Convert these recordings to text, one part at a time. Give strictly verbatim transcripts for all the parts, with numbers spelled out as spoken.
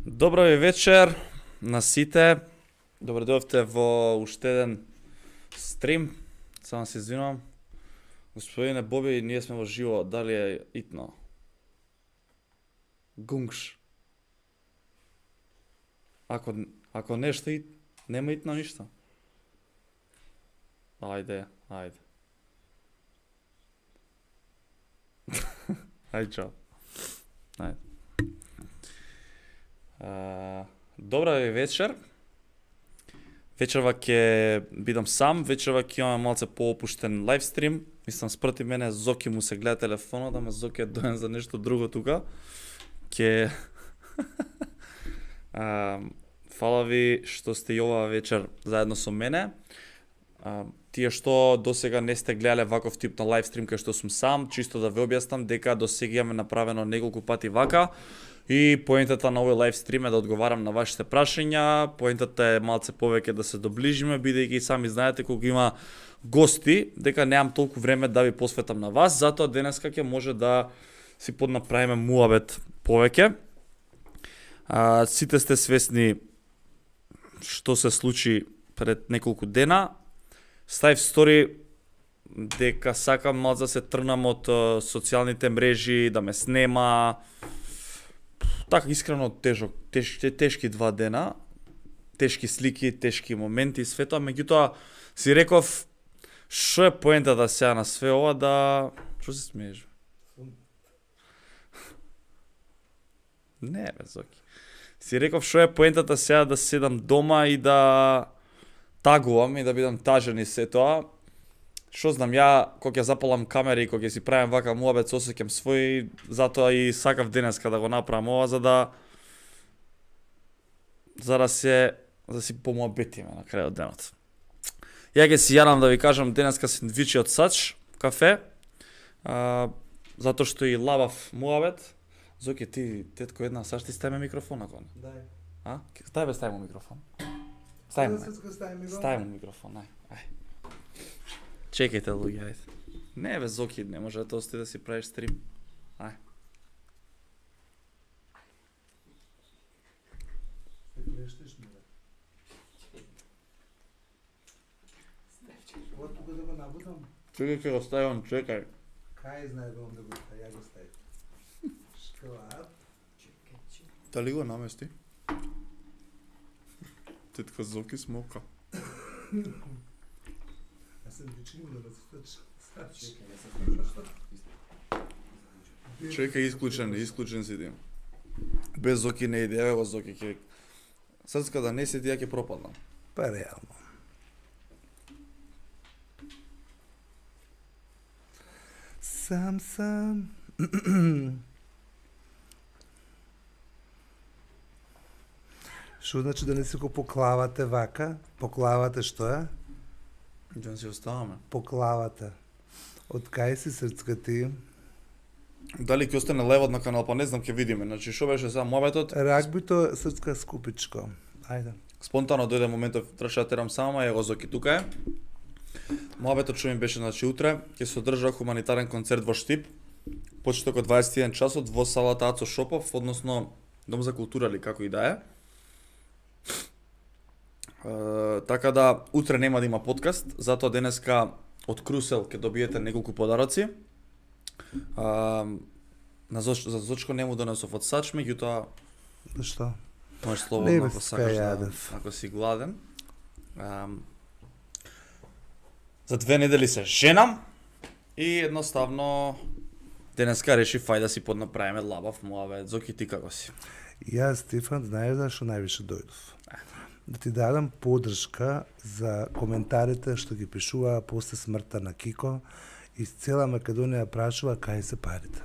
Добро ви вечер на сите. Добро дојдовте во уште еден стрим. Само се извинувам. Господине Боби, ние сме во живо. Дали е итно? Гунгш. Ако ако нешто ит, нема итно ништо. Ајде, ајде. Ајде, чао. Ајде. Uh, добра ви вечер. Вечерва ќе бидам сам, вечерва ќе имаме малце поопуштен лайвстрим. Мислам, спроти мене Зоки му се гледа телефонот, ама Зоки е доен за нешто друго тука. Ке uh, Фала ви што сте и оваа вечер заедно со мене. Uh, тие што досега не сте гледале ваков тип на лайвстрим кај што сум сам, чисто да ве објаснам дека досега имаме направено неколку пати вака. И поентата на овој лайвстрим е да одговарам на вашите прашања, поентата е малце повеќе да се доближиме, бидејќи сами знаете кога има гости, дека немам толку време да ви посветам на вас, затоа денеска ќе може да си поднаправиме муабет повеќе. А, сите сте свесни што се случи пред неколку дена. Ставив стори дека сакам малце да се тргнам од социјалните мрежи, да ме снема. Така искрено тежок, тешки, тешки два дена, тешки слики, тешки моменти и све тоа, меѓутоа си реков што е поентата сега на све ова да... Што се смееш? Не, бе, Зоки. Си реков што е поентата сега да седам дома и да тагувам и да бидам тажен и се тоа. Што знам, ја кога ќе запалам камери и кога ќе си правам вака муабет со осеќам свој, затоа и сакав денеска да го направам ова за да за да се за да си помуабетиме на крајот денот. Ја ќе си јадам да ви кажам денеска сендвичи од Сач кафе. А, затоа што и лабав муабет. Зоки, ти тетко една Сач ти стави микрофон ако не. Дај. А? Стави бе, стави му микрофон. Стави му. Стави Стави му микрофон, ај. Ај. Чекајте, луѓе, ајде. Не бе, Зоки, не може да ости да си правиш стрим. Ај. Плештеш ми, бе. Ова тука да го набутам? Чекај, ќе го ставам, чекај. Кај знае да он да го стави, ја го стави. Шклап. Дали го намести? Тетка Зоки смока. Јас сам дички му да насвечам. Чекај, исклучен, исклучен си дим. Без Зоки не иде, ево Зоки ќе... Срцка да не седи, ја ќе пропаднам. Па реално. Сам сам. Што значи да не си го поклавате вака? Поклавате што е? Да си оставаме. Поклавате. Од кај си срцка ти? Дали ќе остане левот на канал, па не знам, ќе видиме. Значи, што беше сега муабетот? Рагбито срцка скупичко. Ајде. Спонтано дојде моментов, требаше да терам сама, ево Зоки тука е. Муабетот што ми беше, значи, утре ќе се одржа хуманитарен концерт во Штип. Почеток од дваесет и еден часот во салата Ацо Шопов, односно Дом за култура или како и да е. Uh, така да, утре нема да има подкаст, затоа денеска од Крусел ќе добиете неколку подароци. Uh, на Зоч, за Зочко нему донесов од Сач, меѓутоа Зашто? можеш слободно ако бе, сакаш да, јадев. ако си гладен. Uh, за две недели се женам и едноставно денеска решив фај да си поднаправиме лабав муабет. Зоки, ти како си? Јас, Стефан, знаеш зашто највише дојдов? Да ти дадам поддршка за коментарите што ги пишува после смртта на Кико и цела Македонија прашува кај се парите.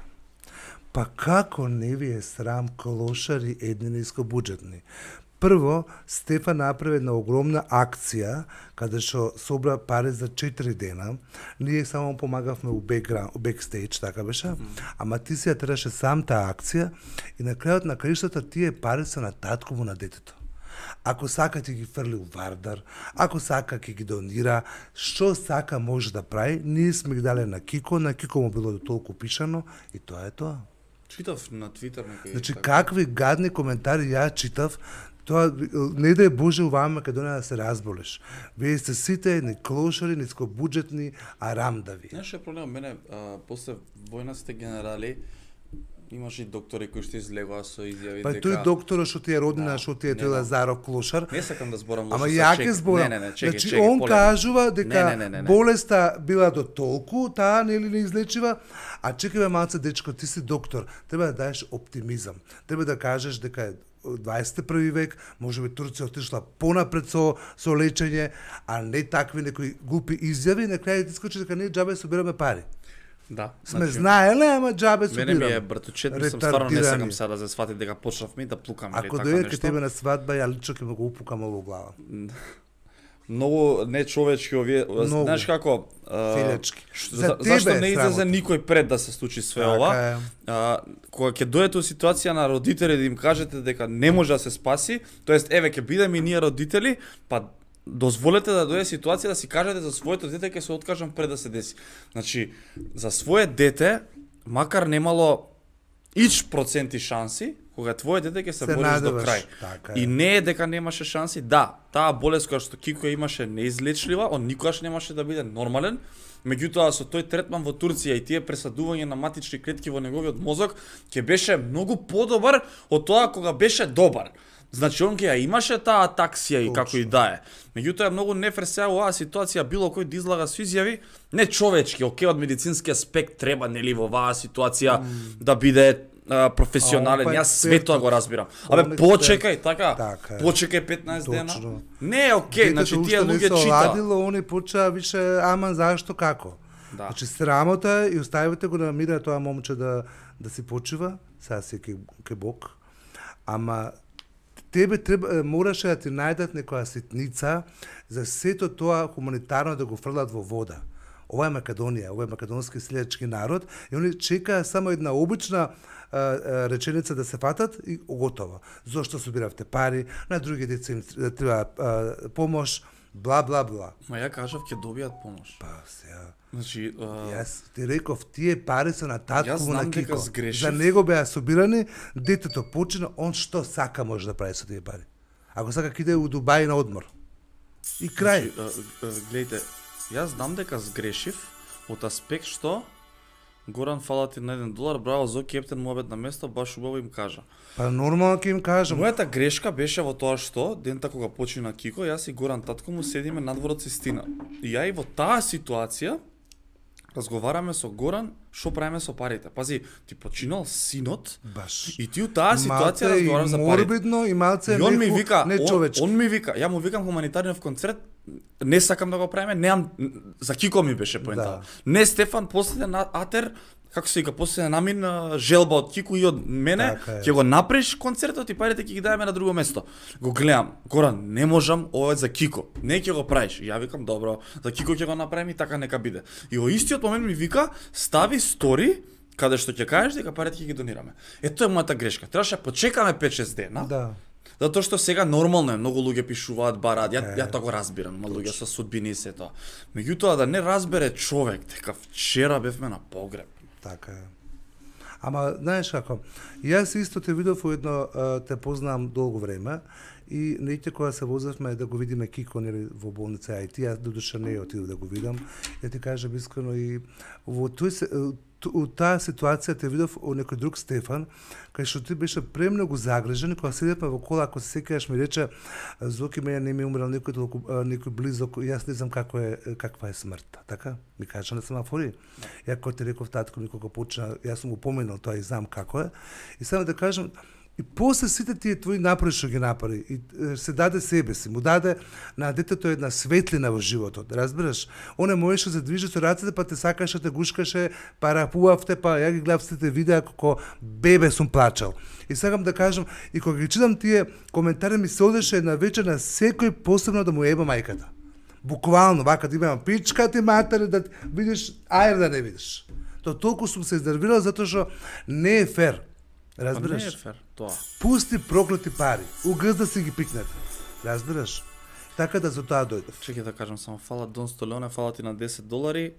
Па како не ви е срам клошари едни нискобуџетни? Прво, Стефан направи една огромна акција каде што собра пари за четири дена. Ние само помагавме у бекграунд, у бекстејдж, така беше. Mm -hmm. Ама ти си ја требаше сам таа акција и на крајот на краиштата тие пари се на татко му на детето. Ако сака ќе ги фрли у Вардар, ако сака ќе ги донира, што сака може да прави, ние сме ги дале на Кико, на Кико му било толку пишано и тоа е тоа. Читав на Твитер некој. Значи какви гадни коментари ја читав. Тоа не да е Боже оваа Македонија да се разболеш. Вие сте сите ни клошари, нискобуџетни, арамдави. Знаеш што е проблем? Мене а, после војнаците генерали имаше и доктори кои што излегоа со изјави Па дека... тој докторот што ти е родина, Да, што ти е не, тој да. Лазаров клошар. Не сакам да зборам Ама лошо ја со ќе чек. зборам. Не, не, не, чеки, Значи чеки, он полека. кажува дека Не, не, не, не, не. болеста била до толку, таа нели не излечива, а чекаме малце дечко, ти си доктор, треба да даеш оптимизам. Треба да кажеш дека е дваесет и први век, можеби Турција отишла понапред со со лечење, а не такви некои глупи изјави, на крај ти скочи дека ние џабе собираме пари. Да. Сме знаеле, ама џабе Мене ми е собираме. братучет, мислам стварно не Ретардирани. сакам сега да се свати дека почнавме да плукаме или Ако така дојде кај нешто. тебе на свадба, ја лично ќе му го упукам во глава. Многу нечовечки овие, Многу. знаеш како, а, Филечки. ш- За за, тебе зашто е не излезе срамота. никој пред да се случи све Така ова? е. А, кога ќе дојдете у ситуација на родители да им кажете дека не може да се спаси, тоест еве ќе бидеме и ние родители, па дозволете да дојде ситуација да си кажете за своето дете ќе се откажам пред да се деси. Значи, за свое дете, макар немало ич проценти шанси, кога твое дете ќе се, Се бориш до надеваш. крај. Така е. И не е дека немаше шанси, да, таа болест која што Кико имаше неизлечлива, он никогаш немаше да биде нормален. Меѓутоа со тој третман во Турција и тие пресадување на матични клетки во неговиот мозок ќе беше многу подобар од тоа кога беше добар. Значи он ќе ја имаше таа атаксија и Точно. како и да е. Меѓутоа е многу нефер сега оваа ситуација било кој да излага со изјави не човечки, окей, од медицински аспект треба нели во оваа ситуација mm. да биде а, професионален. А, он па Јас све тоа го разбирам. Он Абе експерт. почекај, така? Така е. Почекај петнаесет дена. Точно. Не е окей, значи Детето тие уште не луѓе се читаат. оладило, они почаа више, ама зашто, како? Да. Значи срамота и оставите го да мира тоа момче да да си почива, сега си ке, ке Бог. Ама тебе треба мораше да ти најдат некоја ситница за сето тоа хуманитарно да го фрлат во вода. Ова е Македонија, ова е македонски селјачки народ и они чекаа само една обична а, а, реченица да се фатат и готово. Зошто собиравте пари, на други деца им треба а, помош, бла бла бла. Ма ја кажав ќе добијат помош. Па сега Значи, а, Јас ти реков, тие пари се на Јас татко знам на дека Кико. сгрешив. За него беа собирани, детето почина, он што сака може да прави со тие пари. Ако сака ќе иде у Дубај на одмор. И крај. Значи, а, а, гледайте, јас знам дека сгрешив од аспект што Горан фала ти на еден долар, браво зо кептен муабет на место, баш убаво им кажа. Па нормално ќе им кажам. Мојата грешка беше во тоа што дента кога почина Кико, јас и Горан татко му седиме надвор од Систина. И ја и во таа ситуација разговараме со Горан што правиме со парите. Пази, ти починал синот Баш. и ти у таа ситуација Малце разговарам и за парите. морбидно и малце И он ми неху- вика, не он, човечки. он ми вика, ја му викам хуманитарниот концерт, не сакам да го правиме, неам за Кико ми беше поентава. Да. Не Стефан после на Атер, како се вика, после намин а, желба од Кико и од мене, Така е. ќе го направиш концертот и парите ќе ги даеме на друго место. Го гледам, Горан, не можам, ова е за Кико. Не ќе го правиш. И ја викам, добро, за Кико ќе го направим и така нека биде. И во истиот момент ми вика, стави стори каде што ќе кажеш дека парите ќе ги донираме. Е тоа е мојата грешка. Требаше да почекаме пет-шест дена. Да. Затоа што сега нормално е, многу луѓе пишуваат, бараат, ја, Е, ја тоа го разбирам, има луѓе со судбини и се тоа. Меѓутоа да не разбере човек дека вчера бевме на погреб. Така е. Ама, знаеш како, јас исто те видов во едно, а, те познавам долго време, и неќе кога се возевме да го видиме Кико нели во болница, а и ти, јас додуша не отидов да го видам, ја ти кажам искрено и во тој се, у таа ситуација те видов о некој друг Стефан, кај што ти беше премногу загрижен, кога седевме во кола, ако се сеќаваш ми рече, Зоки, мене не ми умрел некој толку а, некој близок, јас не знам како е каква е смртта, така? Ми кажа на семафори. Ја кога ти реков татко ми кога почна, јас сум го поминал тоа и знам како е. И само да кажам, и после сите тие твои напори што ги направи, и е, се даде себе си, му даде на детето една светлина во животот, разбираш? Он можеше да движи со рацете, па те сакаше, те гушкаше, па рапувавте, па ја ги гледав сите видеа како бебе сум плачал. И сакам да кажам, и кога ги читам тие коментари, ми се одеше една вечер на секој посебно да му еба мајката. Буквално, вака да имам пичка ти матери, да видиш, ајер да не видиш. То толку сум се изнервирал затоа што не е фер. Разбираш? Па не е фер, тоа. Пусти проклети пари. Угзда си ги пикнете. Разбираш? Така да за тоа дојдов. Чекај да кажам само, фала Дон Столеоне, фала ти на десет долари.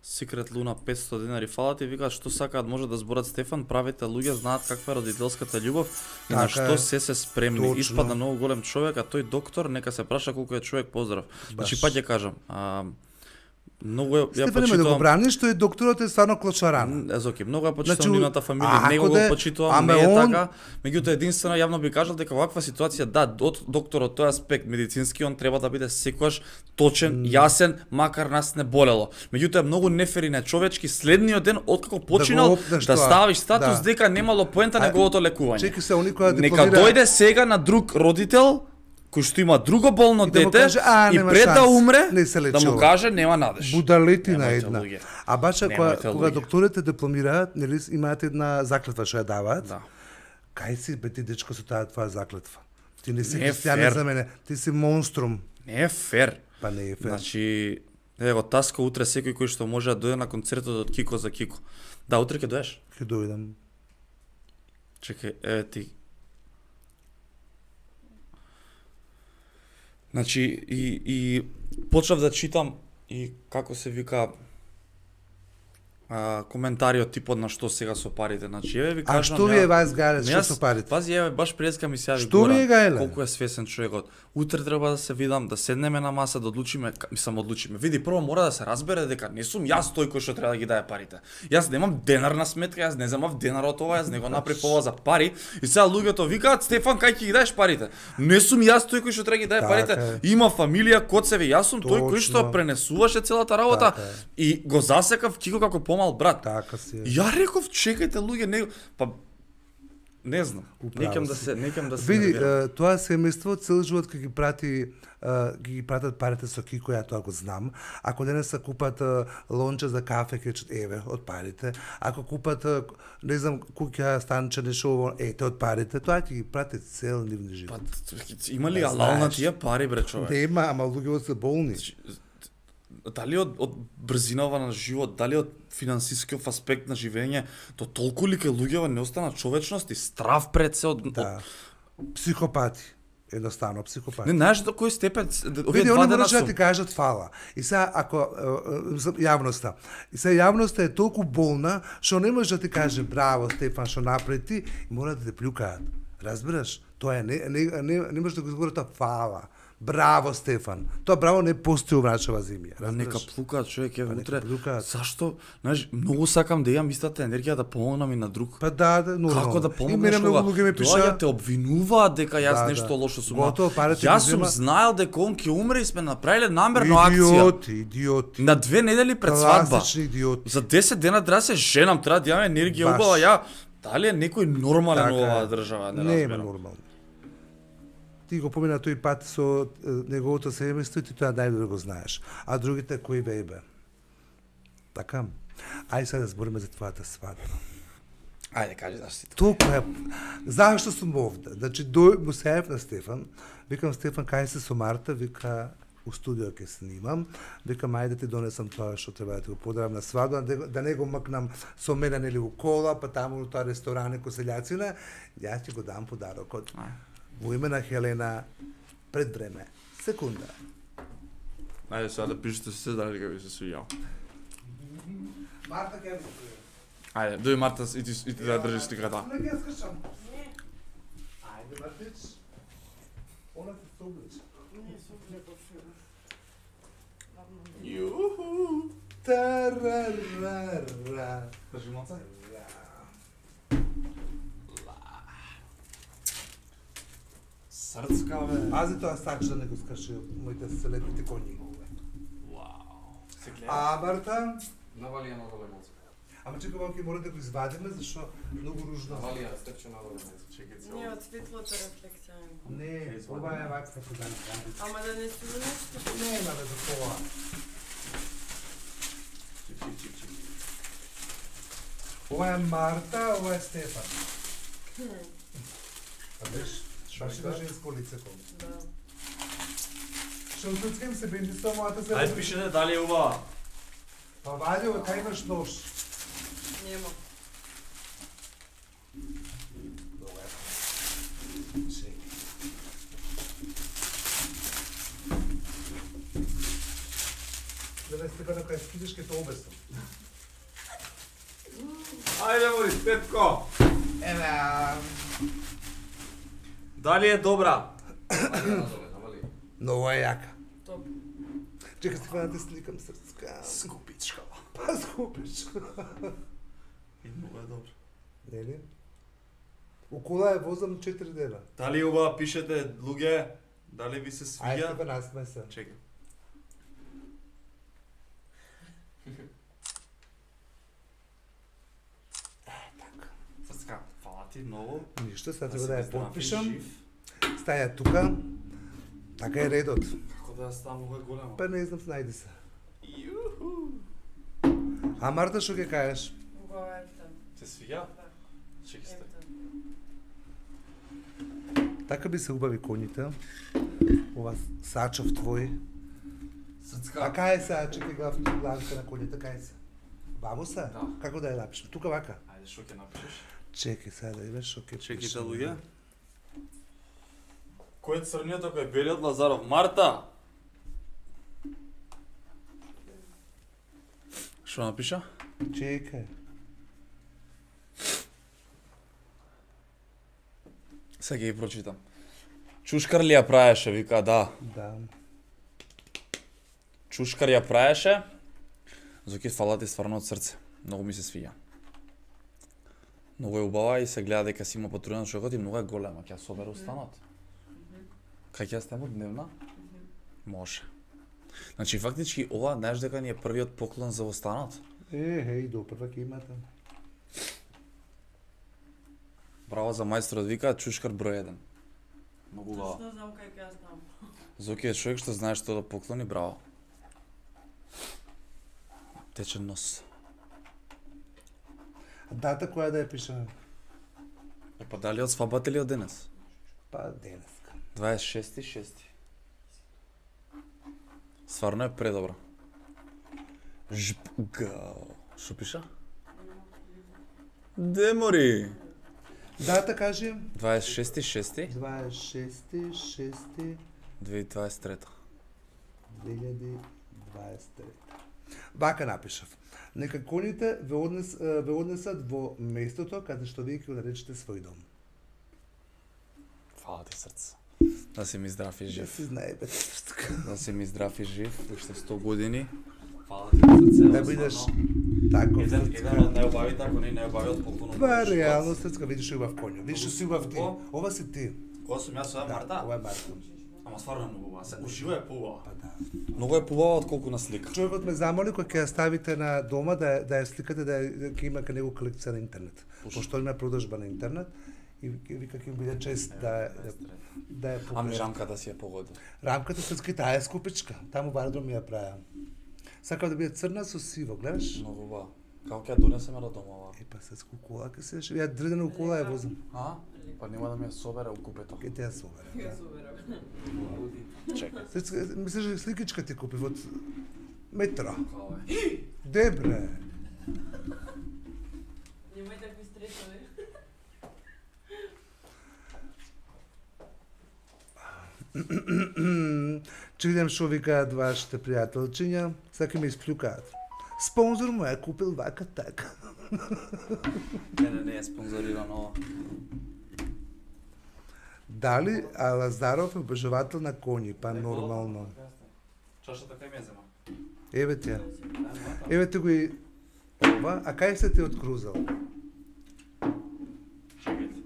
Секрет Луна петсто денари фалат и викаат што сакаат може да зборат Стефан, правите луѓе знаат каква е родителската љубов и на што се се спремни. Точно. Испадна многу голем човек, а тој доктор нека се праша колку е човек поздрав. Значи па ќе кажам, а, многу ја почитувам. почитувам. Да го брани што е докторот е стварно клочаран. Езоки, многу ја почитувам значи, нивната фамилија, него го почитувам, не е он... така. Меѓутоа единствено јавно би кажал дека ваква ситуација да, од докторот тој аспект медицински он треба да биде секогаш точен, mm. јасен, макар нас не болело. Меѓутоа многу нефер и нечовечки следниот ден откако починал да, да ставиш статус да. Дека немало поента неговото лекување. Чеки се они која нека дојде сега на друг родител кој што има друго болно и дете да каже, а, и пред да умре да му каже нема надеж. Будалетина една. А баша кога, кога докторите дипломираат, нели имаат една заклетва што ја даваат. Да. Кај си бе ти дечко со таа твоја заклетва? Ти не си христијанин за мене, ти си монструм. Не е фер. Па не е фер. Значи, ево таска утре секој кој што може да дојде на концертот од Кико за Кико. Да, утре ќе доеш? Ќе дојдам. Чекај, еве ти. Значи, и, и почнав да читам и како се вика а, коментари од типот на што сега со парите. Значи, еве ви кажам. А што ви е вас гајле, што со парите? Пази, еве баш преска ми се јави што ви е гајле? Колку е свесен човекот. Утре треба да се видам, да седнеме на маса, да одлучиме, мислам одлучиме. Види, прво мора да се разбере дека не сум јас тој кој што треба да ги даде парите. Јас немам денар на сметка, јас не земав денар од ова, јас не го направив ова за пари. И сега луѓето викаат, Стефан, кај ќе ги даеш парите? Не сум јас тој кој што треба да ги даде парите. Има фамилија, коцеви, јас сум тој кој што пренесуваше целата работа и го засекав Кико како помал брат. Така си. Ја реков, чекајте луѓе, не па не знам. Некам да се, некам да се. Види, тоа семејство цел живот ќе ги прати, ќе ги пратат парите со Кико, ја тоа го знам. Ако денес се купат лонче за кафе, ќе речат еве од парите. Ако купат, не знам, куќа, станче, нешто, ете од парите, тоа ќе ги прати цел нивни живот. Па има ли алал на тие пари, бре, човек? Нема, ама луѓето се болни. Дали од, од брзинава на живот, дали од финансискиот аспект на живење, то толку ли ке луѓева не остана човечност и страв пред се од... Да. Од... Психопати. Едноставно, психопати. Не знаеш до кој степен... Види, они можеш да ти кажат фала. И сега, ако... Јавноста. И сега јавноста е толку болна, што не може да ти каже браво, Стефан, што направи ти, мора да те плюкаат. Разбираш? Тоа е, не, не, не, не може да го изговорите фала. Браво, Стефан. Тоа браво не постои во нашава земја. Нека плукаат, човек, е утре. Зашто? Знаеш, многу сакам да имам истата енергија да помогнам и на друг. Па да, да, нормално. Како да помогнеш кога? Тоа те обвинуваат дека јас да, нешто да. Лошо сум. Јас сум знаел дека он ќе умре и сме направиле намерно акција. Идиоти, идиоти. На две недели пред свадба. Идиоти. За десет дена треба се женам, треба да имам енергија убава. Ја дали е некој нормален така, во оваа држава, не, не разбирам. Не е нормално. Ти го помина тој пат со неговото семејство и ти тоа најдобро го знаеш. А другите кои бебе? Така? Ајде сега да збориме за твојата свадба. Ајде, кажи зашто си тука. Толку е... Зашто сум овде? Значи, дој му се јавив на Стефан. Викам, Стефан, кај се со Марта? Вика, у студио ќе снимам. Викам, ајде ти донесам тоа што треба да ти го подарам на свадба, да не го мкнам со мене нели у кола, па таму у тоа ресторане ко селјацина. Јас ќе го дам подарокот. Во име на Хелена, пред време. Секунда. Ајде сега да пишете се дали ќе ви се свиѓал. Марта ќе ми Ајде, дој Марта и ти, и ти да држиш сликата. Не ќе скачам. Ајде, Мартич. Она ти се облича. Не, се облича. Јуху. Тарарара. Кажи моца. Срцка, бе. Пази тоа сакаш да не го скаши моите селепите коњи. Вау. Се гледа. А, Марта? Навали ја надоле моца. Ама чекай, малку мора да го извадиме, зашто многу ружно. Навали ја, степче надоле моца. Чекај се. Не, од светлото рефлексија. Не, ова е вакса се дани. Ама да не се нешто. Нема бе за тоа. Чик, чик, чик, чик. Ова е Марта, ова е Стефан. А виж? Баш да женско лице кон. Да. Што туцкам се бенди со мојата се. Ајде пишете дали е убава. Па вади, ова кај имаш нож? Нема. Добре. Чек. Да не Стефана, кај скидиш ке те обесам. Ајде, моли, Стетко. Еве. Дали е добра? Много е јака. Топ. Чекай се да те сликам срцка. Скупичка. Па скупичка. И много е добра. Нели? У кола е возам четири дена. Дали оба пишете луѓе? Дали ви се Ајде свиѓа? тебе насме се. Чекай. Срцка, фала ти многу. Ништо, сега Да треба си да ја здрав и подпишам. жив. Стаја тука. Така е редот. Како да ја ставам многу е голема? Па не знам, снајди се. Јуху. А Марта што ќе кажеш? Убава ефтен. Се свиѓа? Чекай сте. Ефтен. Така би се убави коњите. Ова сачов твој. Срцка. А кај се, чекай глав, главите на коњите, кај се? Бабо се? Да. Како да ја напишем? Тука вака. Ајде, што ќе напишеш? Чекай сега да видиш што ќе Чекайте пишем. луѓе. Кој е црниот, ако е белиот Лазаров? Марта! Што напиша? Чекај. Сега ќе ги прочитам. Чушкар ли ја праеше, вика, да. Да. Чушкар ја праеше. Зоки, фала ти стварно од срце. Многу ми се свиѓа. Многу е убава и се гледа дека си има патрулен човекот и многу е голема. Ќе ја собере устанот. Кај ќе ја ставам дневна? Може. Значи, фактички, ова, знаеш дека ни е првиот поклон за останот? Е, хеј, до прва ќе имате. Браво за мајсторот, вика, чушкар број еден. Многу убава. Точно знам кај ќе ја ставам. Зоки е човек што знае што да поклони, браво. Течен нос. Дата која да ја пишеме? Е, па дали од свадбата или од денес? Па денеска. дваесет и шести шести. Стварно е предобро. Жп, гао. Шо пиша? Демори! Дата кажи? дваесет и шести шести дваесет и шести шести две илјади дваесет и трета. две илјади дваесет и трета. Вака напишав. Нека коњите ве, однес, ве однесат во местото каде што вие ќе го наречете свој дом. Фала ти срце. Да си ми здрав и Да жив. си знае бе срцка. Да си ми здрав и жив. Уште сто години. Фала ти срце. Да бидеш таков Еден, еден срцка. од најубавите, ако не најубавиот поклон. Това е реално срцка, видиш убав коњо. Видиш што си убав ти. Скупо. Ова си ти. Кога сум јас, ова е Марта? Ова е Марта. Ама стварно е многу убава. Се уживо е поубава. Па да. Многу е поубава отколку на слика. Човекот ме замоли кога ќе ја ставите на дома да ја- да ја сликате да ја- ќе има кај него колекција на интернет. Пошто има продажба на интернет и ќе вика ќе ми биде чест да да, да ја Ами покажам. рамката си ја погоди. Рамката срцки таа е скупичка. Таму бардо ми ја правам. Сакам да биде црна со сиво, гледаш? Многу убава. Како ќе ја донесеме до дома ова? Е па се скукула ке се ја дредена у кола ја возам. А? Па нема да ми ја собере у купето. Ке те ја собере. Ја соберам. Чекај. Срцка, мислиш дека сликичка ти купи од метро. Као е. Дебре. Немај такви стресови. Че видам што викаат вашите пријателчиња, сака ме исплюкаат. Спонзор му е купил вака така. Не, не, не е спонзорирано ова. Дали а Лазаров е обожавател на коњи, па нормално. Чашата кај ме зема. Еве ти ја. Еве ти го и ова, а кај се ти открузал? Чекајте.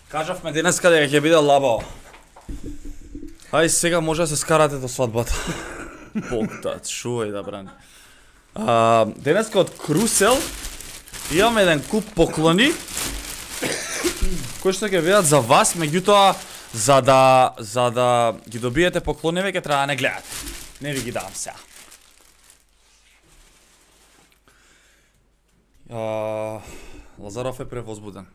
Кажавме денеска дека ќе биде лабаво. Ај сега може да се скарате до свадбата. Бог да чувај да брани. А, денеска од Крусел имаме еден куп поклони кои што ќе бидат за вас, меѓутоа за да за да ги добиете поклониве ќе треба да не гледате. Не ви ги давам сега. А, Лазаров е превозбуден.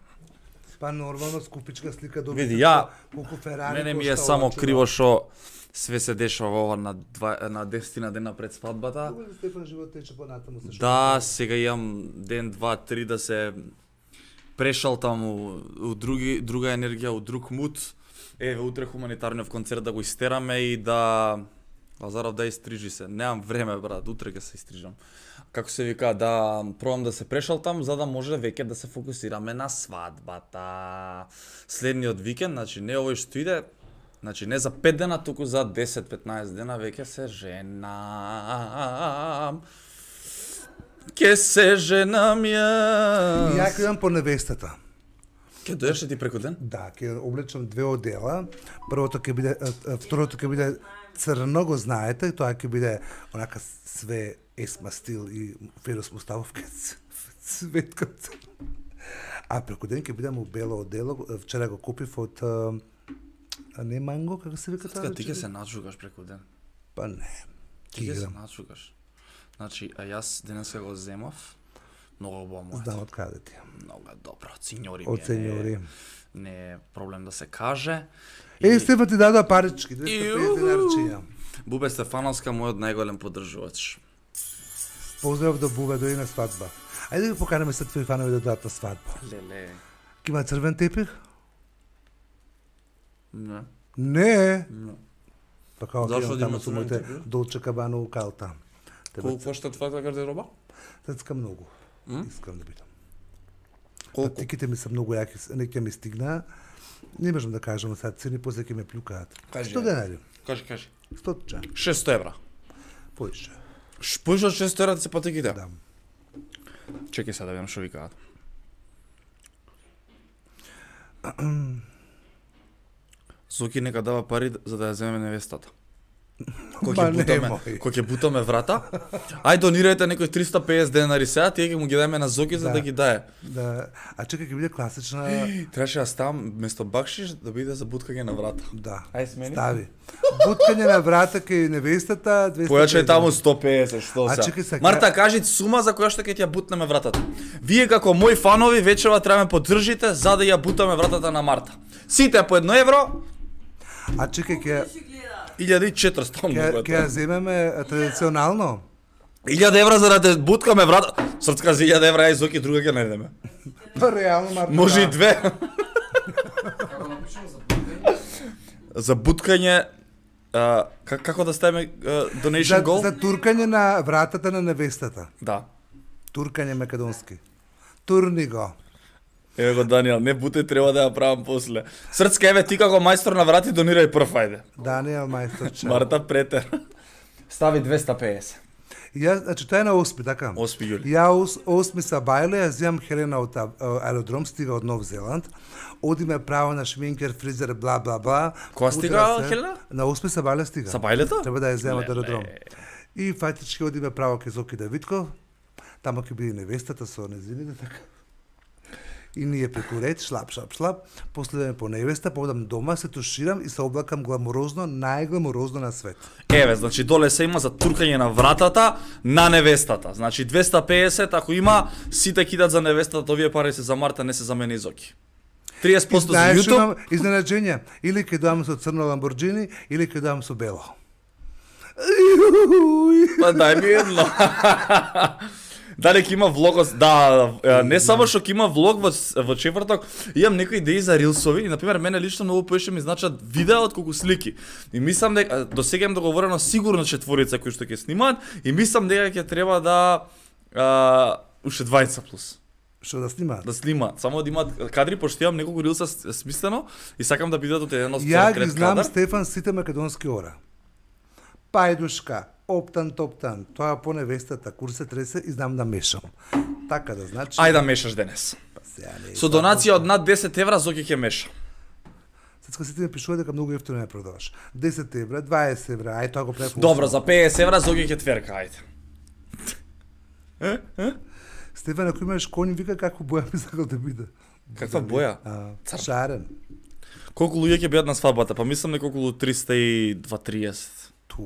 Па нормално скупичка слика до Види, ја- колку Ферари. Мене ми е кошта само ова чудо. криво што све се дешава ова на два, на десет дена пред свадбата. Добро да Стефан живот тече понатаму се Да, сега имам ден, два, три да се прешалтам у, у други, друга енергија, у друг мут, Еве утре хуманитарниот концерт да го истераме и да Лазаров да истрижи се. Немам време брат, утре ќе се истрижам. Како се вика, да пробам да се прешалтам за да може веќе да се фокусираме на свадбата. Следниот викенд, значи не овој што иде, значи не за пет дена, туку за десет-петнаесет дена веќе се женам. Ке се женам ја. И ја ќе идам по невестата. Ке дојдеш ти преку ден? Да, ќе облечам две одела. Првото ќе биде, а, а, второто ќе биде црно, го знаете, и тоа ќе биде онака све есма стил и Ферос Муставов ке светка. А преку ден ќе бидам у бело одело, вчера го купив од а, а не манго, како се вика тоа? Ти ќе се начугаш преку ден. Па не. Ти ќе се начугаш. Значи, а јас денеска го земав. Многу убаво моето. Знам од каде ти. Многу добро, синьори ми. Од сеньори. Не е проблем да се каже. Е, Стефан ти дадоа парички, двеста и петдесет динарчиња. Бубе Стефановска, мојот најголем поддржувач. Поздрав до Бубе, дојди на свадба. Ајде да ги поканеме се твои фанови да дојдат на свадба. Леле. Ки има црвен тепих? Не. Не. Не. Па како Зашо ќе да таму има со црвен моите тепих? Долче Кабано у Калта. Колку кошта твојата гардероба? Тецка многу. М? Искам да бидам. Колку? Патиките ми се многу јаки, не ќе ми стигна. Не можам да кажам сега цени, после ќе ме плюкаат. Кажи, сто ајде. денари. Кажи, кажи. сто ча. шест евра. Поише. Поише од шест евра се патиките? Да. Чекај се да видам што викаат. Зоки нека дава пари за да ја земеме невестата. Кој ќе Ма бутаме, немој. кој ќе бутаме врата? Ај донирајте некој триста и песет денари сега, тие ќе му ги дајме на Зоки за Да. да ги дае. Да. А чекај ќе биде класична. Требаше да ставам место бакшиш да биде за буткање на врата. Да. Ај смени. Стави. Буткање на врата кај невестата двеста и петдесет. Појачај таму сто и песет, што А се. чекај сега. Марта, кажи сума за која што ќе ти ја бутнеме вратата. Вие како мои фанови вечерва треба ме поддржите за да ја бутаме вратата на Марта. Сите по едно евро, А чекај ќе Ще гледа. илјада и четиристотини ќе многу е ќе ја тоа. земеме а, традиционално. илјада евра за да те буткаме врата. Срцка за илјада евра и Зоки друга ќе најдеме. Па реално Марта. Може и да. две. За буткање а, как, како да ставиме а, donation За, goal? за туркање на вратата на невестата. Да. Туркање македонски. Турни го. Еве го Даниел, не бутај, треба да ја правам после. Срцка, еве ти како мајстор на врати донирај прв, ајде. Даниел мајсторче. Марта претер. Стави двеста и песет. Ја, значи тоа е на осми, така? осми јули. Ја ос, осми са бајле, ја земам Хелена од а, аеродром, стига од Нов Зеланд. Одиме право на шминкер, фризер, бла бла бла. Кога Утра стига се- Хелена? На осми са бајле стига. Са бајлето? Треба да ја земам од Леле. аеродром. И фактички одиме право кај Зоки Давидков. Таму ќе биде невестата со незините, така. И ние преку ред, шлап, шлап, шлап, после да ме по невеста, подам дома, се туширам и се облакам гламурозно, најгламурозно на свет. Еве, значи доле се има за туркање на вратата на невестата. Значи двеста и песет, ако има, сите кидат за невестата, овие пари се за Марта, не се за мене и Зоки. триесет И проценти за знаеш, YouTube. имам изненаđenja, или ќе доам со црно Ламборджини, или ќе доам со бело. Па дај ми едно. Дали ќе има влог, да, е, не само што ќе има влог во во четврток, имам некои идеи за рилсови и на пример мене лично многу поише ми значат видеа од колку слики. И мислам дека до сега им договорено сигурно четворица кои што ќе снимаат и мислам дека ќе треба да а, уште двајца плюс Што да снимаат? да снимаат, само да имаат кадри пошто имам неколку рилса с- смислено и сакам да бидат од еден од Ја ги трет знам кадар. Стефан сите македонски ора. Пајдушка, оптан, топтан, тоа по невестата, курсе тресе и знам да мешам. Така да значи... Ајде да мешаш денес. Па сега не е Со тоа донација од над десет евра Зоки ќе меша. Сетска сите ми пишува дека многу ефтино не продаваш. десет евра, дваесет евра, ај тоа го прави. по Добро, осум. за песет евра Зоки ќе тверка, ајде. Стефан, ако имаш конј, вика како боја би сакал да биде. Каква боја? А, Црн. шарен. Колку луѓе ќе бидат на свадбата? Па мислам дека околу триста и два триесет. Ту,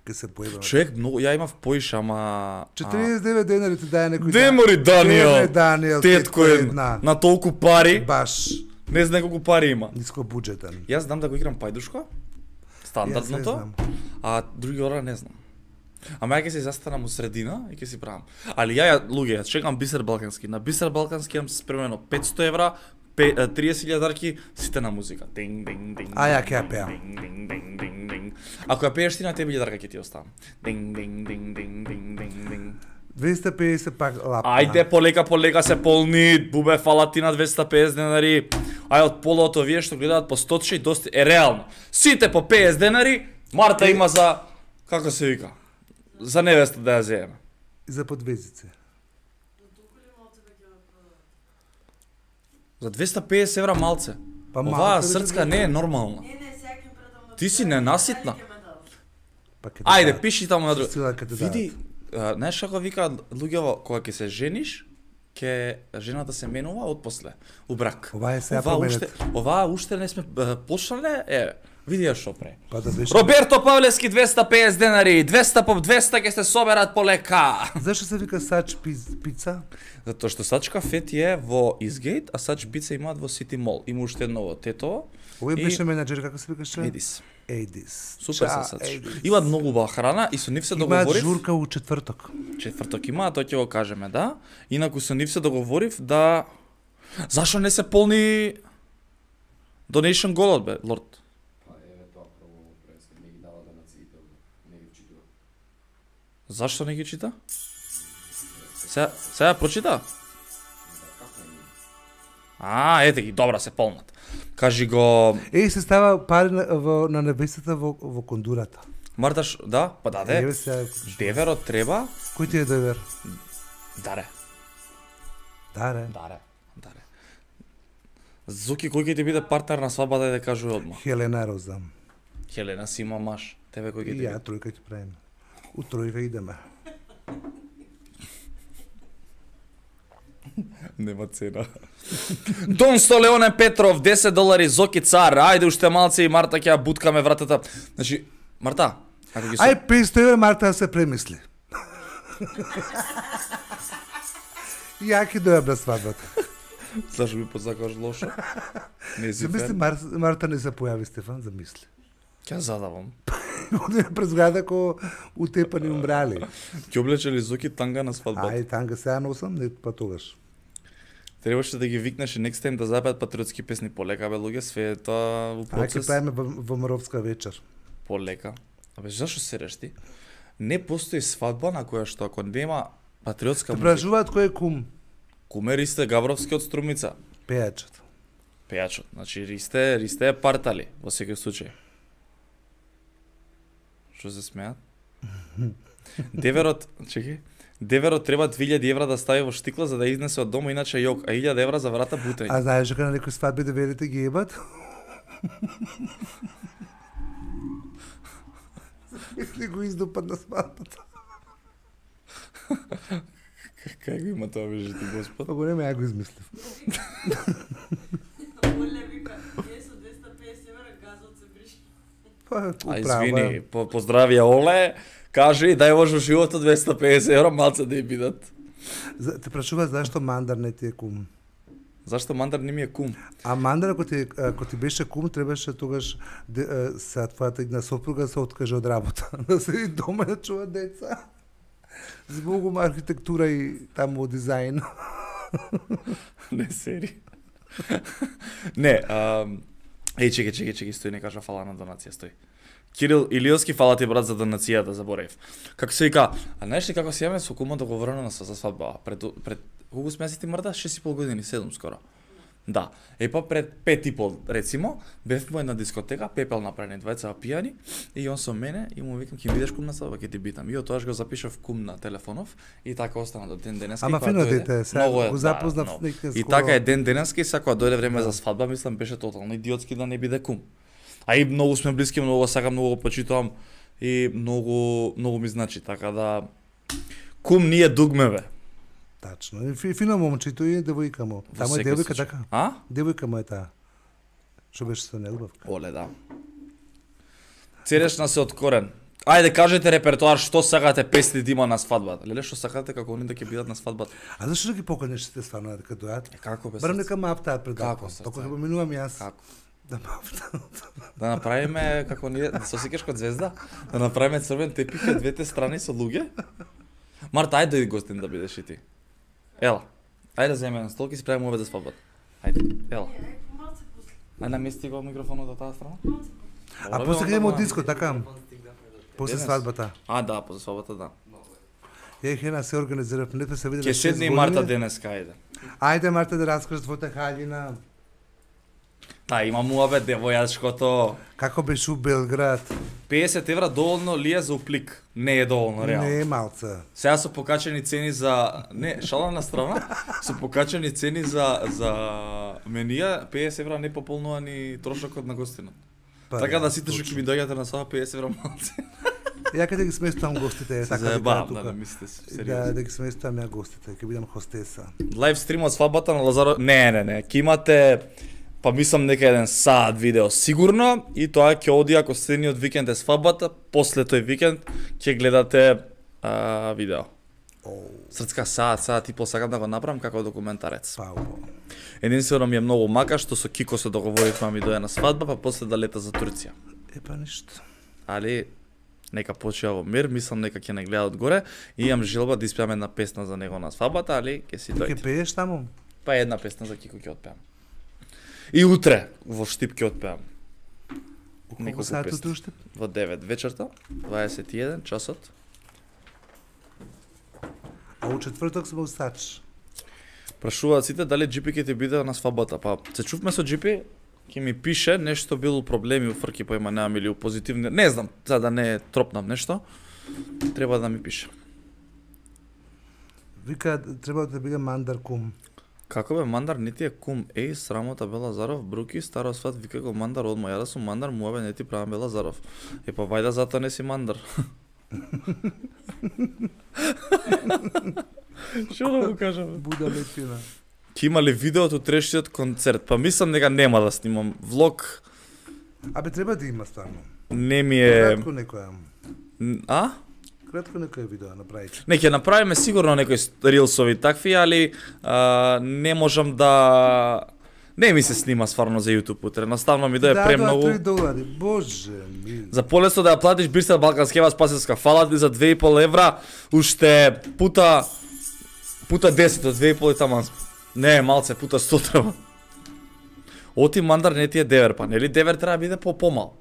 ке се појава. Човек, многу, ја имав поише, ама... четириесет и девет денари ти даje некој. Демори Даниел, Деме, Даниел, тетко е една. на толку пари, Баш не знае колку пари има. ниско буџетен. Јас знам да го играм пајдушко, Јас не стандардното, знам. а други ора не знам. Ама ја ќе се застанам у средина и ќе си правам. Али ја, ја луѓе, ја чекам Бисер Балкански. На Бисер Балкански имам спремено петсто евра, триесет илјадарки, сите на музика. Динг, динг, динг. А, ја ќе ја пеам. Динг, динг, динг, динг, динг. Ако ја пееш ти на тебе илјадарка ќе ти оставам. Динг, динг, динг, динг, динг, динг, динг. двеста и педесет пак лапна. Ајде, полека, полека се полни. Бубе, фала ти на двеста и педесет денари. Ај од полото овие што гледаат по стотче и доста е реално. Сите по педесет денари, Марта има за како се вика? За невеста да ја земе. И за подвезице. За двеста и педесет евра малце. Па Оваа малце, срцка беше не е нормална. Не, не, сега ќе предам на Ти си ненаситна. Па ќе ти Ајде, дадат. пиши таму на друго. Сила ќе ти Види, а, знаеш како вика луѓето кога ќе се жениш, ќе жената се менува отпосле у брак. Ова е сега Оваа променет. уште, оваа уште не сме а, почнале, е, види ја шо пре. Па да беше. Роберто Павлевски двеста и педесет денари, двеста по двеста ќе се соберат полека. Зашто се вика сач пиз- пица? Затоа што Сач кафет е во Изгейт, а Сач пица имаат во Сити Мол. Има уште едно во Тетово. Овој И- беше менаџер, како се викаше? Едис. Едис. Супер Ча, се Сач. Едис. Имаат многу убава храна и со нив се Имаат договорив. журка у четврток. Четврток има, тоа ќе го кажеме, да. Инаку со нив се договорив да зашо не се полни donation голот бе, лорд. Па еве тоа прво преск не ги дава да нациите, не ги вчитува. Зашто не ги чита? Сега, сега прочита? А, ете ги, добра се полнат. Кажи го, Еј, се става пари на, во, на невестата во, во кондурата. Марташ, да, па даде. Еве сега, Деверот треба, кој ти е девер? даре, Даре. даре, даре. Зуки, кој ќе ти биде партнер на свадбата, да кажува одма. Хелена Роза. Хелена си има маш, тебе кој ќе И ти ја биде? тројка ќе правиме. У тројка идеме. Нема цена. Дон Столеоне Петров, десет долари, Зоки цар, ајде уште малце и Марта ќе ја буткаме вратата. Значи, Марта, ако ги со... Ај, песто евра Марта да се премисли. Ја ќе дојам на свадбата. Зашо ми подсакаш лошо? Не си Замисли, фен. Мар... Марта не се појави, Стефан, замисли. Ќе задавам. Оде през града ко утепани умрали. Ќе облече ли Зоки танга на свадбата? Ај, танга сега носам, не па тогаш. Требаше да ги викнеш и next time да запеат патриотски песни полека, бе луѓе, све е тоа во Ај, ќе процес. правиме во, во Маровска вечер. Полека. Абе, зашо сереш ти? Не постои свадба на која што ако нема патриотска Те музика. прашуваат кој е кум? Куме Ристе Габровски од Струмица. Пејачот. Пејачот. Значи Ристе, Ристе е партали во секој случај. Што се смеат? Деверот, чекај. Деверот треба две илјади евра да стави во штикла за да изнесе од дома, иначе јок, а илјада евра за врата бутење. А знаеш дека на некои свадби деверите ги ебат? Или го издупат на свадбата. Кај го има тоа вежи ти Господ? Па го нема, ја го измислив. Оле вика, е со двеста и педесет евра газот се бриши. Па, А управа. извини, по поздравија Оле, кажи дај во животот двеста и педесет евра малце да ја бидат. За- Те прашува зашто Мандар не ти е кум. Зашто Мандар не ми е кум? А Мандар, ако ти, ако ти беше кум, требаше тогаш де, а, са твојата една сопруга да се откаже од работа. Да седи дома и да чува деца. Збогум архитектура и таму дизајн. Не сери. Не, а, еј чекај, чекај, чекај, стои, не кажа фала на донација, стои. Кирил Илиовски, фала ти брат за донацијата, заборев. Како се вика, а знаеш ли како се јаваме со кумот договорено на за свадба? Пред пред колку сме си ти мрда? шест и пол години, седум скоро. Да. Е па пред пет и пол, рецимо, бев во една дискотека, пепел направени двајца пијани и он со мене и му викам ќе бидеш кум на свадба, ќе ти битам. И од тогаш го запишав кум на телефонов и така остана до ден денеска. Ама и кога фино дојде- дете, сега Многу е, го да, запознав многу. некој И скоро. така е ден денеска и сега кога дојде време за свадба, мислам беше тотално идиотски да не биде кум. А и многу сме блиски, многу го сакам, многу го почитувам и многу многу ми значи, така да кум ние дугме бе. Тачно. И фи- фино момчето и девојка му. Во Таму е секој девојка случај. така. А? Девојка му е таа. Што беше со неубавка. Оле, да. Церешна се од корен. Ајде кажете репертоар што сакате песни да има на свадбата. Леле што сакате како они да ќе бидат на свадбата. А зашто да ги поканеш сите стварно дека дојат? Е, како бе? Барем срце? нека мафтаат пред Како, датом. срце? Току ќе поминувам јас. Како? Да мафтаат. Да направиме како ние, да се осеќаш код звезда, да направиме црвен тепих од двете страни со луѓе. Марта, ајде дојди гостин да бидеш и ти. Ела. Ајде земе на столки и си правиме обед за свадбата. Ајде. Ела. Не, ај, малце после. Ај намести го микрофонот од таа страна. Малце после. А после ќе идеме од диско, така? После Денес? свадбата. А, да, после свадбата, да. Ја хена се организирав, нето се виделе Ке седне и Марта денес кајде. Ајде Марта да раскажеш твојата хаљина. Та, има муабет, девојачкото. Како беше у Белград? песет евра доволно ли е за уплик? Не е доволно, реално. Не е малце. Сега се покачени цени за... Не, шала на страна. Се покачени цени за, за менија. песет евра не пополнува ни трошокот на гостинот. Па, Така да да, сите што точно. ќе ми дојдете на сава песет евра малце. Ја каде ги сместувам гостите, Се така да заебавам, тука. да, не мислите се, Да, сериозно. да ги сместувам ја гостите, ќе бидам хостеса. Лайв стрим од свадбата на Лазаро... Не, не, не, ќе имате... Па мислам нека еден саат видео сигурно и тоа ќе оди ако следниот викенд е свадбата, после тој викенд ќе гледате а, видео. Оу, Срцка саат, саат и пол сакам да го направам како документарец. паубо. Единствено ми е многу мака што со Кико се договоривме ми дојде на свадба, па после да лета за Турција. Епа ништо. Али нека почива во мир, мислам нека ќе не гледа одгоре и имам желба да испеам една песна за него на свадбата, али ќе си Ќе дојде. пееш таму? Па една песна за Кико ќе отпеам. И утре во Штип ќе отпеам. У колку Неколку саат песни. утре уште? Во девет вечерта, дваесет и еден часот. А у четврток сме устач. Прашуваат сите дали Джипи ќе ти биде на свадбата. Па се чувме со Джипи, ќе ми пише нешто било проблеми у фрки по има немам или у позитивни, не знам, за да не тропнам нешто. Треба да ми пише. Вика, треба да биде мандар кум. Како бе мандар не ти е кум, еј срамота Бела Заров, бруки, старо сват, вика го мандар одма, ја да сум мандар, муабе не ти правам Бела Заров. Е па вајда затоа не си мандар. Што да го кажам? Буда летина. Ќе има ли видео од утрешниот концерт? Па мислам дека нема да снимам влог. Абе, треба да има стварно. Не ми е... Кратко некоја. А? Кратко некоја видео направите. Не, ќе направиме сигурно некои рилсови такви, али а, не можам да... Не ми се снима стварно за YouTube утре. Наставно ми дое да, премногу. Да, три долари. Боже ми. За полесно да ја платиш Бирсел Балканскева спасителска, фала ти за две и пол евра, уште пута пута десет, од две и пол и таман. Не, малце, пута сто треба. Оти мандар не ти е девер, па нели девер треба да биде по помал?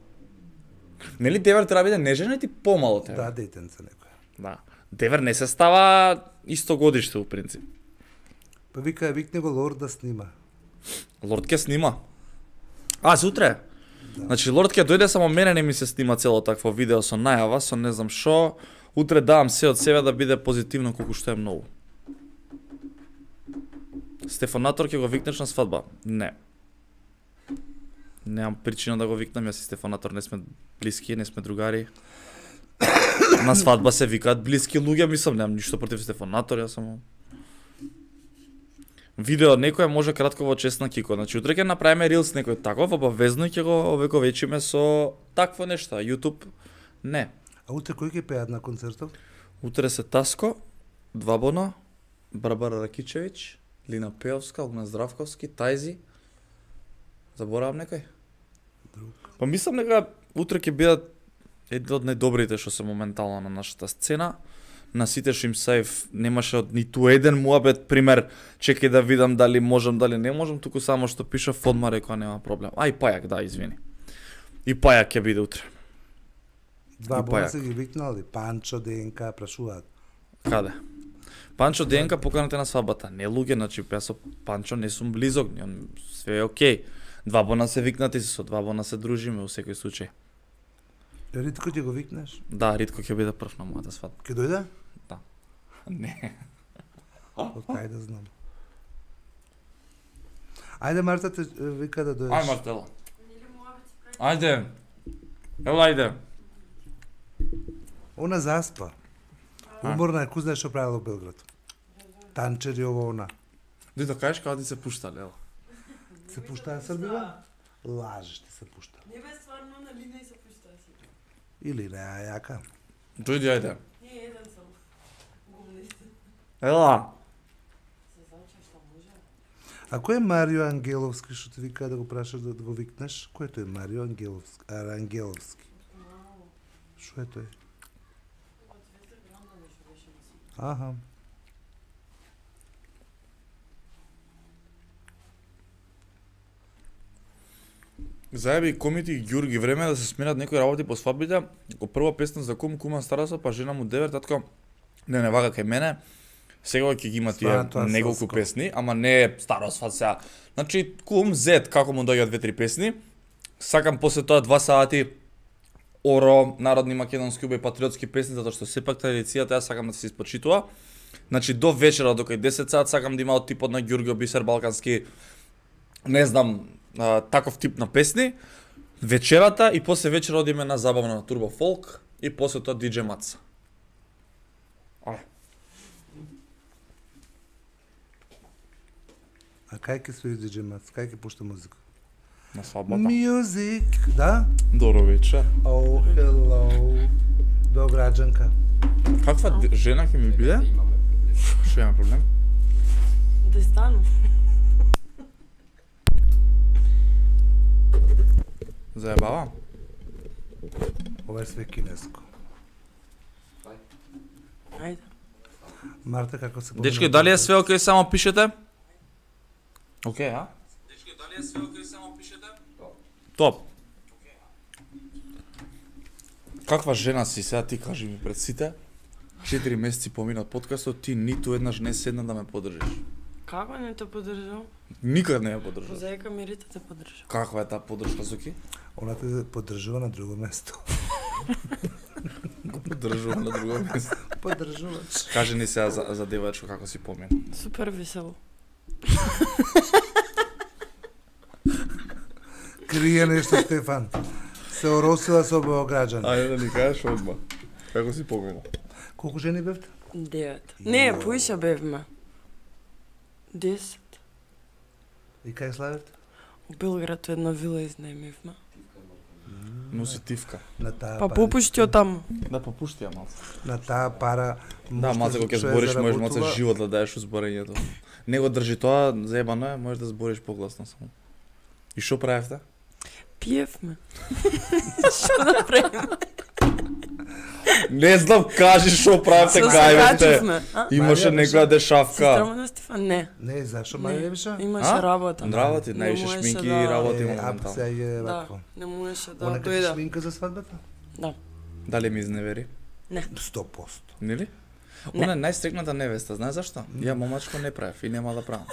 Нели девер треба да биде нежен и помал од тебе? Да, детенца некоја. Да. Девер не се става исто годиште у принцип. Па вика, викне го Лорд да снима. Лорд ке снима. А, за утре? Да. Значи Лорд ке дојде, само мене не ми се снима цело такво видео со најава, со не знам шо. Утре давам се од себе да биде позитивно колку што е многу. Стефанатор ќе го викнеш на свадба? Не. Немам причина да го викнам, јас и Стефанатор не сме блиски, не сме другари. На свадба се викаат блиски луѓе, мислам, немам ништо против Стефанатор, јас само... Видео некој може кратко во чест на Кико. Значи утре ќе направиме рилс некој таков, обавезно ќе го овековечиме со такво нешто. YouTube не. А утре кој ќе пеат на концертот? Утре се Таско, Двабона, Барбара Ракичевиќ, Лина Пеовска, Огна Здравковски, Тајзи. Заборавам некој? Друг. Па мислам дека утре ќе бидат едни од најдобрите што се моментално на нашата сцена. На сите што им сајф немаше од ниту еден муабет, пример, чекај да видам дали можам, дали не можам, туку само што пиша Фодма рекоа нема проблем. А и Пајак, да, извини. И Пајак ќе биде утре. Два И бона Пајак. се ги викнали, Панчо, ДНК, прашуваат. Каде? Панчо Денка поканете на свадбата. Не луѓе, значи јас со Панчо не сум близок, он све е окей. Два бона се викнати, со два бона се дружиме во секој случај. Ритко ќе го викнеш? Да, Ритко ќе биде прв на мојата свадба. Ќе дојде? Не. Од кај да знам. Ајде Марта те е, вика да дојдеш. Ај Мартела. Или муабет се прави. Ајде. Ела ајде. Она заспа. Уморна е, кој знае што правила во Белград. Танчери ово она. Ди да кажеш каде ти се пушта, Лела. Се пуштаа Србива? Лажеш ти се пушта. Не бе стварно на лина и се пуштаа си. Или не, а јака. Дојди ајде. Не, еден сам. Гумнисте. Ела. Се заче што може. А кој е Марио Ангеловски што ти вика да го прашаш да го викнеш? Кој е тој Марио Ангеловски? А, Ангеловски. Мало. Што е тој? Од Звезда Гранда нешто беше на си. Аха. Заеби комити и Ѓурги време да се сменат некои работи по свадбите. Како прва песна за кум, кума стараса, па жена му девер, татко. Не, не вага кај мене. Сега ќе ги има тие Сватба, неколку соско. песни, ама не е старо сват сега. Значи, кум, зет, како му доаѓаат две-три песни. Сакам после тоа два сати оро, народни македонски убави патриотски песни, затоа што сепак традицијата ја сакам да се испочитува. Значи, до вечера, до кај десет сат, сакам да има од типот на Ѓурѓо Бисер Балкански, не знам, а, таков тип на песни. Вечерата и после вечера одиме на забавна на Турбо Фолк и после тоа диџе Маца. Ај. А кај ќе стои диџе Мац? Кај ќе пушта музика? На свадбата. Music, да? Добро вечер. Oh, hello. Beograđanka. Каква д- жена ќе ми биде? Имаме проблем. Што има проблем? Да стану. Заебава? Ова е све кинеско. Ајде. Марта, како се Дечки, дали е све окей, само пишете? Окей, а? Дечки, дали е све окей, само пишете? Топ. Каква жена си сега, ти кажи ми пред сите? Четири месеци помина од подкастот, ти ниту еднаш не седна да ме поддржиш. Како не те поддржам? Никад не ја поддржав. Позајка мирите те поддржам. Каква е таа поддршка, Соки? Она те поддржува на друго место. Го поддржувам на друго место. Поддржувач. Кажи ни сега за, за девојачко како си помина. Супер весело. Крие нешто, Стефан. Се оросила со Beograđan. Ајде да ни кажеш одма. Како си помина? Колку жени бевте? Девет. Не, поише бевме. Десет. И кај славите? У Белград една вила изнајмивме. Носи тивка. На таа Па пара- попушти од таму. Да попушти ја малце. На таа пара. Да, можеш малце кога ќе што ја збориш, можеш малце заработува. живот да даеш зборењето. Него држи тоа, заебано е, можеш да збориш погласно само. И што правевте? Пиевме. Што да правиме? Не знам, кажи што правевте, Со се кај бе. качивме. а? Имаше Марија беше- некоја дешавка. Сестра на Стефан, не. Не, зашо Не. Марија не беше? Имаше А? работа. Работи, Не највише можеше шминки да- и работи Е, а моментално. сега е Да, вако. не можеше да Она като дојде. шминка за свадбата? Да. Дали ми изневери? сто проценти. Нели? Не. Она е најстрикната невеста, знаеш зашто? Ја момачко не правев и нема да правам.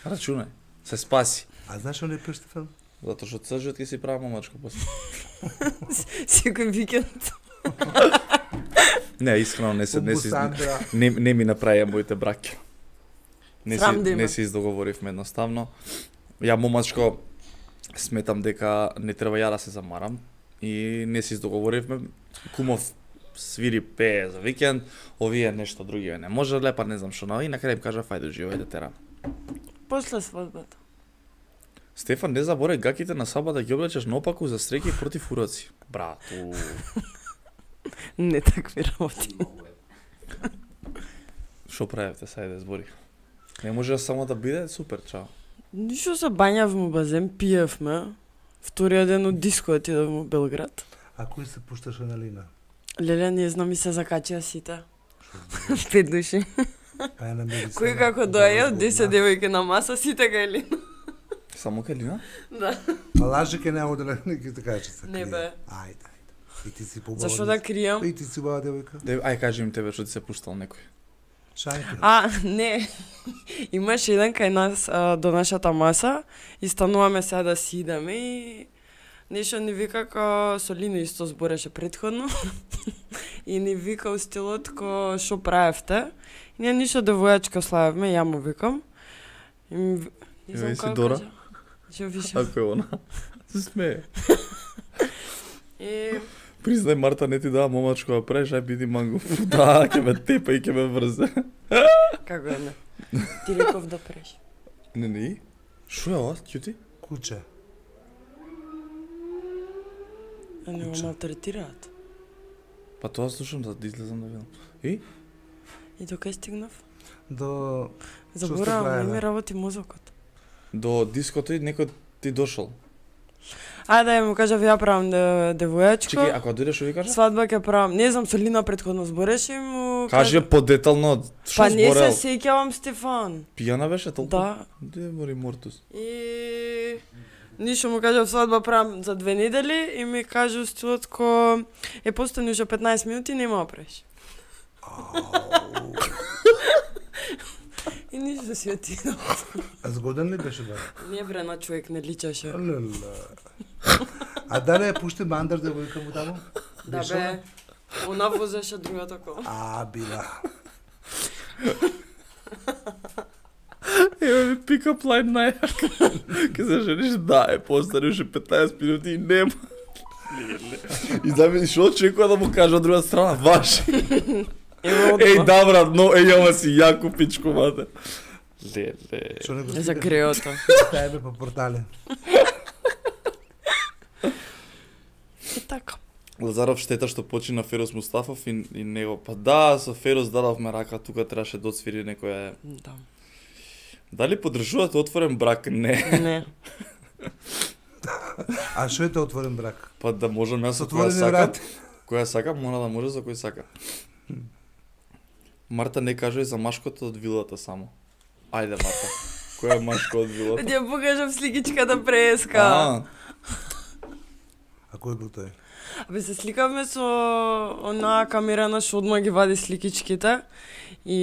Рачунај, се спаси. А знаеш што не пиеш, Стефан? Затоа што цржот ќе си правам момачко после. Секој викенд. Не, искрено не се не се Сандра. не, не ми направија моите браќа. Не Срам си да има. не се издоговоривме едноставно. Ја момачко сметам дека не треба ја да се замарам и не се издоговоривме. Кумов свири пее за викенд, овие нешто други не може лепа, не знам што, но и на крај им кажа фајде живеј да терам. После свадбата. Стефан, не заборај гаките на свадба да ги облечеш наопаку за среќи против уроци. Брату. Не такви работи. Што правевте сајде збори? Не може само да биде супер, чао. Ништо се бањавме у базен, пиевме. Вториот ден од диско отидовме у Белград. А кој се пушташе на Лина? Леле, не знам и се закачија сите. Пет души. Па е на медицина. Кој како доаѓа, десет девојки на маса, сите кај Лина. Само Калина? Да. Па лаже ке нема да не ќе те кажа че се Не крие. бе. Ајде, ајде. И ти си побава. Зашо да кријам? И ти си убава девојка. Де, ај кажи им тебе што ти се пуштал некој. Шајте. А, не. Имаше еден кај нас а, до нашата маса и стануваме сега да си идеме и нешто ни вика ка со Лино исто збореше претходно и ни вика у стилот ко шо правевте. И ние ништо девојачка славевме, ја му викам. И ми, ви- не знам Еве си како Дора. кажа. Што више. Ако е она. Се смее. И Признај, Марта не ти дава момачко да правиш, ај биди манго. Да, ќе ме тепа и ќе ме врзе. како е не? Ти реков да преш. Не, не. Шо е ова, кјути? Куче. А не го Куче. малтретираат. Па тоа слушам да излезам да видам. И? И докај стигнав? До сте Заборавам, не правеле? ми работи мозокот. До диското и некој ти дошол. Ајде да ја му кажав ја правам де, девојачко. Чекај, ако дојдеш што ви кажа? Свадба ќе правам. Не знам, со Лина претходно збореше и му Кажи ја подетално што Па не се зборел. сеќавам, Стефан. Пијана беше толку? Да. Де мори мортус. И Ништо му кажав свадба правам за две недели и ми каже у стилот ко е постани уште петнаесет минути нема опреш. И ништо си отидов. А згоден ли беше брак? Не бре, на човек не личеше. Леле. А дали ја пушти мандар девојка му таму? Да Беше бе, она? она возеше другата кола. А, била. Ева ми пикап лайн најака. Ке се жениш, да, е постани уште петнаесет минути и нема. И замени шо очекува да му кажа од друга страна, ваш. Еј, да брат, но еј, ама си јако пичко, мате. Леле. Што не го За сликаш? греото. Тајбе по портале. И така. Лазаров штета што почина Ферос Мустафов и, и него. Па да, со Ферос дадовме рака, тука требаше да отсвири некоја. Да. Дали поддржувате отворен брак? Не. Не. А што е тоа отворен брак? Па да можам јас со која Отворени сакам. врати. Која сака, мора да може за кој сака. Марта не кажа и за машкото од вилата само. Ајде, Марта. Која е машко од вилата? Ја покажав сликичката преска. А, А кој бил тој? Абе се сликавме со онаа камерана што одма ги вади сликичките. И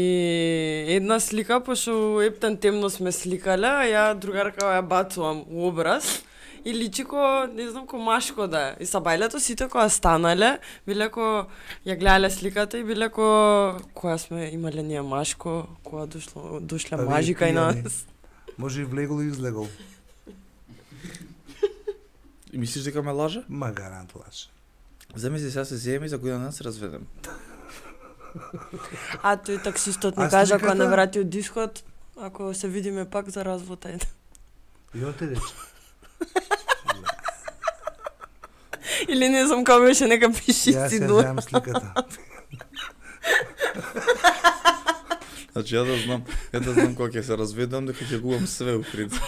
една слика, пошто ептен темно сме сликале, а ја другарка ја бацувам у образ. И личи ко, не знам, ко машко да е. И са бајлето сите која станале, биле ко ја гледале сликата и биле ко која сме имале ние машко, која дошло, дошле А вие мажи кај пијани. нас. Може и влегол и излегол. и мислиш дека ме лаже? Ма гарант лаже. Земи се сега се зееме и за година ден се разведем. А тој таксистот ми А кажа сликата? кога не врати од дискот, ако се видиме пак за развод, ајде. И он те рече. Или не знам како беше, нека пиши Јас си ја дуа. знам сликата. Значи ја да знам, ја да знам кога ќе се разведам, дека ќе губам све у принцип.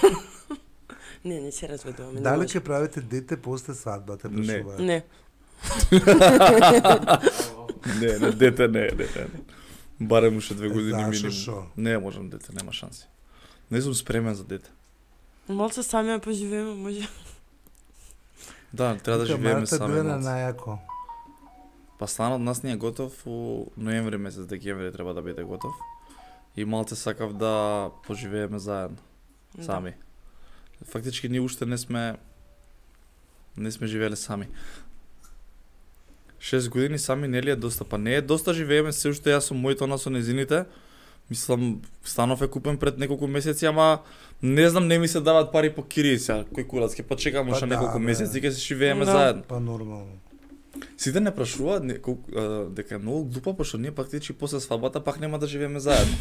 Не, не се разведуваме. не Дали може. ќе правите дете после свадбата? Не. прашуваат? Не. Не, не, дете не, не, не. Барем уште две години Зашо минимум. шо? Не можам дете, нема шанси. Не сум спремен за дете. Малце сами ја поживееме, може. Да, треба да Вика, живееме Марта сами. биле на малце. најако. Па станот нас не е готов у ноември месец, декември треба да биде готов. И малце сакав да поживееме заедно, Да. сами. Фактички ние уште не сме не сме живееле сами. Шест години сами нели е доста, па не е доста, живееме се уште јас со моите, она со незините. Мислам, станов е купен пред неколку месеци, ама не знам, не ми се даваат пари по кирии сега. Кој курац, ќе почекам Па уште да, неколку бе. месеци, ќе се живееме Да. заедно. Па нормално. Сите не прашуваат не, колку, а, дека е многу глупо, пошто ние практички после свадбата пак нема да живееме заедно.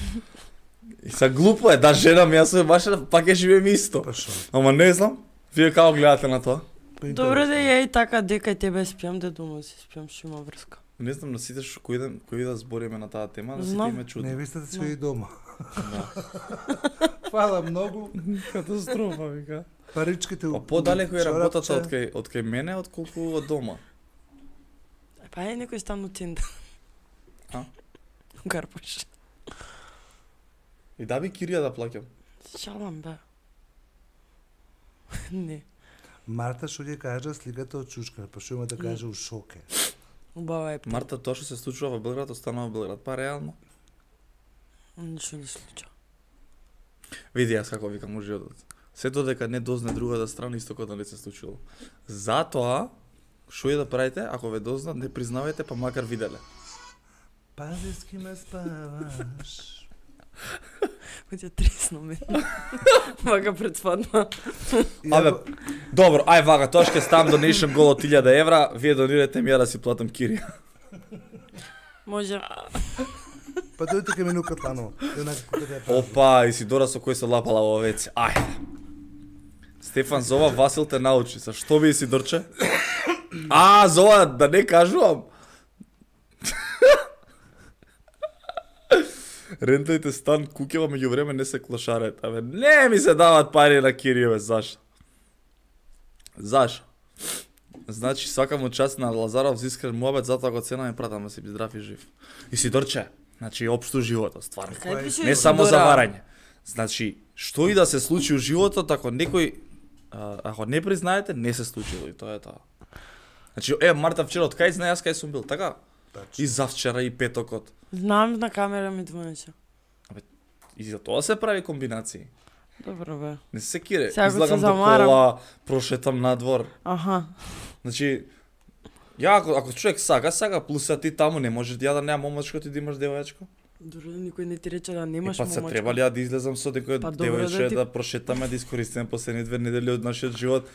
И са глупо е, да женам, јас со баша, пак ќе живееме исто. Па шо? Ама не знам, вие како гледате на тоа? Па Добро да интересно. ја и така дека тебе спиам, да дома си спиам, што има врска. Не знам на сите што кој ден, кој да збориме на таа тема, на сите Знам. им е чудно. Невестата си и дома. Да. Фала многу. Катастрофа, вика. Паричките Па подалеку е работата чорапче. од кај од кај мене отколку од дома. Па е некој стан од Тиндер. А? Гарпаш. И да би кирија да плаќам. Шалам, бе. Не. Марта што ќе кажа сликата од чучка, па што има да каже у шоке. Убава е. Марта, тоа што се случува во Белград, останува во Белград, па реално. Ништо не случува. Види јас како викам у животот. Се додека не дозне другата страна, исто како да не се случило. Затоа, што е да правите, ако ве дознат, не признавајте, па макар виделе. Пази с ким ме спаваш. Кој ја тресно ме. Вака пред свадба. Абе, добро, ај вака, тоа ќе ставам donation гол од илјада евра, вие донирате ми ја да си платам кирија. Може. Па дојте ке мену Катланово. Еднакво како да ја прави. Опа, Исидора со кој се лапала во веце. Ајде. Стефан зова, Васил те научи. Sa што би Исидорче? А, зова, да не кажувам. Рентајте стан, куќева меѓу време не се клошарете. Абе, не ми се дават пари на кирије, бе, зашо? Зашо? Значи, свака му част на Лазаров за искрен муабет, затоа го ценам и пратам да си здрав и жив. Исидорче, значи, општо животот, стварно. Кај пише Не само Исидора? за варање. Значи, што и да се случи у животот, ако некој а, ако не признаете, не се случило и тоа е тоа. Значи, е, Марта вчера од кај знае јас кај сум бил, така? Тачно. И завчера и петокот. Знам на камера ми звонеше. И за тоа се прави комбинации. Добро бе. Не се секире. Сега ако се Излагам до замарам. кола, прошетам надвор. Аха. Значи, ја ако, ако човек сака, сака, плюс а ти таму не можеш ја да нема момачко, ти да имаш девојачко. Дори никој не ти рече да Е, немаш па се момачка. треба ли ја да излезам со некој Па добро, девојче да ти- да прошетаме, да искористиме последни две недели од нашиот живот.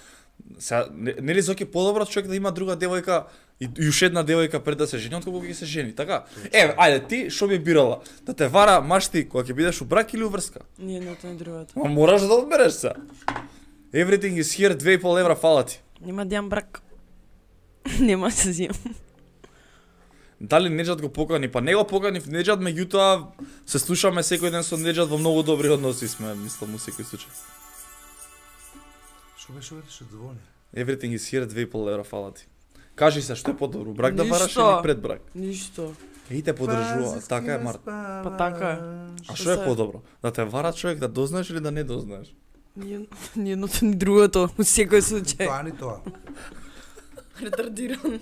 Сега, не, нели Зоки подобро човек да има друга девојка и, и уште една девојка пред да се жени, отколку ќе се жени, така? Е, ајде, ти што би бирала? Да те вара машти кога ќе бидеш у брак или у врска? Ни едното ни другото. Ма мораш да одбереш се. Everything is here, две и пол евра фала ти. Нема да јам брак. Нема се зијам. Дали Неџад го покани? Па не го покани в Неџад, меѓутоа се слушаме секој ден со Неџад во многу добри односи сме, мислам, у секој случај. Што беше ова што звони? Everything is here, две и пол евра фала ти. Кажи се што е подобро, брак да бараш Ништо. или пред брак? Ништо. И те подржува, така е Март. Па така е. А Што што е се- подобро? Да те вара човек да дознаеш или да не дознаеш? Ни ни едното ни другото, у секој случај. Тоа ни тоа. Ретардиран.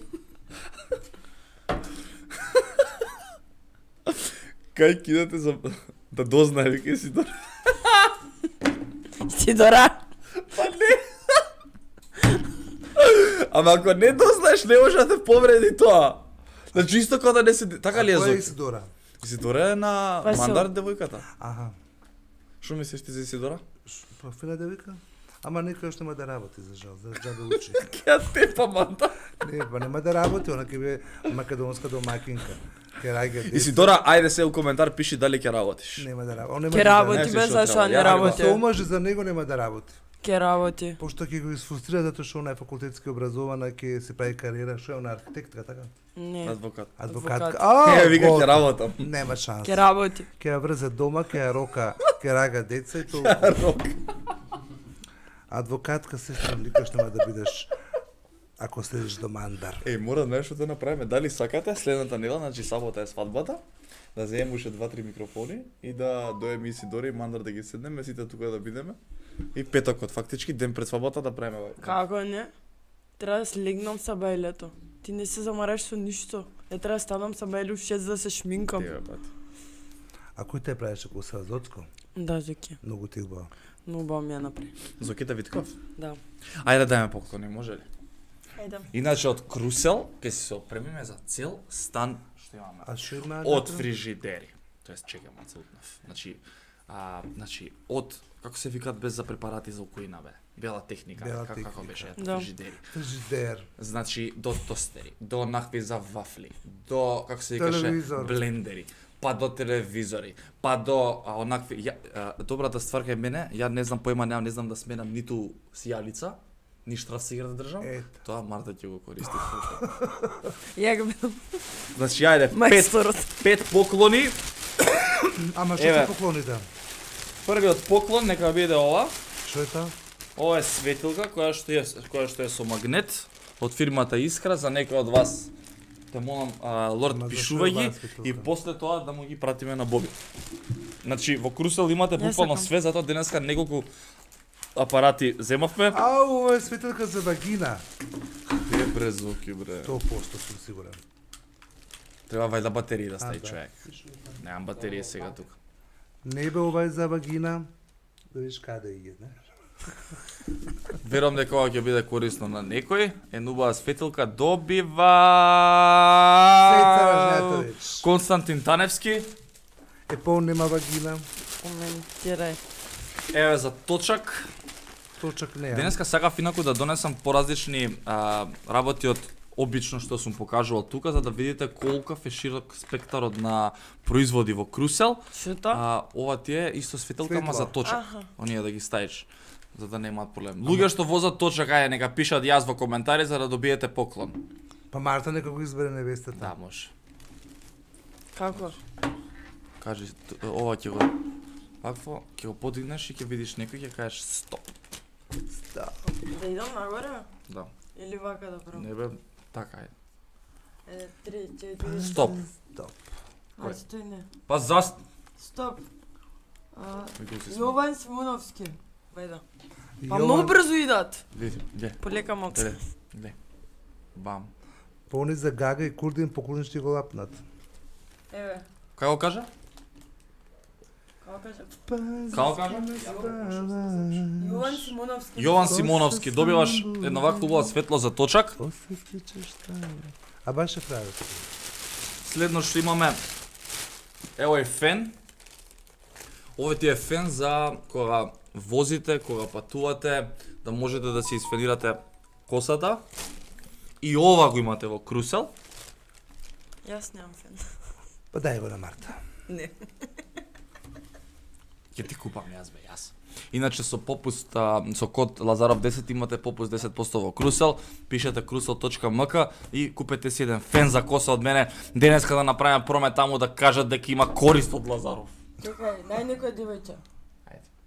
Кај кидате за да дознае веќе си до... Си дора. Па не. Ама ако не дознаеш, не може да те повреди тоа. Значи исто кога да не се така ли е Која е Зоки? Исидора? Исидора е на Па се- Мандар девојката. Аха. Што мислиш ти за Исидора? Ш- Профила девојка? Ама некој што нема да работи за жал, за џабе учи. Ќе ја тепа Мандар. Не, па нема да работи, она ќе биде македонска домакинка. Ќе раѓа деца. Исидора, ајде се у коментар пиши дали ќе работиш. Нема да работи. Он нема Ке да работи Не, без што зашо треба. не Ја, работи. Се омаже за него нема да работи. Ке работи. Пошто ќе го изфрустрира затоа што она е факултетски образована, ќе се прави кариера, што е она архитектка, така? Не. Адвокат. Адвокатка. Адвокат. А, Е, вика гот. ќе работам. Нема шанс. Ке работи. Ќе ја врзе дома, ќе ја рока, ќе рага деца и тоа. Рок. Адвокатка се што никош нема да бидеш ако следиш до Мандар. Еј, мора нешто да направиме. Дали сакате следната недела, значи сабота е свадбата, да земеме уште два-три микрофони и да доеме Исидора и Мандар да ги седнеме, сите тука да бидеме. И петокот, фактички ден пред свадбата да правиме вај. Како не? Треба да слегнам са бајлето. Ти не се замараш со ништо. Е треба да станам са бајле у шест да се шминкам. Тебе, пат. А кој те правеше коса Зоцко? Да, Зоки. Многу ти убаво. Но убаво ми ја направи. Зокита Витков. Да. Ајде да дајме поклони, може ли? Ајде. Иначе од Крусел ќе се опремиме за цел стан што имаме. А што има? Од внатре? фрижидери. Тоест чекам Ацелутнев. Значи, а, значи од како се викаат без за препарати за укоина бе. Бела техника, Бела како, како техника. беше Да. фрижидери. Фрижидер. Значи до тостери, до нахви за вафли, до како се викаше Телевизор. блендери, па до телевизори, па до а, онакви ја, а, добрата ствар кај мене, ја не знам појма немам, не знам да сменам ниту сијалица, ни штрафсигар да држам. Ето. Тоа Марта ќе го користи. Ја го бидам Значи ајде пет мајсторот. пет поклони. Ама што Еве. се поклоните? Првиот поклон нека биде ова. Што е тоа? Ова е светилка која што е која што е со магнет од фирмата Искра за некој од вас. Те молам, а, лорд, Ама зашо пишувај е оваа ги светилка? и после тоа да му ги пратиме на Боби. Значи во Крусел имате Ја буквално сакам. све, затоа денеска неколку апарати земавме. А, ова е светилка за вагина. Е бре звуки бре. сто проценти сум сигурен. Треба вајда батерии да А, стави да. човек. Немам батерија сега тука. Не бе ова е за вагина. Да видиш каде иде, не? Верувам дека ова ќе биде корисно на некој. Една убава светилка добива Сеца Важњатовиќ. Константин Таневски. Е пол нема вагина. Коментирај. Еве за точак. Точак не е. Денеска сакав инаку да донесам поразлични а, работи од обично што сум покажувал тука, за да видите колкав е широк спектарот на производи во Крусел. Што тоа? А, ова ти е исто светилка, ама Светла. за точак. Аха. Оние да ги ставиш, за да немаат проблем. Луѓе што возат точак, ајде нека пишат јас во коментари за да добиете поклон. Па Марта нека го избере невестата. Да, може. Како? Кажи, т- ова ќе го вакво, ќе го подигнеш и ќе видиш некој ќе кажеш стоп. Да. Да идам нагоре? Да. Или вака да правам? Не бе, така е. Е, три, четири. Стоп. Стоп. А, стој не. Па заст. Стоп. А, Кој си сме? Јован Симоновски. Вајда. Па многу брзо идат. Види, гле. Полека Мокса. Гле, гле. Бам. Пони за Гага и Курдин поколни ќе го лапнат. Еве, Како кажа? како кажа? Како кажа? Јован Симоновски. Јован Симоновски, добиваш една ваква убава светло за точак. А баш е прави. Следно што имаме, ево е фен. Овој ти е фен за кога возите, кога патувате, да можете да си изфенирате косата. И ова го имате во Крусел. Јас немам фен. Па дај го на Марта. Не. Ќе ти купам јас бе, јас. Иначе со попуст, а, со код Лазаров десет имате попуст десет проценти во Крусел. Пишете крусел точка ем ка и купете си еден фен за коса од мене. Денеска да направиме промет таму да кажат дека има корист од Лазаров. Чекај, дај некој девојче.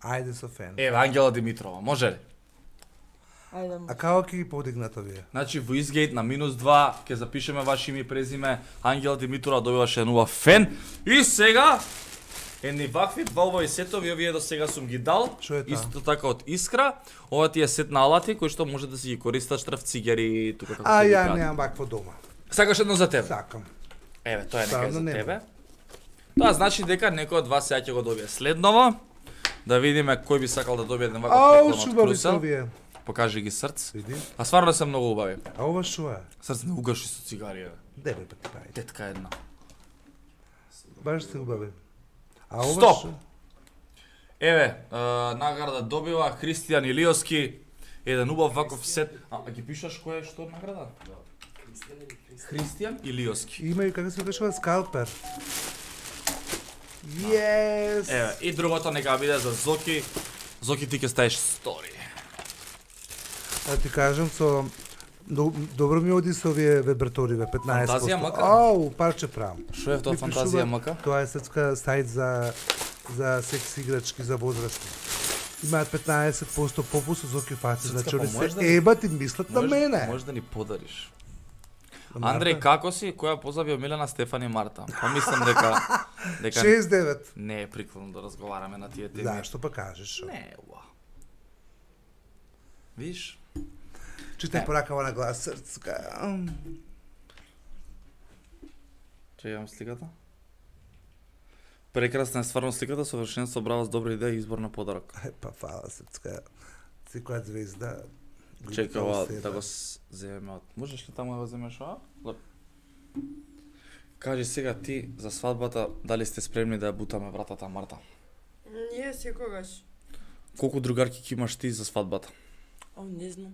Ајде со фен. Еве Ангела Димитрова, може ли? Ајде му. А како ќе ги подигнат овие? Значи во изгейт на минус два ќе запишеме ваше име и презиме. Ангела Димитрова добиваше еден убав фен. И сега едни вакви два убави сетови, овие до сега сум ги дал. Што е таа? Исто така од Искра. Ова ти е сет на алати кои што може да си ги користаш штраф цигери тука како А ќе ги ја прават. немам вакво дома. Сакаш едно за тебе? Сакам. Еве, тоа е Ставно нека за нема. тебе. Тоа значи дека некој од вас сега ќе го добие следново. Да видиме кој би сакал да добие еден ваков Ау, поклон од шубави се Крусел. овие. Покажи ги срц. Види. А стварно се многу убави. А ова што е? Срц не угаши со цигари, еве. Деве пати прави. Тетка една. Баш се убави. А ова Стоп! што? Еве, е, награда добива Христијан Илиоски. Еден убав ваков сет. А, а ги пишаш кој е што награда? Христијан Илиоски. Има и како се кажува скалпер. Yes. Еве, и другото нека биде за Зоки. Зоки ти ќе ставиш стори. Да ти кажам со до- добро ми оди со овие вибраториве петнаесет проценти. Фантазија мака? Ау, парче правам. Што е тоа Ми фантазија пишува- мака? Тоа е српска сајт за за секс играчки за возрастни. Имаат петнаесет проценти попуст со Зоки фаци, Српска, значи па они можеш се да ми- ебат и мислат на Може- мене. Може да ни подариш. На Марта? Андреј, како си? Која позаби од Милена, Стефани, Марта? Па мислам дека дека шест девет. не е прикладно да разговараме на тие теми. Зашто па кажеш? Не, е, уа. Виш? Читай Не. поракава на глас срцка. Ам. Чекам сликата. Прекрасна е стварно сликата, совршенство, браво, с добра идеја и избор на подарок. Е, па фала срцка. Секоја звезда. го Чекай, има ова у себе. да го с- земеме од... Можеш ли таму да го земеш ова? Леп. Кажи сега ти за свадбата, дали сте спремни да ја бутаме вратата Марта? Ние секогаш. Колку другарки ќе имаш ти за свадбата? О, не знам.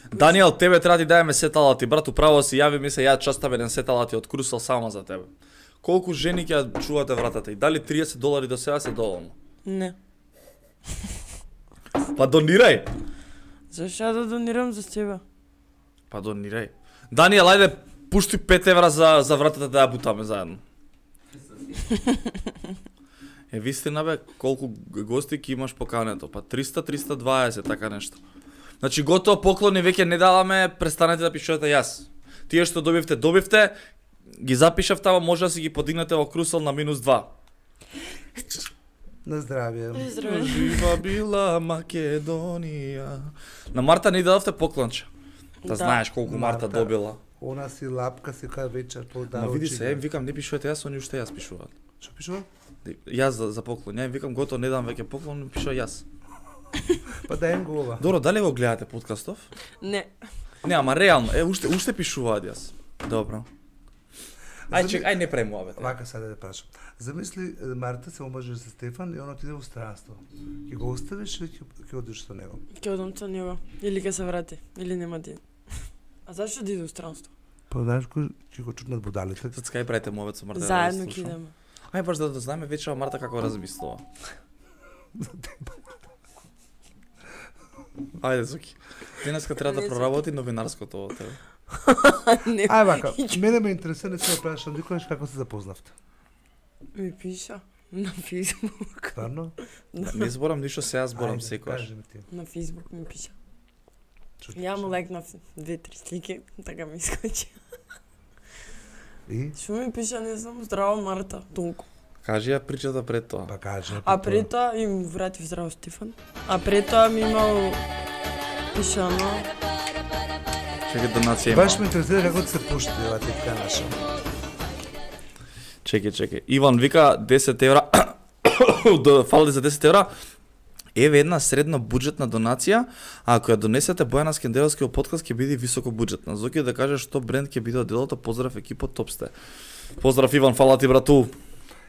Даниел, тебе треба да ти даеме сет алати, брат, управо си јави ми се, ја частам еден сет алати од Крусел само за тебе. Колку жени ќе ја чувате вратата и дали триесет долари до сега се доволно? Не. Па донирај. Зашто ја да донирам за тебе? Па донирај. Даниел, ајде пушти пет евра за за вратата да ја бутаме заедно. Е, вистина бе, колку г- гости ќе имаш покането? Па триста триста дваесет, така нешто. Значи готово поклони веќе не даваме, престанете да пишувате јас. Тие што добивте, добивте, ги запишав тама, може да си ги подигнете во Крусел на минус два. На здравје. Здраве. Жива била Македонија. На Марта ни дадовте поклонче. Да, Да. знаеш колку Марта, Марта. добила. Она си лапка си кај вечер по Ма дарочи. види се, ем викам не пишувате јас, они уште јас пишуваат. Што пишува? Јас за, за поклон, ја им викам готово, не дам веќе поклон, пишува јас. Па дај им го ова. Добро, дали го гледате подкастов? Не. Не, ама реално, е уште уште пишуваат јас. Добро. Ај Зами- чек, ај не правим ова бе. Вака сега да те прашам. Замисли е, Марта се омажи со Стефан и он отиде во странство. Ќе го оставиш или ќе ќе одиш со него? Ќе одам со него. Или ќе се врати. Или нема ден. А зашто да иде у странство? Па знаеш кој ќе го чутнат будалите. Сад скај правите мовет со Марта? Заедно да ја ќе слушам? идеме. Ај баш да да знаеме вечера Марта како размислува. Ајде, Зоки. Денеска треба да Не, Зоки. проработи новинарското од тебе. Не. Ај вака, мене ме интересира, не се да прашам никогаш како се запознавте. Ми пиша на Facebook. Стварно? Не зборам ништо, сега зборам Ајде, секогаш. кажи ми ти. На Facebook ми пиша. Што ти Ја му пише? лайкнав две-три слики, така ми искочи. И? Што ми пиша, не знам, здраво Марта, толку. Кажи ја причата пред тоа. Па кажа. А пред тоа им вратив здраво Стефан. А пред тоа ми имал пишано. Чекај, донација има. Баш ме интересира како се пушти ова типка наша. Чекај, чекај. Иван вика десет евра. Фали за десет евра. Еве една средно буџетна донација, а ако ја донесете Бојана Скендеровски во подкаст ќе биде високо буџетна. Зоки да каже што бренд ќе биде од делото, поздрав екипот, топ сте. Поздрав Иван, фала ти брату.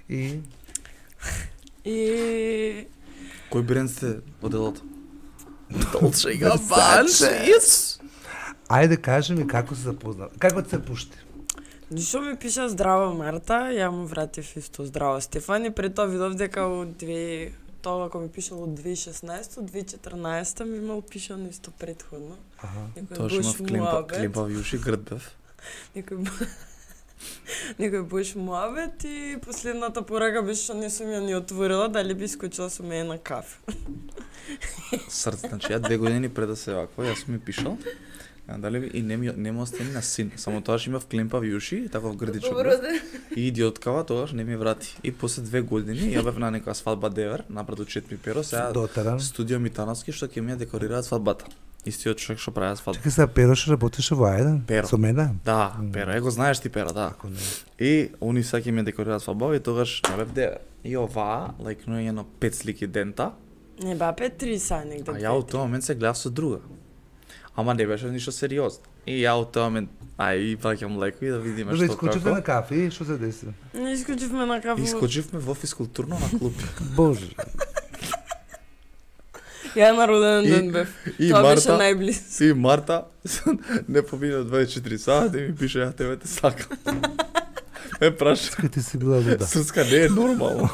И И Кој бренд сте од делото? Dolce and Gabbana. ајде кажи ми како се запозна. Како се пушти? Ништо ми пиша здрава Марта, ја му вратив исто здрава Стефан и пред тоа видов дека од две тоа ако ми пишало од две и шеснаесета, две и четрнаесета ми имал пишано исто предходно. Аха. Некој Тоа што бош има в климпа, муабет, климпа вјуши грдбев. некој бо- некој бош муабет и последната порака беше што не сум ја ни отворила, дали би искочила со мене на кафе. Срце, значи ја две години пред да се вакво, јас ми пишал. А, дали и не ми не му остани на син, само тоа што има в климпа вјуши, таков грдичок. бев. И идиоткава тогаш не ми врати. И после две години ја бев на некоја свадба девер, напред Четми Перо, сега Дотеран. студио Митановски што ќе ми ја декорираат свадбата. Истиот човек што прави свадба. Чекай сега, Перо што работеше во Ајден? Перо. Со мене? Да, Перо, е го знаеш ти Перо, да. Ако не. И они сега ќе ми ја декорираат свадба и тогаш не бев девер. И оваа, лајкнуе едно пет слики дента, Не ба пет три са негде. а ја од тој момент се гледав со друга. Ама не беше ништо сериозно. И ја од тој момент, ај, праќам леко и да видиме Добре, што искочивте на како. кафе и што се деси? Не искочивме на кафе. Искочивме во физкултурно на клуб. Боже. Ја на роден И- ден бев. И Тоа беше Марта, најблиско. и Марта, не помина дваесет и четири сати и ми пише, ја тебе те сакам. Ме праша, Кај ти си била луда. Суска не е нормално.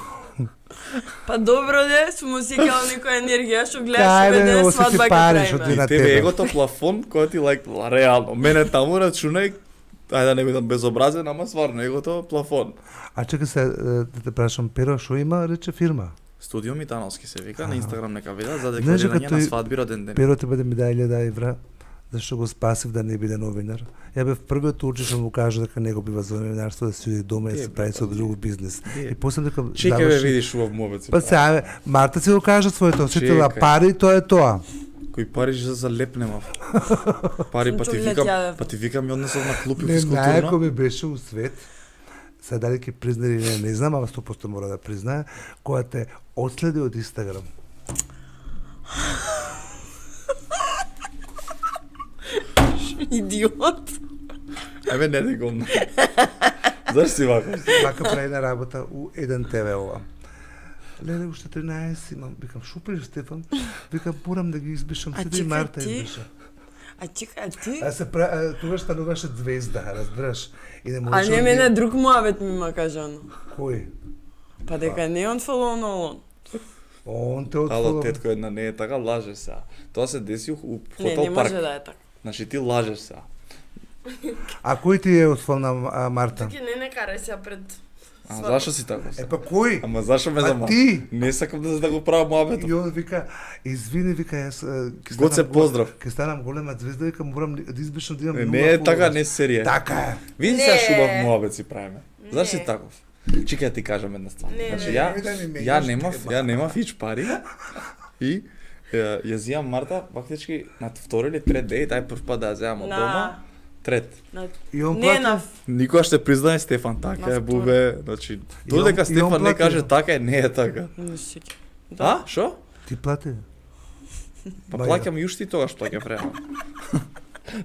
Па добро де, сум осекала некоја енергија што гледаш Кај, бе бе, ден осети свадба пари, ќе што правиме. ти- на И тебе тебе. егото плафон кој ти лайк, реално. Мене таму рачунај, ајде да не бидам безобразен, ама стварно егото плафон. А чекай се, да те прашам, Перо што има, рече фирма? Студио Митановски се вика, на Инстаграм нека видат за Знаеш дека декорирање на тој- свадби роден ден. Перо тебе да ми даде илјада евра, зашто го спасив да не биде новинар. Ја бев првиот учи што му кажа дека не го бива за новинарство, да си оди дома и да Е, се бе, прави со па, друг бизнес. е. И после дека Чекај бе заврши- видиш убав мобец. Па сега, бе, Марта си го кажа своето, осетила Чекај. пари, тоа е тоа. Кој пари за залепнемав. Пари па ти Чулет викам, јадев. па ти викам и однесов на клуб и Не, најако физкултурно. ми беше у свет. Сега дали ќе призна или не, не знам, ама сто проценти мора да признае, која те отследи од Инстаграм. Идиот. Еве не дегом. Зашто си вака? Вака прави на работа у еден те ве ова. Леле, уште тринаесет имам. Викам, шо правиш, Стефан? Викам, морам да ги избишам. А Седи и чекај Марта ти? избиша. А чекај, а ти? А се пра... а, тогаш стануваше звезда, разбираш? И не А можеше не да мене ги- друг муабет ми има кажано. Кој? Па дека не он фолоу на он. Он те Ало, отфолова. тетко една не е така, лажеш сега. Тоа се деси у- у Не, хотел не парк. може да е така. Значи ти лажеш сега. А кој ти е отфолна, а, Марта? Таки не не карај се пред. А свадба. зашо си така? Е, па кој? Ама зашо ме А зама? ти? Не сакам да да го правам муабетот. И он вика, извини, вика, јас а, ќе Гоце, станам гол- поздрав. Ќе станам голема звезда, вика, морам да избишам да имам Не, нула не е така, фоловери. не серија. Така е. Види Не. сега шубав муабет си правиме. Зашо си Не. таков? Чекај ти кажам една ствар. Не, Значи не, ја не да ми менјаш ја немав, тема. ја немав хич пари. И ја, ја зијам Марта, фактички на втори или трет дејт, ај прв пат да ја земам од дома. На... Трет. на... И он Не плати. на... Никогаш ще признае Стефан, така На е втори. бубе, значи И додека он- и он Стефан не плати. каже така е, не е така. Не се сеќам. А, шо? Ти плати. Па Мајка. плаќам и уште и тогаш плаќам реално.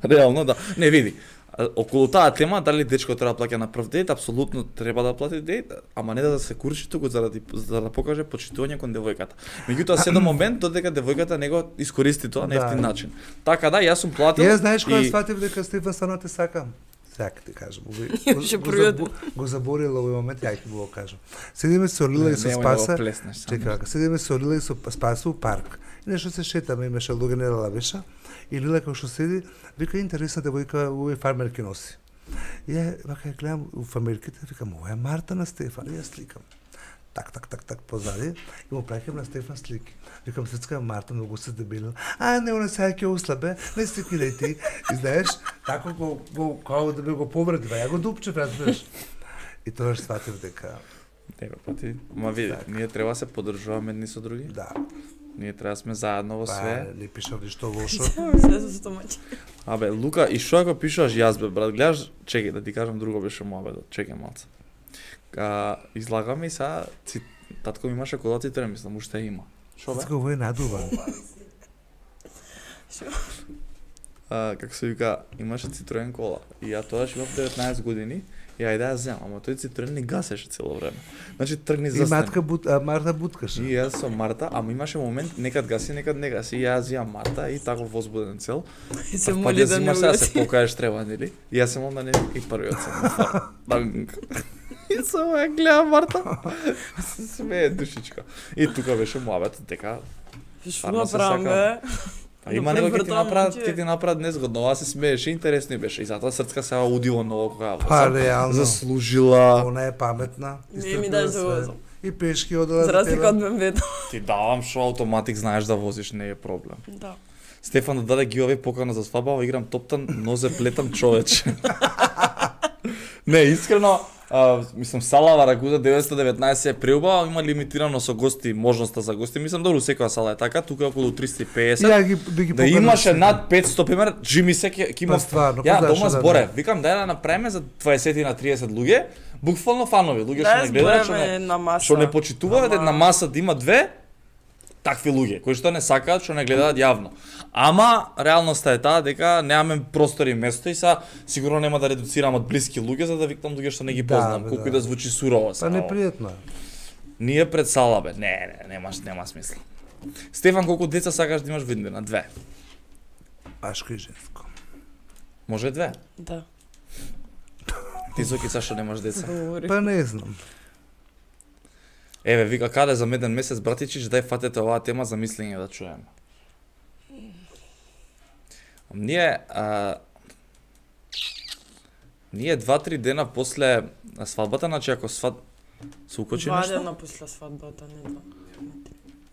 Реално да. Не види. а, Околу таа тема дали дечко треба да плаќа на прв дејт, апсолутно треба да плати дејт, ама не да се курчи туку заради за да покаже почитување кон девојката. Меѓутоа се до момент додека девојката не го искористи тоа на Да. ефтин начин. Така да, јас сум платил. Ја знаеш кога и- сватив дека Стефан стварно те сакам. Сега ќе ти кажам, го, Имаше го, го, првиот. забу- го заборила овој момент, ја ќе го кажам. Седиме со Лила и со Немој да го Спаса. плеснеш само. Чекај, вака, седиме со Лила и со Спаса у парк. И нешто се шетаме, имаше луѓе не лавеша. И Лила како што седи, вика интересна девојка, овој фармерки носи. И ја вака ја гледам у фармерките, викам, ова е Марта на Стефан, и ја сликам. Так, так, так, так, позади, и му праќам на Стефан слики. Викам, сецка Марта, многу се дебелил. А, не, она сега ќе услабе, не сликирај ти. И знаеш, тако го, го, као да ме го повредива, ја го дупчев, разбираш. И тоа што сватив дека Не, бе, па ти, ма види, ние треба да се поддржуваме едни со други. Да. Ние треба да сме заедно во Па, све. не пишав ништо лошо. Се со стомачи. Абе, Лука, и што ако пишуваш јас, бе, брат, гледаш, чекај да ти кажам друго беше муабедот, чекај малце. А, излагаме и сега, ци, татко ми имаше кола цитрен, мислам, уште има. Шо бе? Сега ово е надуван. А, како се вика, имаше Citroen кола. И ја тогаш имав деветнаесет години и ајде ја земам, ама тој Citroen не гасеше цело време. Значи тргни И застани. матка бут, а, Марта буткаше. И јас со Марта, ама имаше момент некад гаси, некад не гаси. И јас зијам Марта и тако возбуден цел. И се Па моли ќе да не зимаш сега се угаси. покажеш треба, нели? И јас се молам да не и првиот сам. Данг. И само ја гледам Марта. Се смее душичка. И тука беше муабетот дека Што Стварно се направам, сакам. бе? А има Добре, него ќе ти вртам, направат, значи. ќе ти направат незгодно, ова се смееше, интересно и беше. И затоа Срцка сега удиво ново кога Па, реално. заслужила. Она е паметна. Не ми даш да возам. И пешки одела За разлика од мембето. Ти давам шо автоматик знаеш да возиш, не е проблем. Да. Стефан да даде ги овие покана за свадба, играм топтан, нозе плетам човече. Не, искрено, а, мислам Салава Рагуза деветстотини и деветнаесет е преубава, има лимитирано со гости, можноста за гости. Мислам добро секоја сала е така, тука е околу триста и песет. Ја ги би ги Да поканал имаше сите. над петсто пример, Джими се ќе ќе има. Па стварно, Ја кој дома знаше да зборе, не? викам дај да направиме за дваесет на триесет луѓе, буквално фанови, луѓе што Да, не гледаат, што збореме не на маса. што не почитуваат, Ама- на маса да има две такви луѓе кои што не сакаат, што не гледаат јавно. Ама реалноста е таа дека немаме простор и место и са сигурно нема да редуцирам од блиски луѓе за да викнам луѓе што не ги Да, познам, бе, колку да. и да звучи сурово. Па са, непријатно е. Ние пред сала бе. Не, не, немаш нема смисла. Стефан, колку деца сакаш да имаш виднина? Две. Машко и женско. Може две. Да. Ти Зоки зашто немаш деца? Говори. Па не знам. Еве, вика каде за меден месец, братичич, дај фатете оваа тема за мислење да чуеме. Ние, а, ние два-три дена после свадбата, значи ако свад... Се укочи Два нешто? дена после свадбата, не два.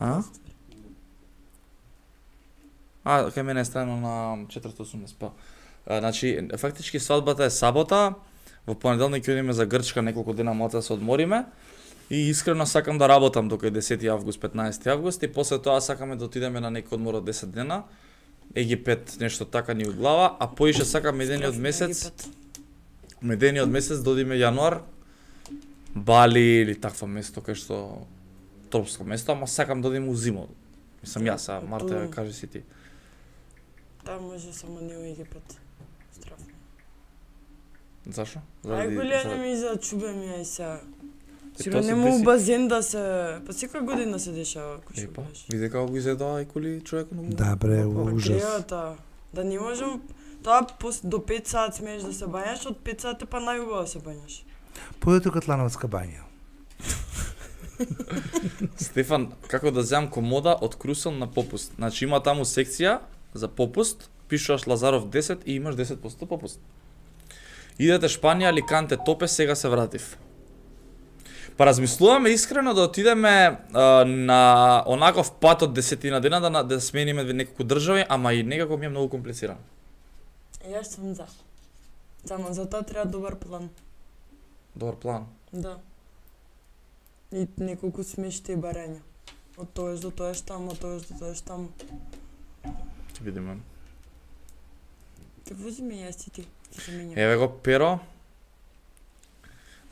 А? А, кај мене е страно на четиристотини и осумдесет, па. А, значи, фактички свадбата е сабота, во понеделник ќе одиме за Грчка неколку дена малку да се одмориме. И искрено сакам да работам дока е десети август, петнаесети август и после тоа сакаме да отидеме на некој одмор од десет дена. Египет, нешто така ни у глава, а поише сакам едениот месец, медениот месец да одиме јануар, Бали или такво место кај што тропско место, ама сакам да одиме у зимо. Мислам јас, а Марта Ту. кажи си ти. Там може само не у Египет. Страфно. Зашо? Ај голе не ми зачубе ми ај сега. Е, Сигурно тоа се нема у деси. базен да се... Па секоја година се дешава кој што Епа, кажеш. види како го изгледа коли човек на Да, бре, Па ужас. грејата. Да не можем... Тоа пос- до пет саат смееш да се бањаш, од пет саат е па најубаво да се бањаш. Појдете Катлановска бања. Стефан, како да земам комода од Крусел на попуст. Значи има таму секција за попуст, пишуваш Лазаров десет и имаш десет проценти попуст. Идете Шпанија, Аликанте, Топе, сега се вратив. Па размислуваме искрено да отидеме а, на онаков пат од десетина дена да, на- да смениме неколку држави, ама и некако ми е многу комплицирано. Јас сум за. Само за тоа треба добар план. Добар план. Да. И неколку смешти и барања. Од тоеш до тоеш таму, од тоеш до тоеш таму. Ќе видиме. Те вози ме јас и ти. Ќе се менја. Еве го Перо.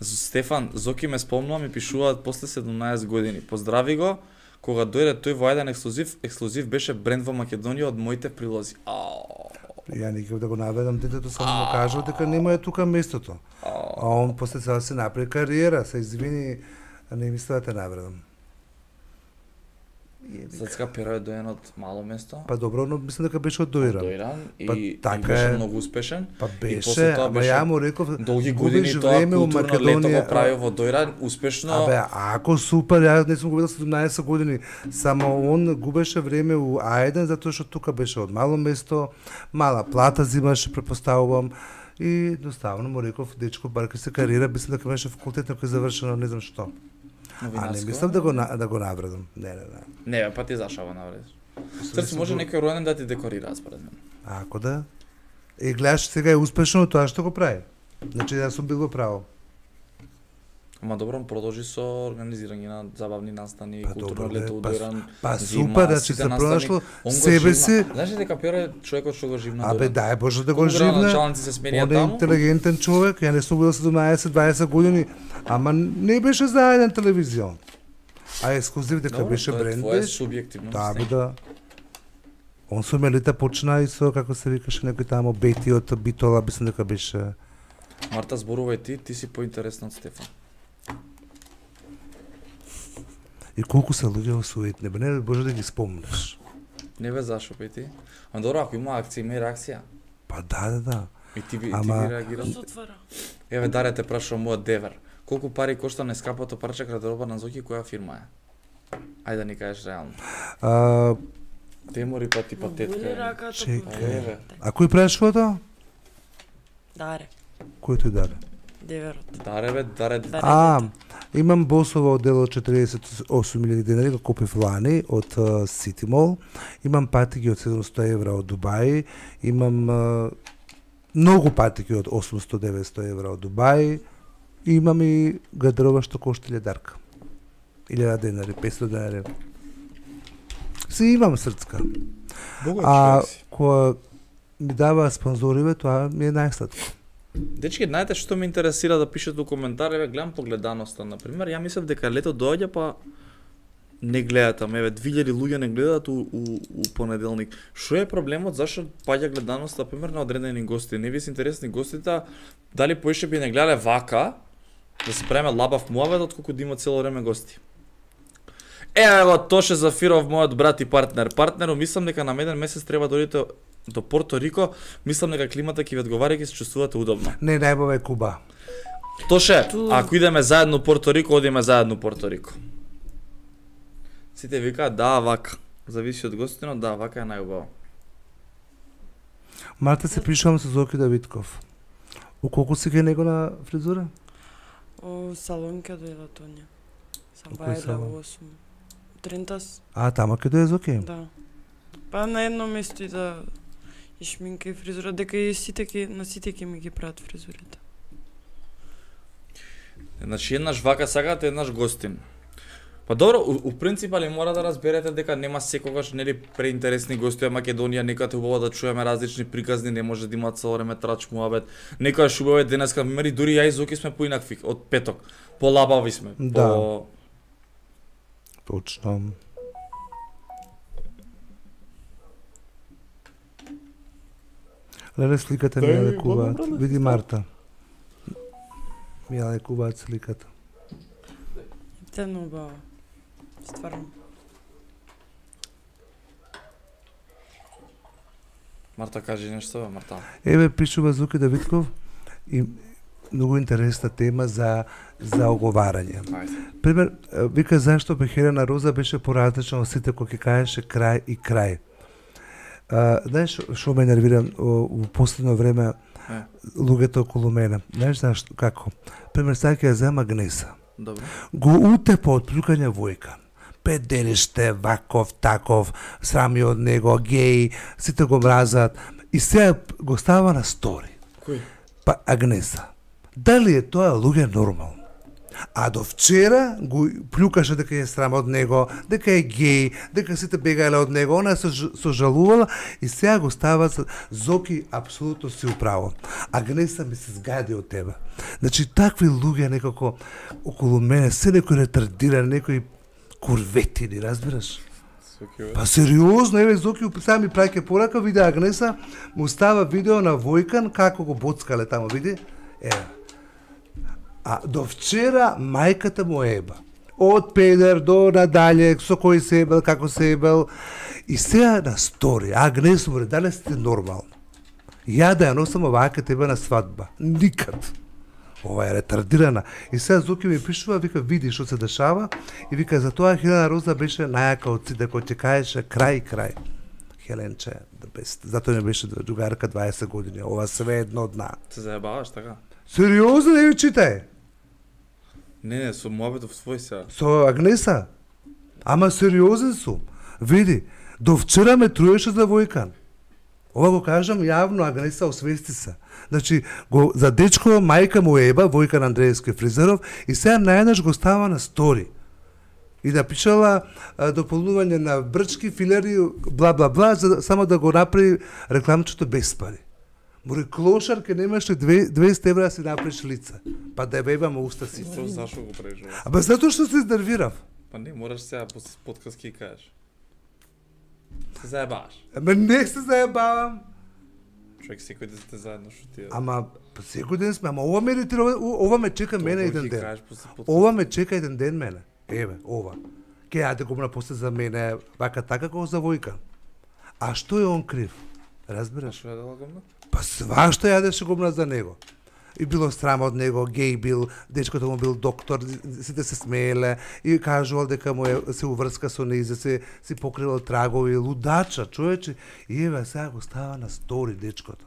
З- Стефан, Зоки ме спомнува, ми пишуваат после седумнаесет години. Поздрави го, кога дојде тој во еден ексклузив, ексклузив беше бренд во Македонија од моите прилози. Ао. Ја не ќе да го наведам детето, само му кажав дека нема е тука местото. А он после сега се направи кариера, се извини, а не мисля да те навредам. Срцка Перо е доен од мало место. Па добро, но мислам дека беше од Доиран. Доиран и, Па и така беше е. многу успешен. Па И после беше, тоа ама беше ја му реков, Долги губиш години тоа време у културно лето Македонија. го прави во Доиран, успешно. Абе, ако супер, ја не сум го видел седумнаесет години, само он губеше време у А еден затоа што тука беше од мало место, мала плата зимаше, препоставувам, и едноставно му реков, дечко, бар ке се кариера, мислам дека беше факултет некој завршено, не знам што. А не новинарско. мислам да го на- да го навредам. Не, не, не. Не, бе, па ти зашава навредиш. Срци може некој роден да ти декорира според мен. Ако да. И гледаш, сега е успешно тоа што го прави. Значи, јас сум бил во право. Ама добро, продолжи со организирање на забавни настани, Па културно добро, бе, лето, па, Доран, па зима, супер, значи сите се настани, пронашло он го себе живна. си. Знаеш ли дека Пјеро е човекот што го живна Абе, Доран? дај Боже да го Колку живне. граначалници се сменија Он е таму? интелигентен човек, ја не сум бил седумнаесет дваесет години, ама не беше за еден телевизион. А ексклузив дека Добро, беше тоа е бренд твое беше. субјективно Да, бе мислење. да. Он со Мелита почна и со, како се викаше, некој тамо Бети од Битола, мислам дека беше. Марта, зборувај ти, ти си поинтересна од Стефан. И колку се луѓе осуетни, бе, не Боже да ги спомнеш. Не бе зашо пети. Ама добро, ако има акција, има и реакција. Па да, да, да. И ти, ви- Ама- ти ги реагираш. Се отвара. Еве, Даре те прашувам мојот девер. Колку пари кошта нескапото парче гардероба на Зоки, која фирма е? Ајде да ни кажеш реално. А, Темори па ти па Боли тетка. е. раката. Чекај. по- Еве. а кој прашува тоа? Даре, Кој тој даде? деверот. Даре бе, Даре. Даре. А, имам босово одел од четириесет и осум илјади денари, го купив лани од uh, City Mall. Имам патики од седумсто евра од Дубај. Имам uh, многу патики од осумсто до деветсто евра од Дубај. Имам и гардероба што кошта илјадарка. илјада денари, петстотини денари. Си имам срцка. А која ми дава спонзориве, тоа ми е најсладко. Дечки, знаете што ме интересира да пишете у коментари, гледам погледаноста, на пример, ја мислев дека лето доаѓа па не гледат, ама еве две илјади луѓе не гледаат у, у, у понеделник. Што е проблемот, зашто паѓа гледаноста, на пример, на одредени гости? Не ви се интересни гостите, дали поише би не гледале вака, да се преме лабав муавет, отколку да има цело време гости. Еве го Тоше Зафиров, мојот брат и партнер. Партнеру, мислам дека на еден месец треба да одите до Порто Рико, мислам дека климата ќе ви одговара и ќе се чувствувате удобно. Не, најбава е Куба. Тоше, Ту- ако идеме заедно Порто Рико, одиме заедно Порто Рико. Сите викаат да, вака. Зависи од гостите, но да, вака е најубаво. Марта се пришувам со Зоки Давидков. У колку си кај него на фризура? О, салон ке дојде Тоња. Сам У кој бајле салон? во осум. Тринтас, А, тама кај дојде Зоки? да. Па на едно место и да и шминка и фризура, дека и сите ки, на сите ки ми ги прават фризурите. Значи, еднаш вака сакате, еднаш гостин. Па добро, у, у принцип, али мора да разберете дека нема секогаш нели преинтересни гости во Македонија, некад е убаво да чуеме различни приказни, не може да има цело време трач муабет. Некогаш убаво е денеска, мери дури ја и Зоки сме поинакви од петок. Полабави сме. Да. По... Точно. Леле сликата ми ја лекуваат. Види Марта. Ми ја лекуваат сликата. Тено убаво. Стварно. Марта, кажи нешто, бе, Марта. Еве пишува Зоки Давидков и многу интересна тема за за оговарање. Ајде. Пример, е, вика зашто Бехерена Роза беше поразлична од сите кои ќе кажеше крај и крај. А, знаеш што ме нервира о, во последно време Е. луѓето околу мене? Знаеш зашто како? Пример, сега ќе ја зема Гнеса. Добро. Го утепа од плюкање војка. Педериште, ваков, таков, срами од него, геј, сите го мразат. И сега го става на стори. Кој? Па Агнеса. Дали е тоа луѓе нормално? А до вчера го плюкаше дека е срам од него, дека е геј, дека сите бегале од него, она се ж- сожалувала и сега го става за- Зоки апсолутно си управо. Агнеса ми се згади од тебе. Значи такви луѓе некако околу мене, се некои ретардирани, некои курветини, разбираш? Па сериозно, еве Зоки сега ми праќа порака, виде Агнеса, му става видео на Војкан како го боцкале таму, види? Еве. А до вчера мајката му еба. Од педер до надале, со кој се ебел, како се ебел. И сега на стори, Агнес му дали сте нормално. Ја да ја носам овака тебе на свадба. Никад. Ова е ретардирана. И сега Зоки ми пишува, вика, види што се дешава. И вика, за тоа Хелена Роза беше најака од сите, кој ќе кажеше крај, крај. Хеленче, the best. Затоа не беше другарка дваесет години. Ова све едно дна. Се заебаваш така? Сериозно, не ви читај. Не, не, со муабетов свој сега. Со Агнеса. Ама сериозен сум. Види, до вчера ме труеше за Војкан. Ова го кажам јавно, Агнеса, освести се. Значи, го, за дечко мајка му еба, Војкан Андреевски Фризеров, и сега најнаш го става на стори. И напишала а, дополнување на брчки, филери, бла, бла, бла, за, само да го направи рекламчето без пари. Мори клошар, ке немаш ли двеста евра да си направиш лица, па да ја бебаме уста си. Зашо, зашо го правиш ова? Аба затоа што се изнервирав. Па не, мораш сега по подкаст ки кажеш. Се заебаваш. Ама не се заебавам. Човек секој ден сте заедно што ти е. Ама па секој ден сме, ама ова ме иритира, ова, ова ме чека мене еден ден. Кажеш после подкаст. Ова ме чека еден ден мене. Еве, ова. Ке јаде го мна после за мене, вака така како за Војкан. А што е он крив? Разбираш? Што е дала гомна? Па свашто јадеше гомна за него. И било срам од него, геј бил, дечкото му бил доктор, сите се смееле и кажувал дека му е, се уврска со нејзе, се си покривал трагови, лудача, човече. И еве сега го става на стори дечкото.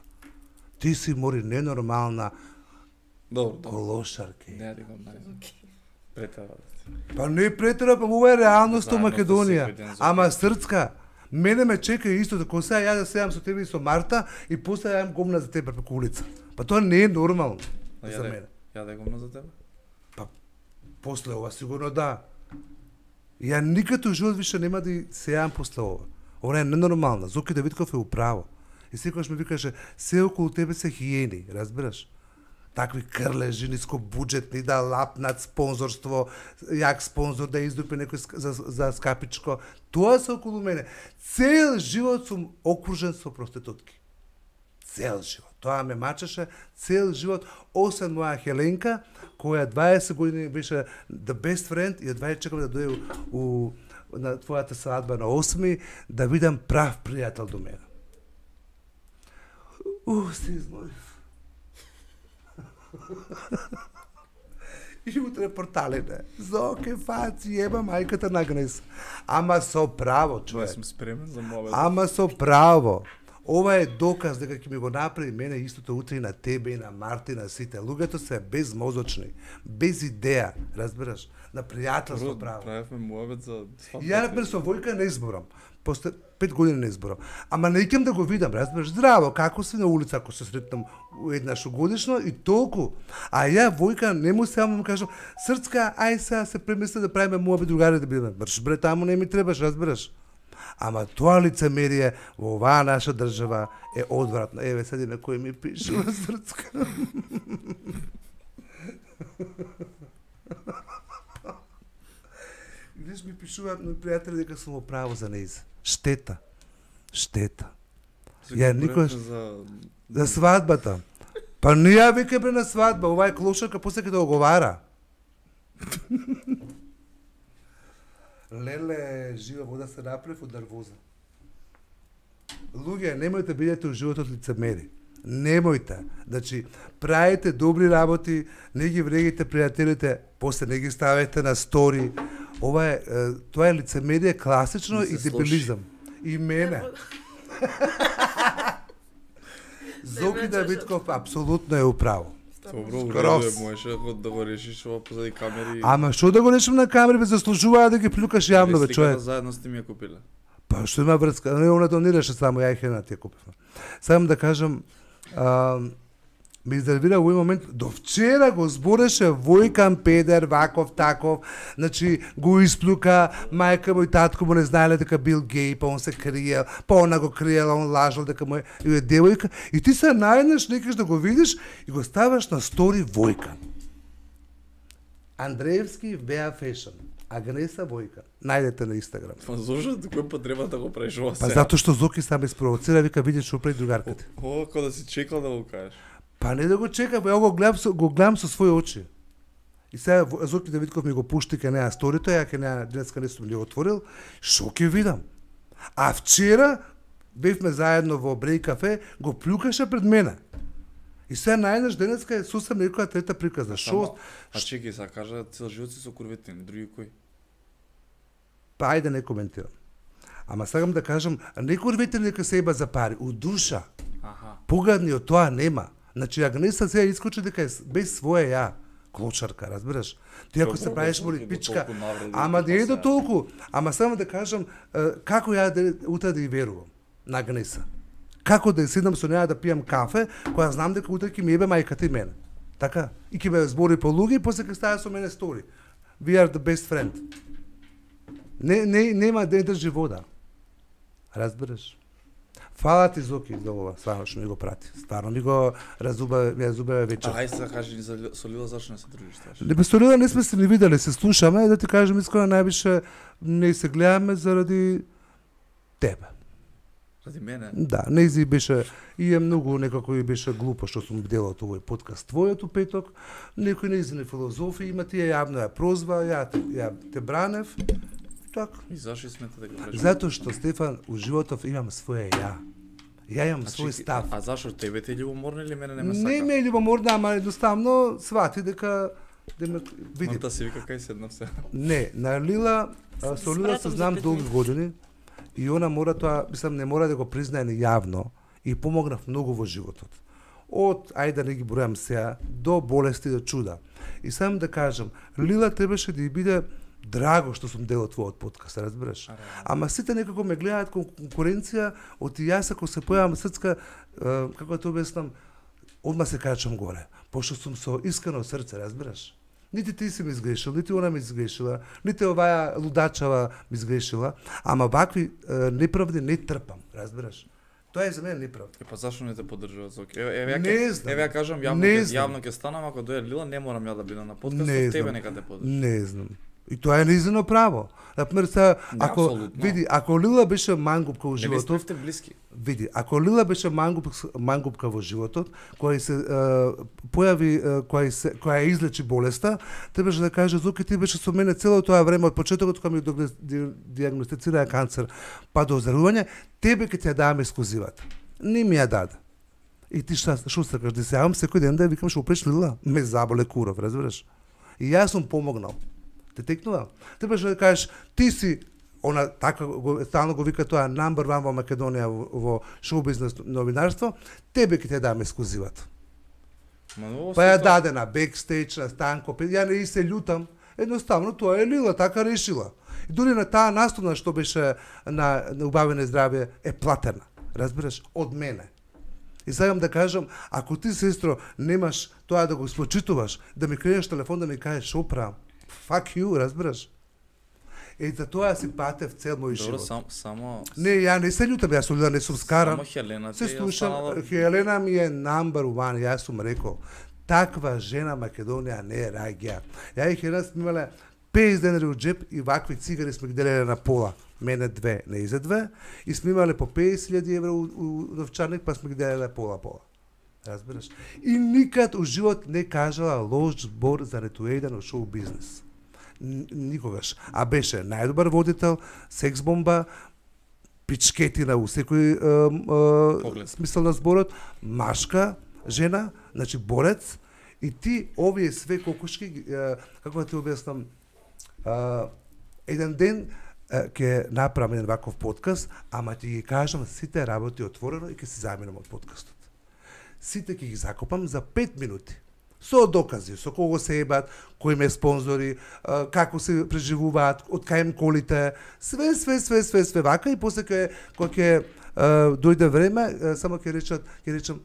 Ти си мори ненормална Добро, добро. колошарке. Не, да го најзам. Претера. Па не претера, па ова е реалност во Заедно сте Македонија. секој ден за Ама срцка, мене ме чека исто, како сега ја да седам со тебе и со Марта и после ја гомна за тебе преку улица. Па тоа не е нормално А за ја мене. Ја да гомна за тебе? Па после ова сигурно да. Ја никако живот више нема да се јавам после ова. Ова е ненормална. Зоки Давидков е управо. И секогаш ми викаше, се околу тебе се хиени, разбираш? Такви крлежи, нискобуџетни, да лапнат спонзорство, јак спонзор да издупи некој за, за скапичко. Тоа се околу мене. Цел живот сум окружен со проститутки. Цел живот. Тоа ме мачеше цел живот, освен моја Хеленка, која дваесет години беше the best friend и едва чекам да дојде у, у на твојата свадба на осми да видам прав пријател до мене. У, се изморив. И утре порталите. Зоке фаци, еба мајката на Агнеса. Ама со право, Не човек. сум спремен за мовет. Ама со право. Ова е доказ дека ќе ми го направи мене истото утре и на тебе и на Марти и на сите. Луѓето се безмозочни, без идеја, разбираш, на пријателство право. Правевме мовет за свадба. Ја например со Војка не изборам. После пет години не изборам. Ама не икам да го видам, разбираш, здраво, како си на улица, ако се сретнам еднаш годишно и толку. А ја Војка не му само му кажам, срцка, ај сега се премисли да правиме муабет другари да бидеме. Брш бре, таму не ми требаш, разбираш. Ама тоа лицемерие во оваа наша држава е одвратно. Еве седи на кој ми пишува срцка. Видиш ми пишуваат мои пријатели дека сум во право за нејзе. Штета. Штета. Ја никош За... за свадбата. Па не ја веќе бре на свадба, ова е клошарка после ќе да оговара. Леле, жива вода се направи од нервоза. Луѓе, немојте бидете у животот лицемери. Немојте. Значи, правите добри работи, не ги врегите пријателите, после не ги ставете на стори. Ова е, е тоа е лицемерие класично Не и се дебилизам. И мене. Зоки Давидков апсолутно е управо. Добро, уреду Скрос. е, можеш да го решиш ова позади камери. Ама што да го решим на камери, бе заслужуваа да ги плюкаш јавно, бе, Сликата човек. заедно сте ми ја купиле. Па што има врска? Не, она донираше само, ја и Хена ти ја купивме. Само да кажам, а, ми изервира во овој момент, до вчера го збореше Војкан педер, ваков, таков, значи го исплюка, мајка му и татко му не знаеле дека бил геј, па он се криел, па она го криела, он лажал дека му е, и е девојка, и ти се најдеш, некаш да го видиш и го ставаш на стори Војкан. Андреевски Веа Фешн, Агнеса Војкан. Најдете на Инстаграм. Па зошто кој потреба да го правиш ова Па сега? затоа што Зоки сам испровоцира, вика видиш што прави другарката. Ова како да си чекал да го кажеш. Па не да го чекам, ја го гледам со, го гледам со своји очи. И сега Во- Зоки Давидков ми го пушти кај неа сторито, ја кај неа денеска не сум ли отворил, шо ќе видам. А вчера бевме заедно во Брей кафе, го плюкаше пред мене. И сега најдеш денеска е сусем некоја трета приказна. Шо? Само- А чекај, сега кажа цел живот си со курветини, други кои? Па ајде не коментирам. Ама сакам да кажам, не курвете нека се еба за пари, у душа. Аха. Погадни од тоа нема. Значи, Агнеса сега искочи дека е с- без своја ја. Клочарка, разбираш? Ти ако Добро, се правиш добро, моли до пичка, толку навреди, ама па не е до сега. толку. Ама само да кажам, е, како ја да утре да ја верувам на Агнеса? Како да седам со неа да пијам кафе, која знам дека утре ќе ми ебе мајката и мене. Така? И ќе ме збори по луѓе и после ќе става со мене стори. We are the best friend. Не, не, нема да држи вода. Разбираш? Фала ти, Зоки, за ова, стварно што ми го прати. Стварно ми го разуба, ми разубаве вечер. А, ајде сега кажи ни за со Лила зашто не се дружиш тоа? Не, со Лила не сме се ни виделе, се слушаме, да ти кажем искрено највише не се гледаме заради тебе. Заради мене? Да, нејзи беше и е многу некако и беше глупо што сум делал овој подкаст твојот у петок. Некој нејзини филозофија има, ти ја јавно ја прозва, ја, ја те бранев. Така. И зашто смета дека кажеш? Затоа што, Стефан, у животов имам своје ја. Ја имам Значи, свој став. А зашто тебе те љубоморно или мене не ме сака? Не ме е љубоморна, ама едноставно свати дека да ме види. Морта си вика кај седнав се. Не, на Лила, а, со Лила се Смратам за знам пет долги минути. години и она мора тоа, мислам, не мора да го признае ни јавно и помогнав многу во животот. Од, ајде да не ги бројам сега, до болести, до чуда. И сам да кажам, Лила требаше да ја биде драго што сум дел од твојот подкаст, разбираш? А, да. Ама сите некако ме гледаат кон конкуренција, од и јас ако се појавам срцка, е, како да те обяснам, одма се качам горе, пошто сум со искрено срце, разбираш? Нити ти си ми изгрешил, нити она ми изгрешила, нити оваа лудачава ми изгрешила, ама вакви е, неправди не трпам, разбираш? Тоа е за мене неправда. Е, па зашто не те поддржува Зоки? Еве, еве, ја Не ке- знам. еве ја кажам јавно, Не ке- знам. јавно ќе станам, ако дојде Лила, не морам ја да бидам на подкастот, Не тебе знам. нека те поддржи. Не знам. И тоа е нејзино право. Например, са, ако апсолутно. види, ако Лила беше мангупка во Не ви животот, сте блиски. види, ако Лила беше мангуп, мангупка во животот, која се е, појави, е, која се која ја излечи болеста, требаше да каже Зоки ти беше со мене цело тоа време од почетокот кога ми догне- ди- дијагностицираа канцер, па до оздравување, тебе ќе ти ја давам ексклузивата. Не ми ја даде. И ти шта, шо сакаш да се јавам секој ден да ја викам што опреш Лила? Ме заболе куров, разбираш? И јас сум помогнал. Те текнува. Требаше да кажеш ти си она така го стално го вика тоа number one во Македонија во, во шоу бизнес новинарство, тебе ќе те дам ексклузивата. Ма ново Па ја се тоа- даде на бекстејдж, на станко, па ја не и се љутам. Едноставно тоа е Лила, така решила. И дури на таа наступна што беше на, на убавење здравје е платена. Разбираш, од мене. И сакам да кажам, ако ти, сестро, немаш тоа да го спочитуваш, да ми кренеш телефон да ми кажеш шо правам, fuck you, разбираш? Е, за тоа си патев цел мој Добро, живот. сам, само Не, ја не се љутам, јас со Лила не сум скаран. Само Хелена Се ти е слушам, останала- Хелена ми е number one, јас сум рекол. Таква жена Македонија не е раѓа. Ја и Хелена сме имале петдесет денари од джеп и вакви цигари сме ги делеле на пола. Мене две, не изе две. И сме имале по петдесет илјади евра у, у новчарник, па сме ги делеле пола-пола. Разбираш? И никад у живот не кажала лош збор за ниту еден од шоу бизнес. Н- Никогаш. А беше најдобар водител, секс бомба, пичкетина у секој е, е, Поглед. смисел на зборот, машка, жена, значи борец, и ти овие све кокошки, е, како да ти објаснам, е, еден ден е, ќе направам еден ваков подкаст, ама ти ги кажам сите работи отворено и ќе се заминам од подкастот. Сите ќе ги закопам за пет минути. Со докази, со кого се ебат, кои ме спонзори, а, како се преживуваат, од кај им колите, све, све, све, све, све вака и после ќе кога ќе а, дојде време, а, само ќе речат, ќе речам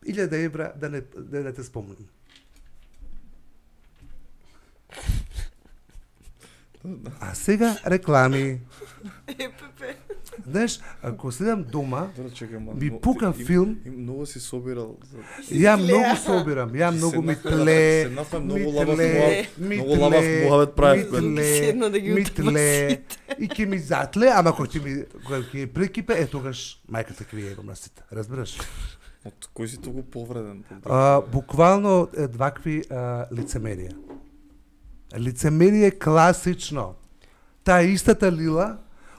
илјада евра да не да не те спомнам. А сега реклами. ЕПП. Знаеш, ако седам дома, Добро, чекај, ма, би но- пукам им- филм. им Многу си собирал за ја многу собирам, ја многу ми Седнавме да- тле, седнавме ми многу лабав тле, муавет- ми многу лабав тле, муавет правев, ми бе. тле, Седна да ги ми утврди тле, сите. и ќе ми затле, ама кога ќе ми кога ќе прекипе, е тогаш мајката ќе ви ебам на сите, разбираш? Од кој си толку повреден? А, буквално е вакви а, лицемерија. Лицемерие класично. Таа истата Лила,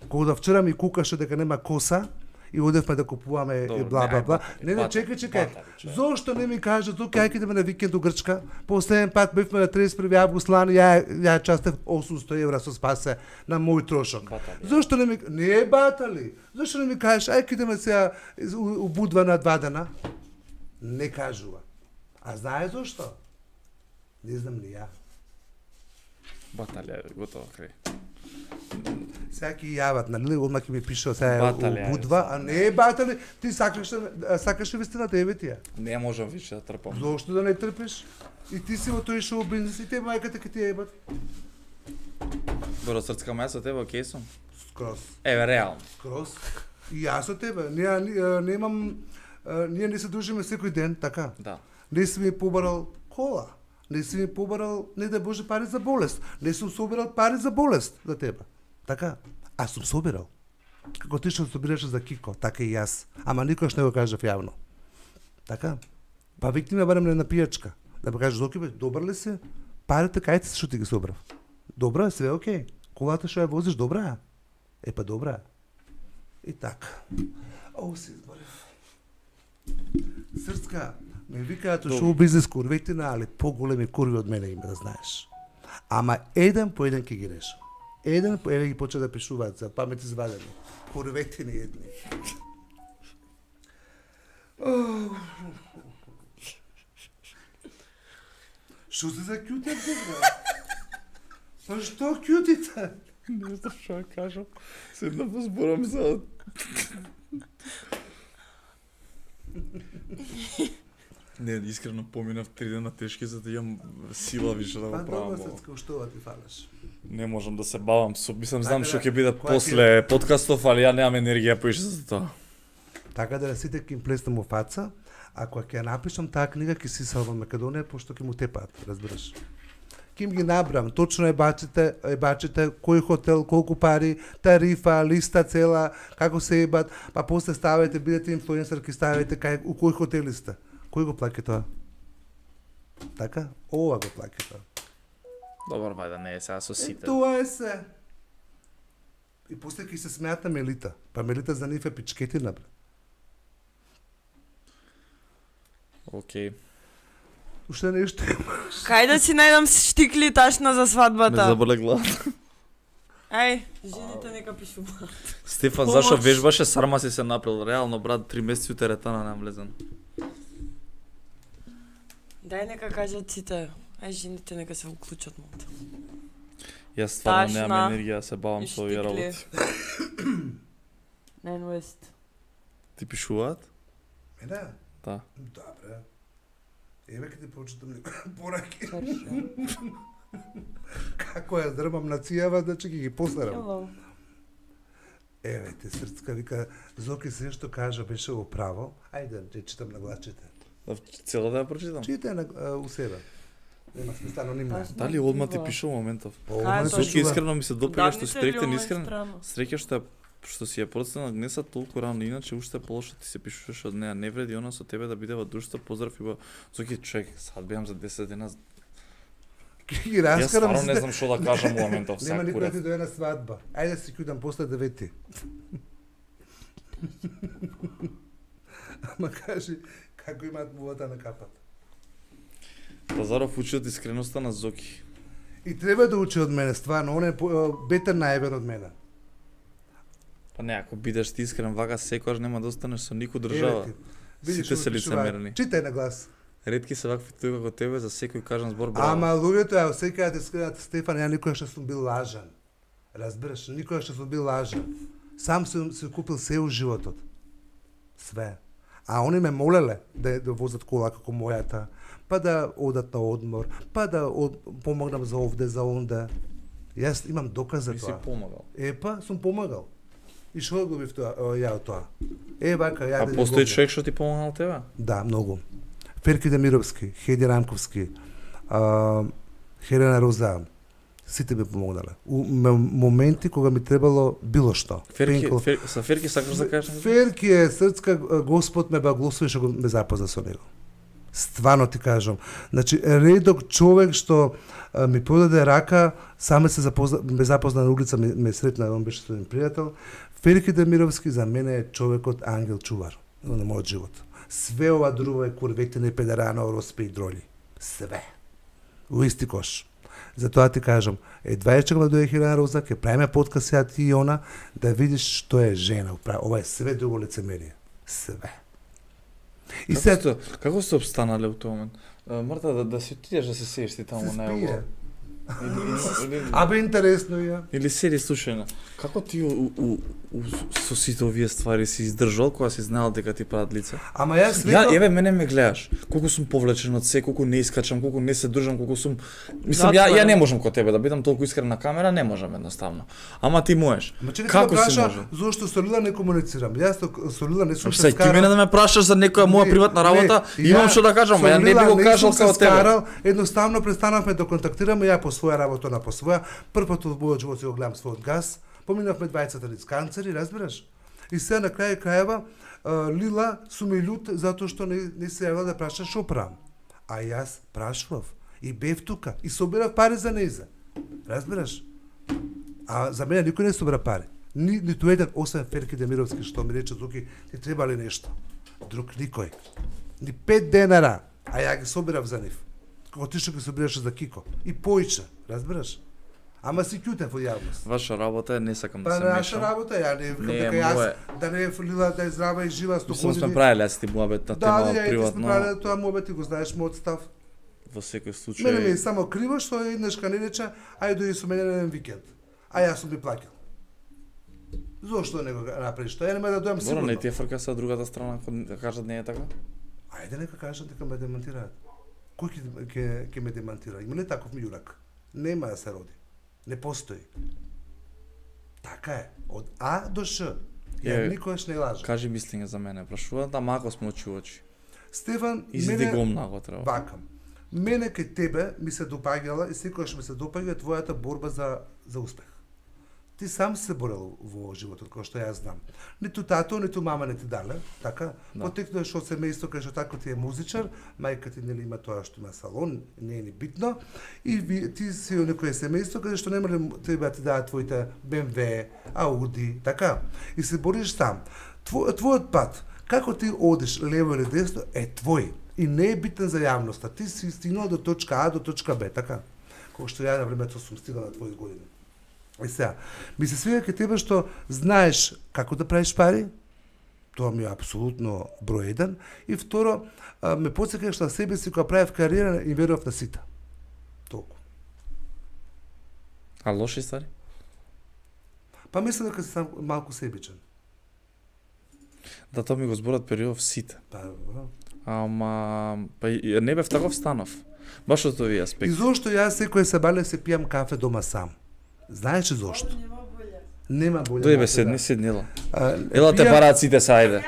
кога вчера ми кукаше дека нема коса, и одевме да купуваме и Добро, бла не, бла ај, бла. батари, Не, не, батари, чекај, чекај. батари, човек. Зошто не ми кажа тука ајде идеме на викенд у Грчка? Последен пат бевме на триесет и први август лани, ја ја частев осумсто евра со спасе на мој трошок. Батали. Зошто не ми не е батали? Зошто не ми кажеш ајде идеме сега у, у Будва на два дена? Не кажува. А знае зошто? Не знам ни ја. Баталија, готово, крај. Сега ќе јават, нали, одма ќе ми пишува сега Батали, у Будва, а не е батали, ти сакаш да- сакаш вистината, еве ти ја. Не можам више да трпам. Зошто да не трпиш? И ти си во тој шоу бизнес и те мајката ќе ти ја ебат. Бро, срцка маја со тебе, окей сум. Скроз. Еве, реално. Скроз. И јас со тебе. Ние ние немам а, ние не се дружиме секој ден, така. Да. Не си ми побарал кола. Не си ми побарал, не да Боже, пари за болест. Не сум собирал пари за болест за тебе. Така. Аз сум собирал. Како ти што собираше за Кико, така и јас. Ама никош не го кажав јавно. Така. Па викни ме барем на пијачка. Да ме кажеш, Зоки, бе, добар ли си? Парите кај ти што ти ги собрав? Добра, све окей. Колата што ја возиш, добра? Е, па добра. И така. О, се изборев. Срцка, ме викаат у шоу бизнес курветина, али поголеми курви од мене има, да знаеш. Ама еден по еден ќе ги решам. Еден по еден ги почна да пишуваат за памет извадени. Курветини едни. Што се за кјутите, бе? Па што кјутите? Не знам што ја кажам. Седнав да зборам за... Не, искрено поминав три дена тешки за да имам сила више да Па го добро, правам. Срцка, што ти фалаш? Не можам да се бавам со, мислам, знам Така што да, ќе биде која после подкастов, али ја немам енергија поише за тоа. Така да сите ќе им плеснам у фаца, ако ќе ја напишам таа книга ќе си салва Македонија, пошто ќе му тепаат, разбираш. Ќе им ги набрам, точно е бачите, е бачите, кој хотел, колку пари, тарифа, листа цела, како се ебат, па после ставајте, бидете инфлуенсер, ќе ставајте кај у кој хотели сте. Кој го плаќа тоа? Така? Ова го плаќа тоа. Добар, бајде, не е сега со Е, сите. тоа е се. И после ќе се смеат на Мелита. Па Мелита за нив е пичкетина, бре. Окей. Уште нешто имаш. Кај да си најдам штикли ташна за Ме свадбата? заболе глава. Ај, жените нека пишуваат. Стефан, Помош. зашо вежбаше, сарма си се напрел. Реално, брат, три месеци у теретана не влезен. Дај нека кажат сите. Ај, жените нека се уклучат малку. Јас стварно Ташна немам енергија да се бавам и со овие штикли. работи. Найн Уест. Ти пишуваат? Мене? Да. Добре. Еве ќе ти прочитам некои пораки. Хорошо. Како ја дрмам на цијава, значи ќе ги посарам. Hello. Еве те Срцка вика, Зоки се што кажа беше во право. Ајде, ќе читам на гласчите. Да, цела да ја прочитам. Читај на а, у себе. Нема смисла анонимно. Ташна. Дали одма ти Бива. пише моментов? По А, овој тоа Зоки, чува. искрено ми се допира што си Давните ректен ли искрен. страна? Среќа што ја што си ја процена гнеса толку рано, иначе уште полошо ти се пишуваш од неа. Не вреди она со тебе да биде во друштво, поздрав и во Зоки, човек, сад беам за десет дена. Ќе ги Јас раскарам. стварно не сите. знам што да кажам во моментов, Нема сега никој да курев. ти дојде на свадба. Ајде да си кјудам после девети. Ама кажи, како имаат мувата на капата. Тазаров учи од искреноста на Зоки. И треба да учи од мене, стварно, он е по- бетер најбен од мене. Па не, ако бидеш ти искрен вака, секогаш нема да останеш со никој Еве држава. ти. Видиш Сите што се пишуваат. лицемерни. Читај на глас. Ретки се вакви тој како тебе, за секој кажан збор браво. Ама луѓето ја секаат да скриат Стефан, ја никоја што сум бил лажан. Разбираш, никоја што сум бил лажан. Сам сум се купил се у животот. Све. А они ме молеле да да возат кола како мојата, па да одат на одмор, па да од, помогнам за овде, за онде. Јас имам доказ за Ми си тоа. помагал. Епа, сум помагал. И што го бив тоа, о, ја од тоа. Е, вака, ја А да ја постои го- човек што ти помагал тебе? Да, многу. Ферки Демировски, Хеди Рамковски, а, Хелена Роза, сите ми помогнале. У м- моменти кога ми требало било што. Ферки, Пенкол. фер, са Ферки сакаш да кажеш? Ферки е Срцка, Господ ме благослови што го ме запозна со него. Стварно ти кажам. Значи, редок човек што а, ми подаде рака, саме се запозна, ме запозна на улица, ме, ме сретна, он беше студент пријател. Ферки Демировски за мене е човекот ангел чувар на мојот живот. Све ова друго е курветина и педерана, ороспе и дроли. Све. У исти кош. Затоа ти кажам, едва чекам да дојде Хелена Роза, ќе правиме подкаст сега ти и она, да видиш што е жена. Ова е све друго лицемерие. Све. И Како се сте, како сте обстанале у тој момент? А, Марта, да, да си отидеш да се седиш ти таму се на спие. него. Абе интересно ја. Или седи слушај, како ти у, у, у, со сите овие ствари си издржал кога си знаел дека ти прават лице? Ама јас Ја, свекав... еве мене ме гледаш, колку сум повлечен од се, колку не искачам, колку не се држам, колку сум мислам ја ја не можам кон тебе да бидам толку искрен на камера, не можам едноставно. Ама ти можеш. Ама чекай, Како ти си праша, може? зошто со Лила не комуницирам? Јас со- со Лила не сум се Сај ти мене да ме прашаш за некоја моја Не, приватна работа, не, имам ја што да кажам, со а ја не Лила би го не кажал сум се како тебе. скарал, едноставно престанавме да контактираме, ја по своја работа, на по своја. Прв пат во мојот живот си го гледам својот газ, поминавме дваесет канцери, разбираш? И сега на крај крајева а, Лила сум и лют затоа што не, не се јавила да праша шо правам. А јас прашував и бев тука и собирав пари за нејза. Разбираш? А за мене никој не собира пари. Ни, ниту еден, освен Ферки Демировски, што ми рече, Зуки, ти треба ли нешто? Друг никој. Ни пет денара, а ја ги собирав за нив. Како ти што ги собираше за Кико. И поише, разбираш? Ама си кјутен во јавност. Ваша работа е не сакам да Па се наша мешам. работа, ја не викам Не, дека јас мое- да не е Лила да е здрава и жива сто Мислам години. сме правеле аз ти муабет на Да, тема да, ја и ти сме приватно, правеле тоа муабет, ти го знаеш мојот став. во секој случај. Мене ми е само криво што еднаш ка не рече, ајде дојди со мене на еден викенд. А јас сум ти плаќал. Зошто не го направиш тоа? Ја нема да дојам Добро, сигурно. не ти е фрка со другата страна кога да кажат не е така? Ајде нека кажат дека ме демантираат. Кој ќе ќе ќе ме демантира? Има ли таков мјурак? Нема да се роди. Не постои. Така е. Од А до Ш. Ја Е, никогаш не лажам. Кажи мислење за мене, прашуваат, ама ако сме очи у очи. Стефан, Изиди го мене много треба. вакам. Мене кај тебе ми се допаѓала и секогаш ми се допаѓа твојата борба за за успех. Ти сам се борел во животот, кој што јас знам. Ниту тато, ниту мама не ти дале, така? Да. Потекнуваш од семејство кај што тако ти е музичар, мајка ти нели има тоа што има салон, не е ни битно, и ви, ти си во некое семејство каде што не може тебе да ти дадат твоите Б М В, Ауди, така? И се бориш сам. Тво, твојот пат, како ти одиш лево или десно, е твој. И не е битен за јавноста. Ти си стигнал до точка А до точка Б, така? Кој што ја на времето сум стигнал на твои години. И сега, ми се свига кај тебе што знаеш како да правиш пари, тоа ми е апсолутно број еден, и второ, а, ме потсекаш на себе си кога правев кариера и верував на сите. Толку. А лоши ствари? Па мислам дека си сам малку себичен. Да, тоа ми го зборат период сите. Па, бро. Ама па и- не бев таков станов. Баш од овие И аспекти. зошто јас секој сабале се пијам кафе дома сам? Знаеш ли зошто? Нема болја. Дојде бе начин, седни, да. седни ела. А, Ела те пијам- параат сите са, ајде.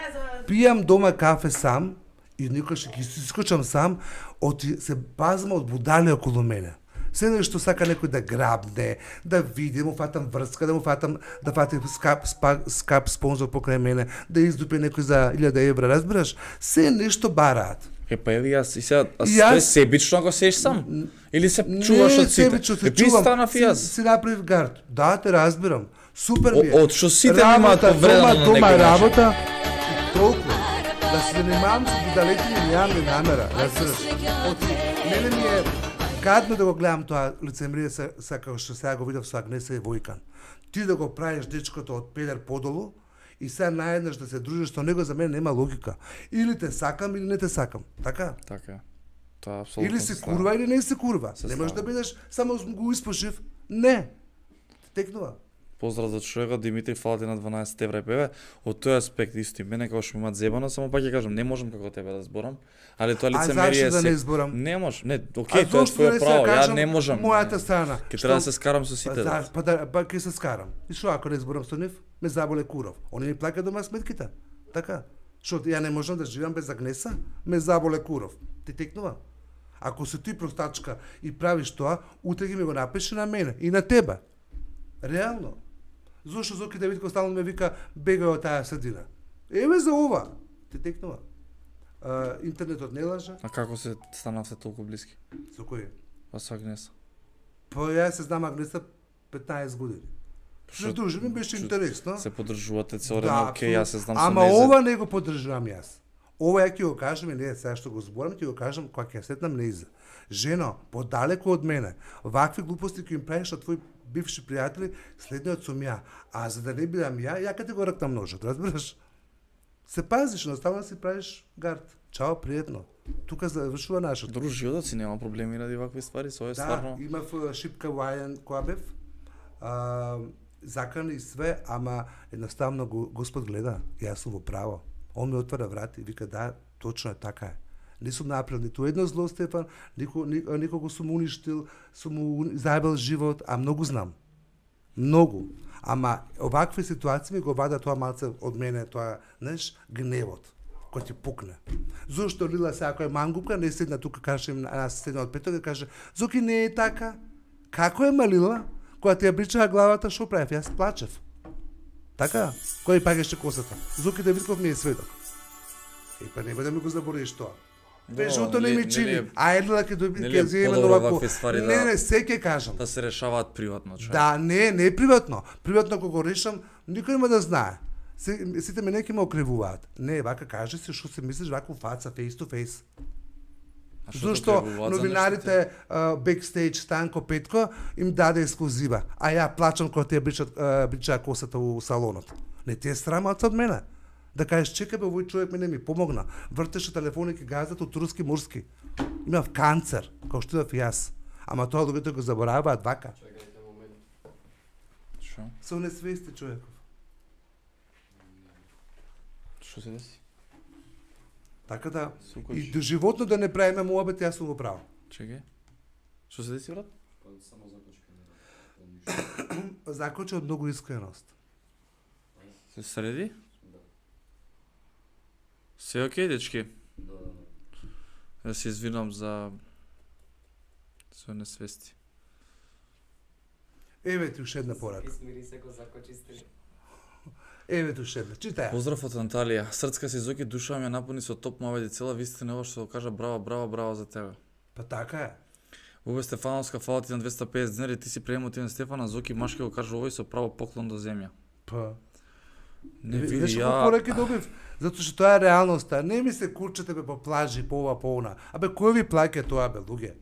Пијам дома кафе сам и никогаш ќе искочам сам, од се пазам од будали околу мене. Се нешто сака некој да грабне, да види, да му фатам врска, да му фатам, да фатам скап, спа, скап спонзор покрај мене, да издупе некој за илјада евра, разбираш? Се нешто бараат. Е, па еви јас, и сега, а И се јас- себично ако сееш сам? Или се чуваш од сите? себично се Е, би чувам. станав и јас. Си, си направив гард. Да, те разбирам. Супер ми е. О- од што сите немаат Работа, повредено дома, на дома некој начин. работа, и толку. Да се занимавам со будалети ми нямам ни намера, разбираш. Од мене ми е гадно да го гледам тоа лицемерие са, са како што сега го видов со Агнеса и Војкан. Ти да го правиш дечкото од педер подолу и сега наеднаш да се дружиш со него, за мене нема логика. Или те сакам или не те сакам, така? Така е. Тоа апсолутно Или се си слага. курва или не си курва. Се Не можеш да слага. бидеш само го испошив. Не. Текнува. Поздрав за човекот Димитри, фала ти на дванаесет евра и певе. Од тој аспект исто и мене како што ми имаат зебано, само пак ќе кажам, не можам како тебе да зборам, али тоа А лицемерие зашто да се- не зборам? Не можеш, не, А окей, тоа е зошто твое не се право, ја кажам не можам. мојата страна? Ќе Што- треба да се скарам со сите. Па, за, па, да, па ќе се скарам. И што ако не зборам со нив? Ме заболе куров. Они ми плаќаат дома сметките. Така. Што ја не можам да живеам без Агнеса? Ме заболе куров. Ти текнува. Ако си ти простачка и правиш тоа, утре ги ми го напиши на мене и на тебе. Реално. Зошто Зоки Давидко стално ме вика бегај од таа средина? Еве за ова. Ти текнува. А, интернетот не лаже. А како се станавте толку блиски? Со кој? Па со Агнеса. Па ја се знам Агнеса петнаесет години. Се дружиме, беше интересно. Се подржувате цело време, окей, јас се знам со Ама нејзе. ова не го поддржувам јас. Ова ја ќе го кажам и не сега што го зборам, ќе го кажам кога ќе сетнам нејзе. Жено, подалеку од мене, вакви глупости ќе им правиш на твои бивши пријатели, следниот сум ја. А за да не бидам ја, ја ќе го ракнам ножот, разбираш? Се пазиш, наставно си правиш гард. Чао, пријатно. Тука завршува нашето. Друг животот си нема проблеми ради вакви ствари, со е Да, стварно. имав а, шипка вајан која бев, а, закан и све, ама едноставно го, Господ гледа, јас сум во право. Он ми отвара врати и вика да, точно е така е. Не сум направил ниту едно зло, Стефан, нико, нико, никого сум уништил, сум му заебал живот, а многу знам. Многу. Ама овакви ситуации ми го вада тоа малце од мене, тоа, знаеш, гневот кој ти пукне. Зошто Лила се ако е мангупка, не седна тука, каже им, нас седна од петок и каже, Зоки не е така. Како е Малила? Кога ти ја бричаа главата, шо правев? Јас плачев. Така? Кој пагеше косата? Зоки Давидков ми е сведок. Е, па нема да ми го заборавиш тоа. Бежото не ми чини. А еднала ке доби нели ке е земе подобро овако. вакви ствари Не, да- не, се ќе кажам. Да се решаваат приватно, човек. Да, не, не е приватно. Приватно кога го решам, никој нема да знае. Се, сите мене ќе ме окревуваат. Не, вака кажи се што се мислиш вако фаца, face to face. А што те Зошто окревуваат за новинарите бекстејдж Станко Петко им даде ексклузива, а ја плачам кога тие бричат а, бричаа косата у салонот. Не ти е срама од мене. Да кажеш, чекај бе, овој човек мене ми помогна. Вртеше телефони ке газат од турски мурски. Имав канцер, како што имав и јас. Ама тоа луѓето го забораваат вака. Чекајте момент. Шо? Со несвести човеков. Што се деси? Така да, Сукош. и до животно да не правиме муабет, јас сум го правил. Чекај. Што се деси, брат? Па само закочка не ништо. Закоче од многу искреност. Се среди? Да. Се окей, дечки? Да, да, да. Ја се извинувам за со несвести. Еве ти уште една порака. Смири се го закочисти. Еве ти уште една. Читај. Поздрав од Анталија. Срцка си Зоки, душа ми ја напуни со топ маведи цела вистина ова што го кажа браво, браво, браво за тебе. Па така е. Убе Стефановска, фала ти на двеста и педесет денари, ти си преемотивен Стефана, Зоки Машке го кажа овој со право поклон до земја. Па. Не Знаеш види колку ја. пораки добив? Затоа што тоа е реалноста. Не ми се курчете бе по плажи, по ова, по она. Абе, кој ви плаќа тоа, бе, луѓе?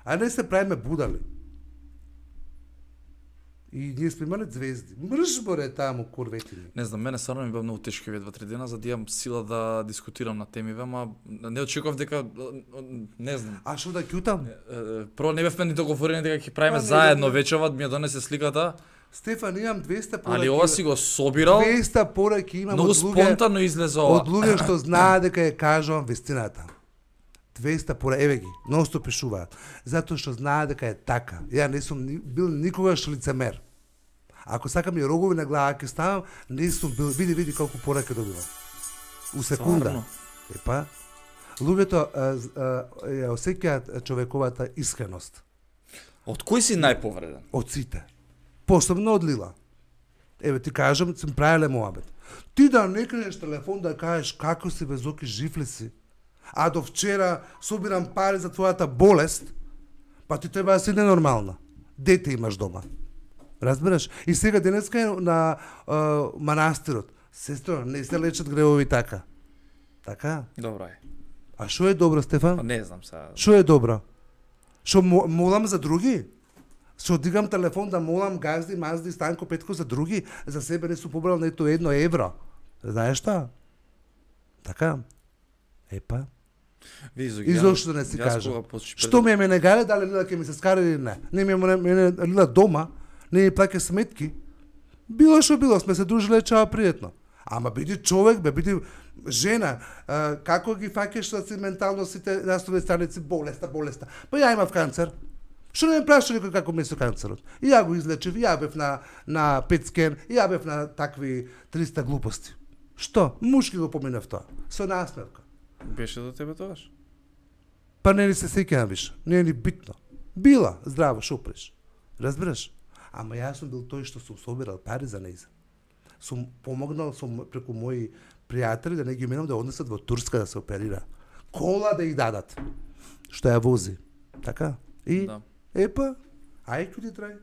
А не се правиме будали. И ние сме имале звезди. Мрш, боре, таму, курветини. Не знам, мене стварно ми бе многу тешко овие два-три дена за да имам сила да дискутирам на темиве, ама не очекував дека не знам. А што да ќутам? Е, Прво не бевме ни договорени дека ќе правиме Па, не, заедно не. вечерва, ми ја донесе сликата, Стефан, имам двеста пораки. али ова си го собирал, двеста пораки имам многу од луѓе, спонтано излезе од ова. луѓе што знаат дека ја кажувам вистината. двеста пораки, еве ги, ноsto пишуваат. Затоа што знаат дека е така. Ја не сум ни, бил никогаш лицемер. Ако сакам и рогови на глава ќе ставам, не сум бил, види, види колку пораки добивам. У секунда. Стварно? Епа, луѓето а, з- а, ја осеќаат човековата искреност. Од кој си најповреден? Од сите. Посебно од Лила. Еве ти кажам, сум правеле муабет. Ти да не кренеш телефон да кажеш како си бе Зоки, жив ли си? А до вчера собирам пари за твојата болест, па ти треба да си ненормална. Дете имаш дома. Разбираш? И сега денеска е на а, манастирот. Сестро, не се лечат гревови така. Така? Добро е. А што е добро, Стефан? Па не знам сега. Што е добро? Што мо- молам за други? Што дигам телефон да молам газди, мазди, Станко Петко за други, за себе не сум побрал нето едно евро. Знаеш што? Така? Епа. Види, Зоки, И ја- зошто да не си јас кажам? кога почти Што ми е мене гале, дали Лила ќе ми се скара или не? Не ми е мене, мене Лила дома, не ми плаќа сметки. Било што било, сме се дружиле чао пријатно. Ама биди човек, бе, биди жена, а, како ги фаќаш да си ментално сите насовни страници, болеста, болеста. Па ја имав канцер. Што не ме праша никој како ми со канцерот? И ја го излечив, и ја бев на, на пет скен, и ја бев на такви триста глупости. Што? Мушки го поминав тоа. Со насмевка. беше до тебе тогаш? Па не ни се сеќавам више. Не е ни битно. Била, здраво, шо преш. Разбираш? Ама јас сум бил тој што сум собирал пари за нејза. Сум помогнал сум преку мои пријатели да не ги минам да однесат во Турска да се оперира. Кола да ја дадат. Што ја вози. Така? И Да. епа, ај ти трај.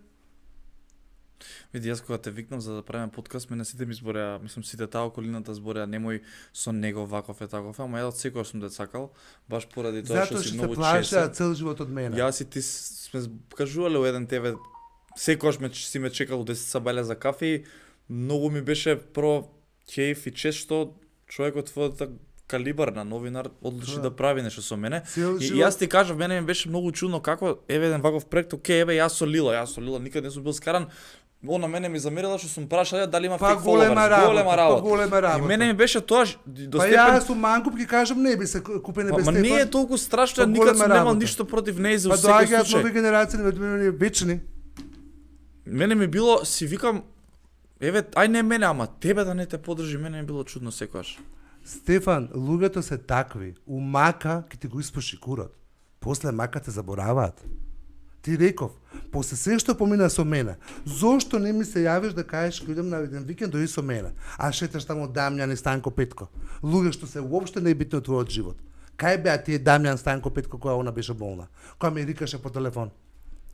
Види, јас кога те викнав за да правиме подкаст, мене сите ми збореа, мислам сите таа околината збореа, немој со него ваков е таков, ама ја од секој сум те сакал, баш поради тоа што Затоа си што се многу плашеа чесен. цел живот од мене. Јас и ти с- сме кажувале у еден тебе, секојаш ме си ме чекал у десет сабајле за кафе и многу ми беше прво кејф и чест што човекот твојата калибар на новинар одлучи Да. да прави нешто со мене. Цел И, и живот- јас ти кажав, мене ми беше многу чудно како еве еден ваков проект, окей, еве јас со Лила, јас со Лила никад не сум бил скаран. Она мене ми замерила што сум прашал дали има Па фейк голема followers, работа, голема па работа. голема работа. И мене ми беше тоа ж- до Па степен. јас сум мангуп ќе кажам не би се купене Па, без ма Стефан. не е толку страшно, Па ја никад голема сум немал работа. ништо против неј за Па секој доаѓаат случај. нови генерации на мене вечни. Мене ми било, си викам, еве, ај не мене, ама тебе да не те подржи, мене ми било чудно секогаш. Стефан, луѓето се такви. У мака ќе ти го испуши курот. После мака те забораваат. Ти реков, после се што помина со мене, зошто не ми се јавиш да кажеш ќе идем на еден викенд дојди со мене? А шеташ таму Дамјан и Станко Петко. Луѓе што се уопште небитни од твојот живот. Кај беа тие Дамјан, Станко Петко кога она беше болна? Која ми рикаше по телефон.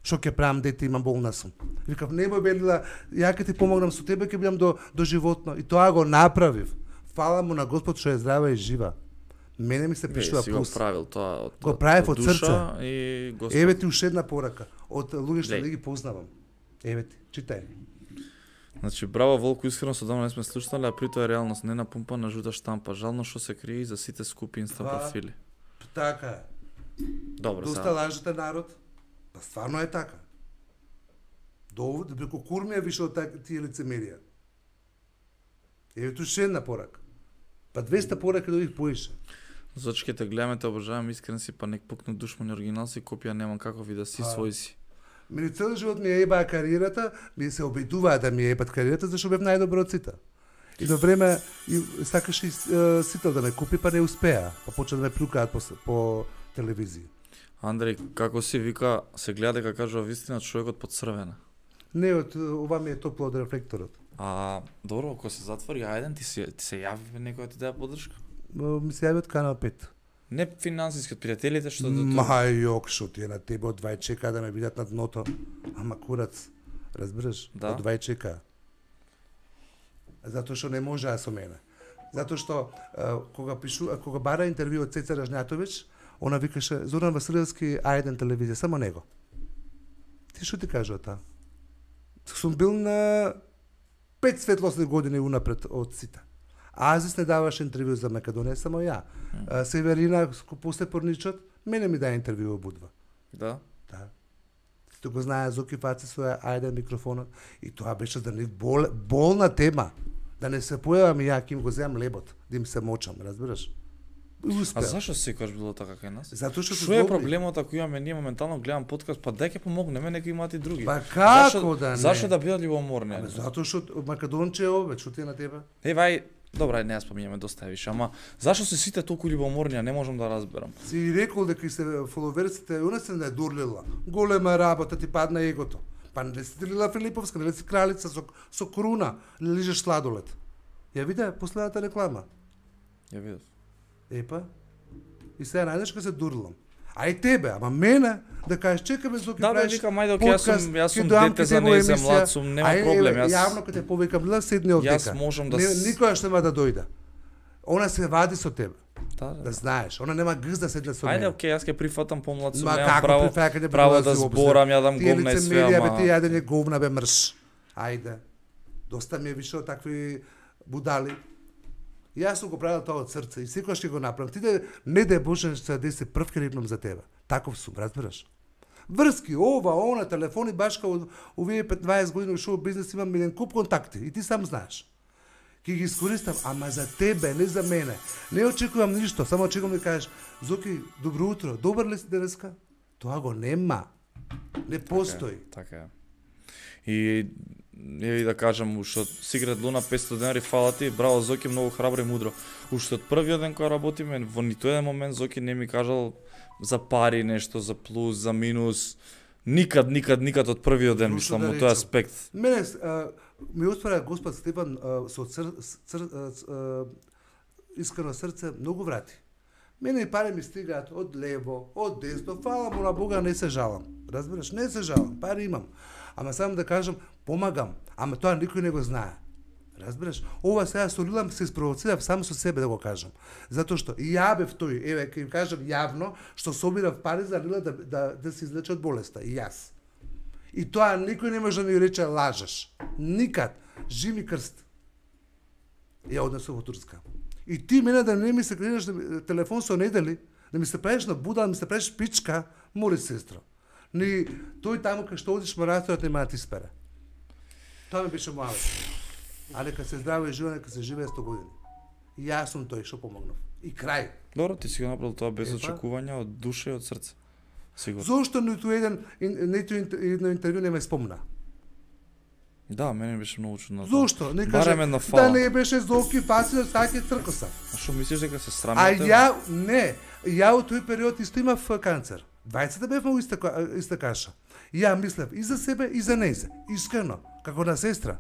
Што ќе правам дете, имам болна сум. Викав, немој Белила, ја ќе ти помогнам со тебе, ќе бидам до до животно. И тоа го направив. Фала му на Господ што е здрава и жива. Мене ми се Не, пишува си го плюс. правил тоа од Го правев од душа и Господ. Еве ти уште една порака од луѓе што Леј. не ги познавам. Еве ти, читај. Значи, браво Волко, искрено со давно не сме слушнали, а при тоа е реалност, не напумпана жута штампа. Жално што се крие за сите скупи инста Па. профили. Така е. Добро, Доста сега. лажете народ. Па стварно е така. До преку курмија више од так, тие лицемерија. Еве ту ше една порака. Па двеста пораки дојдих поише. Зачи ќе те гледаме, те обожавам, искрен си, па нек пукну душмани оригинал си, копија немам како ви да си, А. свој си. Мене цел живот ми е ебаа кариерата, ми се обидуваа да ми е ебат кариерата, зашто бев најдобро од сите. И до време и сакаше и е, Сител да ме купи, па не успеа. Па почна да ме плюкаат по, с- по телевизија. Андреј, како си вика, се гледа дека кажува вистина човекот под црвена. Не, од ова ми е топло од рефлекторот. А, добро, ако се затвори ајден, ти се, ти се јави некоја ти даде подршка? М, Ми се јави од Канал пет. Не финансиски, од пријателите што до Ма јок, шо ти е на тебе од двај чека да ме видат на дното. Ама курац, разбираш? Да. Од двај чека. Затоа што не можеа со мене. Затоа што а, кога пишу, а, кога бара интервју од Цеца Ражњатовиќ, она викаше Зоран Василевски А еден телевизија, само него. Ти што ти кажува таа? Сум бил на пет светлосни години унапред од сите. Азис не даваше интервју за Македонија, само ја. А, Северина, после Порничот, мене ми даде интервју обудва. Да? Да. Сите го знае Зоки Фаци со А еден микрофонот и тоа беше за нив бол, болна тема. Да не се појавам и ја ќе им го земам лебот, да им се мочам, разбираш? И А успеа. зашо секогаш било така кај нас? Затоа што се Што е добри. проблемот ако имаме ние моментално гледам подкаст, па дај ќе помогнеме, нека имаат и други. Па како Зашо- да не? Зашо да бидат љубоморни? Ама затоа што Македонче е ове, што ти е на тебе? Ева, ај, добра, не ја споминјаме доста е више, ама зашо се сите толку љубоморни, а не можам да разберам. Си рекол дека и се фоловерсите, она се не дурлила. Голема работа ти падна егото. Па не си Лила Филиповска, не си кралица со, со круна, не лижеш сладолет. Ја виде последната реклама. Ја видов. Епа, и сега најдеш кога се дурлам. А и тебе, ама мене, да кажеш, чекаме Зоки Да, бе, правиш викам, ајде, окей, јас сум- подкаст, јас ќе сум доам дете кај за тебе нејзе, емисија. млад сум, нема Ај, проблем, еве, јас- Јавно кога те повикам, Лила, седни Јас овдека. можам да Не, с- никогаш нема да дојде. Она се вади со тебе, Да, да. да знаеш. Она нема гз да седне со мене. Ајде, окей, јас ќе прифатам помлад сум, Ма немам како право, прифаќање право прилази да обзир? зборам, ја дам Тие говна и све, лицемерија, бе, ама... ти јадење говна, бе, мрш. Ајде. Доста ми е више од такви будали. И јас сум го правил тоа од срце и секогаш ќе го направам. Ти да не да Боже се деси прв ке рипнам за тебе. Таков сум, разбираш? Врски, ова, она, телефони, башка од овие петнаесет години во шоу бизнес имам еден куп контакти и ти сам знаеш. Ќе ги искористам, ама за тебе, не за мене. Не очекувам ништо, само очекувам да кажеш, Зоки, добро утро, добар ли си денеска? Тоа го нема. Не постои. Така е. И еве да кажам, уште од Сигрет Луна петстотини денари фала ти, браво Зоки, многу храбро и мудро. Уште од првиот ден кога работиме, во ниту еден момент Зоки не ми кажал за пари нешто, за плюс, за минус. Никад, никад, никад од првиот ден, Слушно мислам, да од тој речем. аспект. Мене а, ми отвора Господ Стефан а, со цр, цр, а, ц- а, искрено срце многу врати. Мене и пари ми стигаат од лево, од десно, фала му на Бога, не се жалам. Разбираш, не се жалам, пари имам. Ама само да кажам, помагам, ама тоа никој не го знае. Разбираш? Ова сега со Лила се испровоцирав само со себе да го кажам. Затоа што и ја бев тој, еве ќе кажам јавно, што собирав пари за Лила да, да, да се излече од болеста, и јас. И тоа никој не може да ми рече лажеш. Никад. Жив ми крст. ја однесов во Турска. И ти мене да не ми се кrenеш телефон со недели, да ми се правиш на буда, да ми се правиш пичка, мори сестра. Ни тој таму кај што одиш мараторот нема да ти спера. Тоа ми беше муавет. А нека се здраво и живе, нека се живее сто години. И јас сум тој што помогнав. И крај. Добро, ти си го направил тоа без Епа. очекувања, од душа и од срце. Сигурно. Зошто ниту еден ниту едно интервју не ме спомна? Да, мене беше многу чудно. Зошто? Не Барем каже едно фала. да не беше Зоки Фацил саќе цркоса. А што мислиш дека се А срамите? ја не, ја во тој период исто имав канцер. Двајцата бевме во иста ка- иста каша. Ја мислев и за себе и за нејзе, искрено, како на сестра.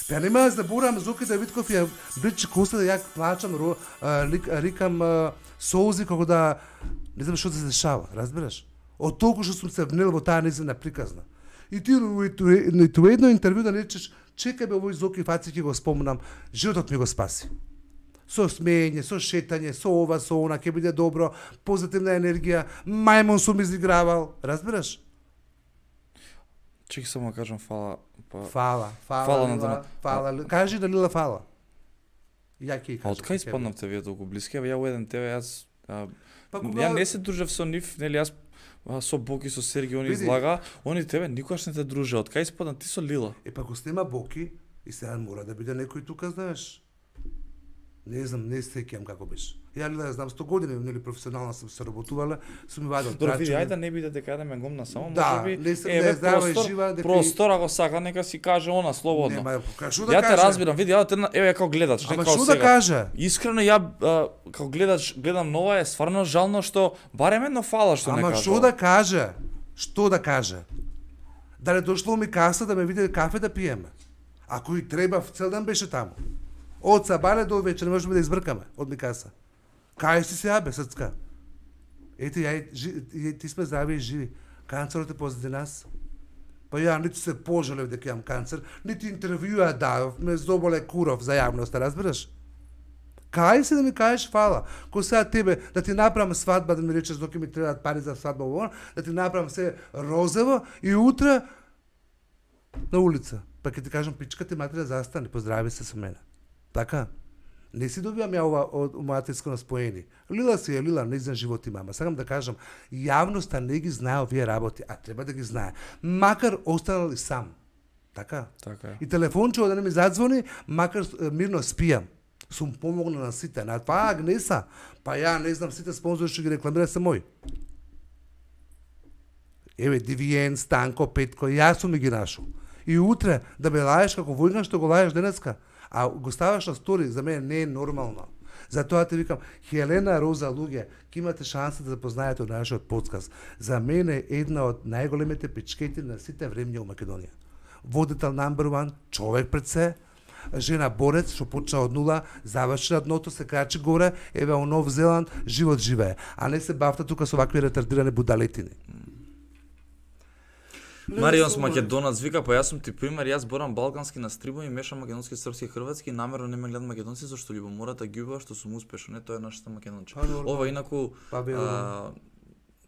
Па нема да заборам Зоки Давидков ја бричи коса да ја плачам, ро, а, лик, а, рикам а, солзи како да не знам што се дешава, разбираш? Од толку што сум се внел во таа нејзина приказна. И ти ниту едно интервју да не речеш, чекај бе овој Зоки Фаци ќе го спомнам, животот ми го спаси. Со смеење, со шетање, со ова, со она, ќе биде добро, позитивна енергија, мајмон сум изигравал, разбираш? Чеки само да кажам фала. Па... Фала, фала, Фала на Лила, Дона. фала, Ли- кажи да Лила фала. Ја ќе А кажам. од кај спаднавте вие толку блиски? Ја во еден тебе јас а, Па ја не се дружев со нив, нели јас а, со Боки, со Серги, они Види. излага, они тебе никогаш не те друже. Од кај спадна ти со Лила? Е, па ако снема Боки, и сега мора да биде некој тука, знаеш. Не знам, не сеќам како беше. Ја Лила ја знам сто години, нели професионално сум се работувала, сум ми вадил Добро, види, трачање. ајде да не биде дека да ме гомна само, Да, можеби, не се- еве, не, здрава и простор, жива, дека и- простор, ако сака, нека си каже она, слободно. Нема, кажу да Ја каже. те разбирам, види, ја те, еве, како гледач, не Ама како што да сега. каже? Искрено ја а, како гледач гледам нова е стварно жално што барем едно фала што не Ама кажа. што да каже? Што да каже? Дали дошло ми каса да ме види кафе да пиеме? Ако и треба, цел ден беше таму. Од сабале до вечер не можеме да избркаме од ми каса. Кај си сега бе, срцка? Ете, ја, и жи- и ти сме здрави и живи. Канцерот е позади нас. Па ја ниту се пожалев дека имам канцер, нити интервјуа давав, ме заболе куров за јавноста, разбираш? Кај се да ми кажеш фала? Ко сега тебе да ти направам свадба, да ми речеш доки ми требаат пари за свадба во, да ти направам се розово и утре на улица. Па ќе ти кажам пичка ти матери застани, поздрави се со мене. Така? Не си добивам ја ова од мојата искрено споени. Лила си е Лила, нејзин живот има. Ама сакам да кажам, јавноста не ги знае овие работи, а треба да ги знае. Макар останал и сам. Така? Така е. И телефончево да не ми задзвони, макар е, мирно спијам. Сум помогнал на сите, на тоа Агнеса. Па ја не знам сите спонзори што ги рекламира се мој. Еве Дивиен, Станко, Петко, јас сум ги нашол. И утре да ме лаеш како војган што го лаеш денеска, а го ставаш на стори, за мене не е нормално. Затоа те викам, Хелена Роза луѓе, ќе имате шанса да запознаете од нашиот подкаст. За мене е една од најголемите пичкети на сите времиња во Македонија. Водител number one, човек пред се, жена борец што почна од нула, заврши на дното, се крачи горе, еве во Нов Зеланд, живот живее, а не се бавта тука со вакви ретардирани будалетини. Маријонс Македонац вика, па јас сум ти пример, јас борам балкански на стрибо и мешам македонски, српски и хрватски, намерно не ме гледам македонци зашто љубомората ги убава што сум успешен, не тоа е нашата македонче. Па, нормално. Ова инаку Па, бе, а,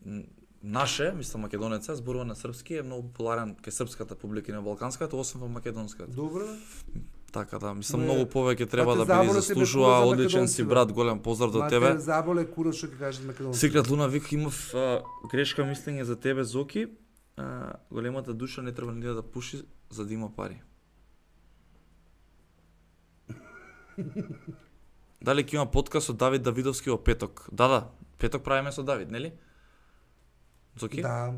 н- наше, мислам македонеца, зборува на српски, е многу популарен кај српската публика и на балканската, освен во македонската. Добро. Така да, мислам Не, многу повеќе треба те да биде заболе тебе заслужува, кура за одличен си македонци, бе. брат, голем поздрав до Ма тебе. те заболе кура што ќе кажат македонци. Секрет Луна вика имав а, грешка мислење за тебе Зоки. А, големата душа не треба ни да пуши за да има пари. Дали ќе има подкаст со Давид Давидовски во петок? Да, да, петок правиме со Давид, нели? Зоки? Да.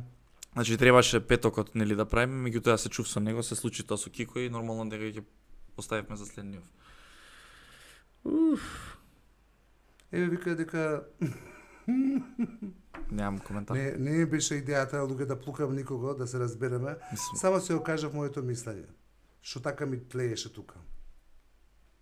Значи требаше петокот нели да правиме, меѓутоа се чув со него, се случи тоа со Кико и нормално дека ќе поставивме за следниот. Еве вика дека Немам коментар. не не ми беше идејата луѓе да плукам никого, да се разбереме. Мислам, Само се го кажав моето мислење. Што така ми тлееше тука.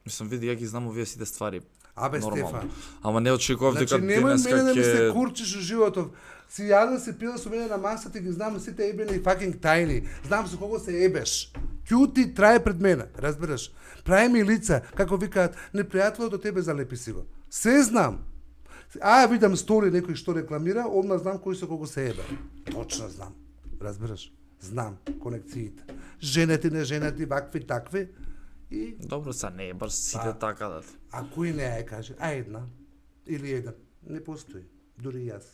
мислам види ја ги знам овие сите ствари. Абе Нормално. Стефан. Ама не очекував дека Значи немој денеска мене да ми се ќе курчиш во животов. Си јаден се пила со мене на масата и ги знам сите ебени и fucking тајни. Знам со кого се ебеш. Ќути трае пред мене, разбираш? Прави ми лица, како викаат, непријателот до тебе залепи си го. Се знам. А, видам стори некој што рекламира, одма знам кој со кого се ебе. Точно знам. Разбираш? Знам конекциите. Женети, не женети, вакви, такви. И Добро, са не е баш сите Па. така да. а кој не е каже, а една или еден, не постои, дури и јас.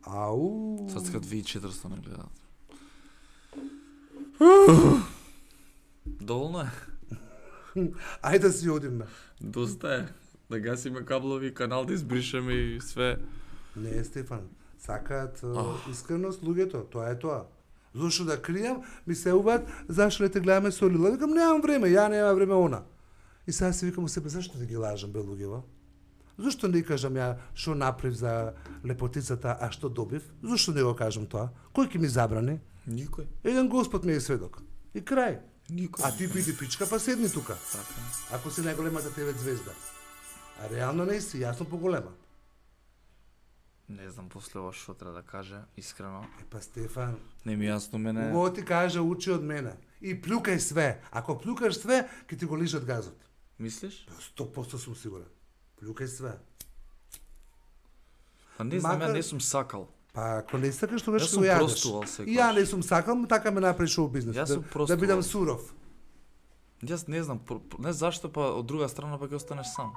Ау. Sad kad vi четиристотини не гледат. Доволно е. Ајде да си одиме. Доста е. Да гасиме каблови, канал да избришеме и све. Не, Стефан, сакаат Ах. oh. искреност луѓето, тоа е тоа. Зошто да кријам, ми се уваат, зашто не те гледаме со Лила? Викам, немам време, ја немам време она. И сега си викам у себе, зашто да ги лажам, бе луѓево? Зошто не кажам ја што направив за лепотицата, а што добив? Зошто не го кажам тоа? Кој ќе ми забрани? Никој. Еден Господ ми е сведок. И крај. Никој. А ти биди пичка, па седни тука. Така. Ако си најголемата тебе звезда. А реално не си, јас сум поголема. Не знам после ова што треба да каже, искрено. Е, па Стефан, Не ми е јасно мене. Го ти кажа, учи од мене. И плюкај све. Ако плюкаш све, ќе ти го лижат газот. Мислиш? сто проценти сум сигурен. Плюкај све. Па не знам, Макар- ја не сум сакал. Па ако не сакаш, тогаш Јас ќе сум го јадеш. простувал И ја секогаш. не сум сакал, така ме направи шоу бизнес. Јас Да, сум да простувал. бидам суров. Јас не знам, про- про- не зашто, па од друга страна па ќе останеш сам.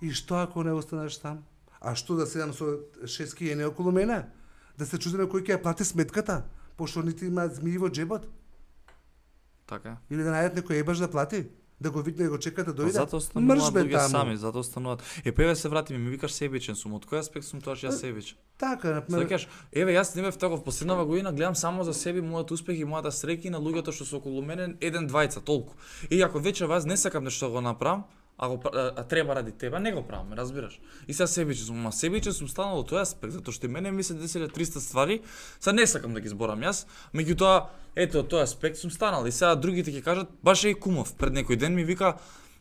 И што ако не останеш там? А што да седам со шест кијени околу мене? Да се чудиме кој ќе ја плати сметката? Пошто нити има змии во джебот? Така е. Или да најдат некој ебаш да плати? Да го видне и го чека да Па дојде? затоа остануваат Мрж, бе, луѓе таму. сами, затоа остануваат. Е, па еве се вратиме, ми викаш себичен сум. Од кој аспект сум тоа што јас себичен? Така, Се например, кажеш, еве јас не бев таков последнава година, гледам само за себе, мојот успех и мојата среќа и на луѓето што се околу мене, еден двајца, толку. И ако вече вас не сакам нешто да го направам, а, го, пра- а, а треба ради тебе, не го правам, ме разбираш. И сега себичен сум, ма себичен сум станал од тој аспект, затоа што и мене ми се десиле триста ствари, сега не сакам да ги зборам јас, меѓутоа, ето од тој аспект сум станал и сега другите ќе кажат, баш е и кумов, пред некој ден ми вика,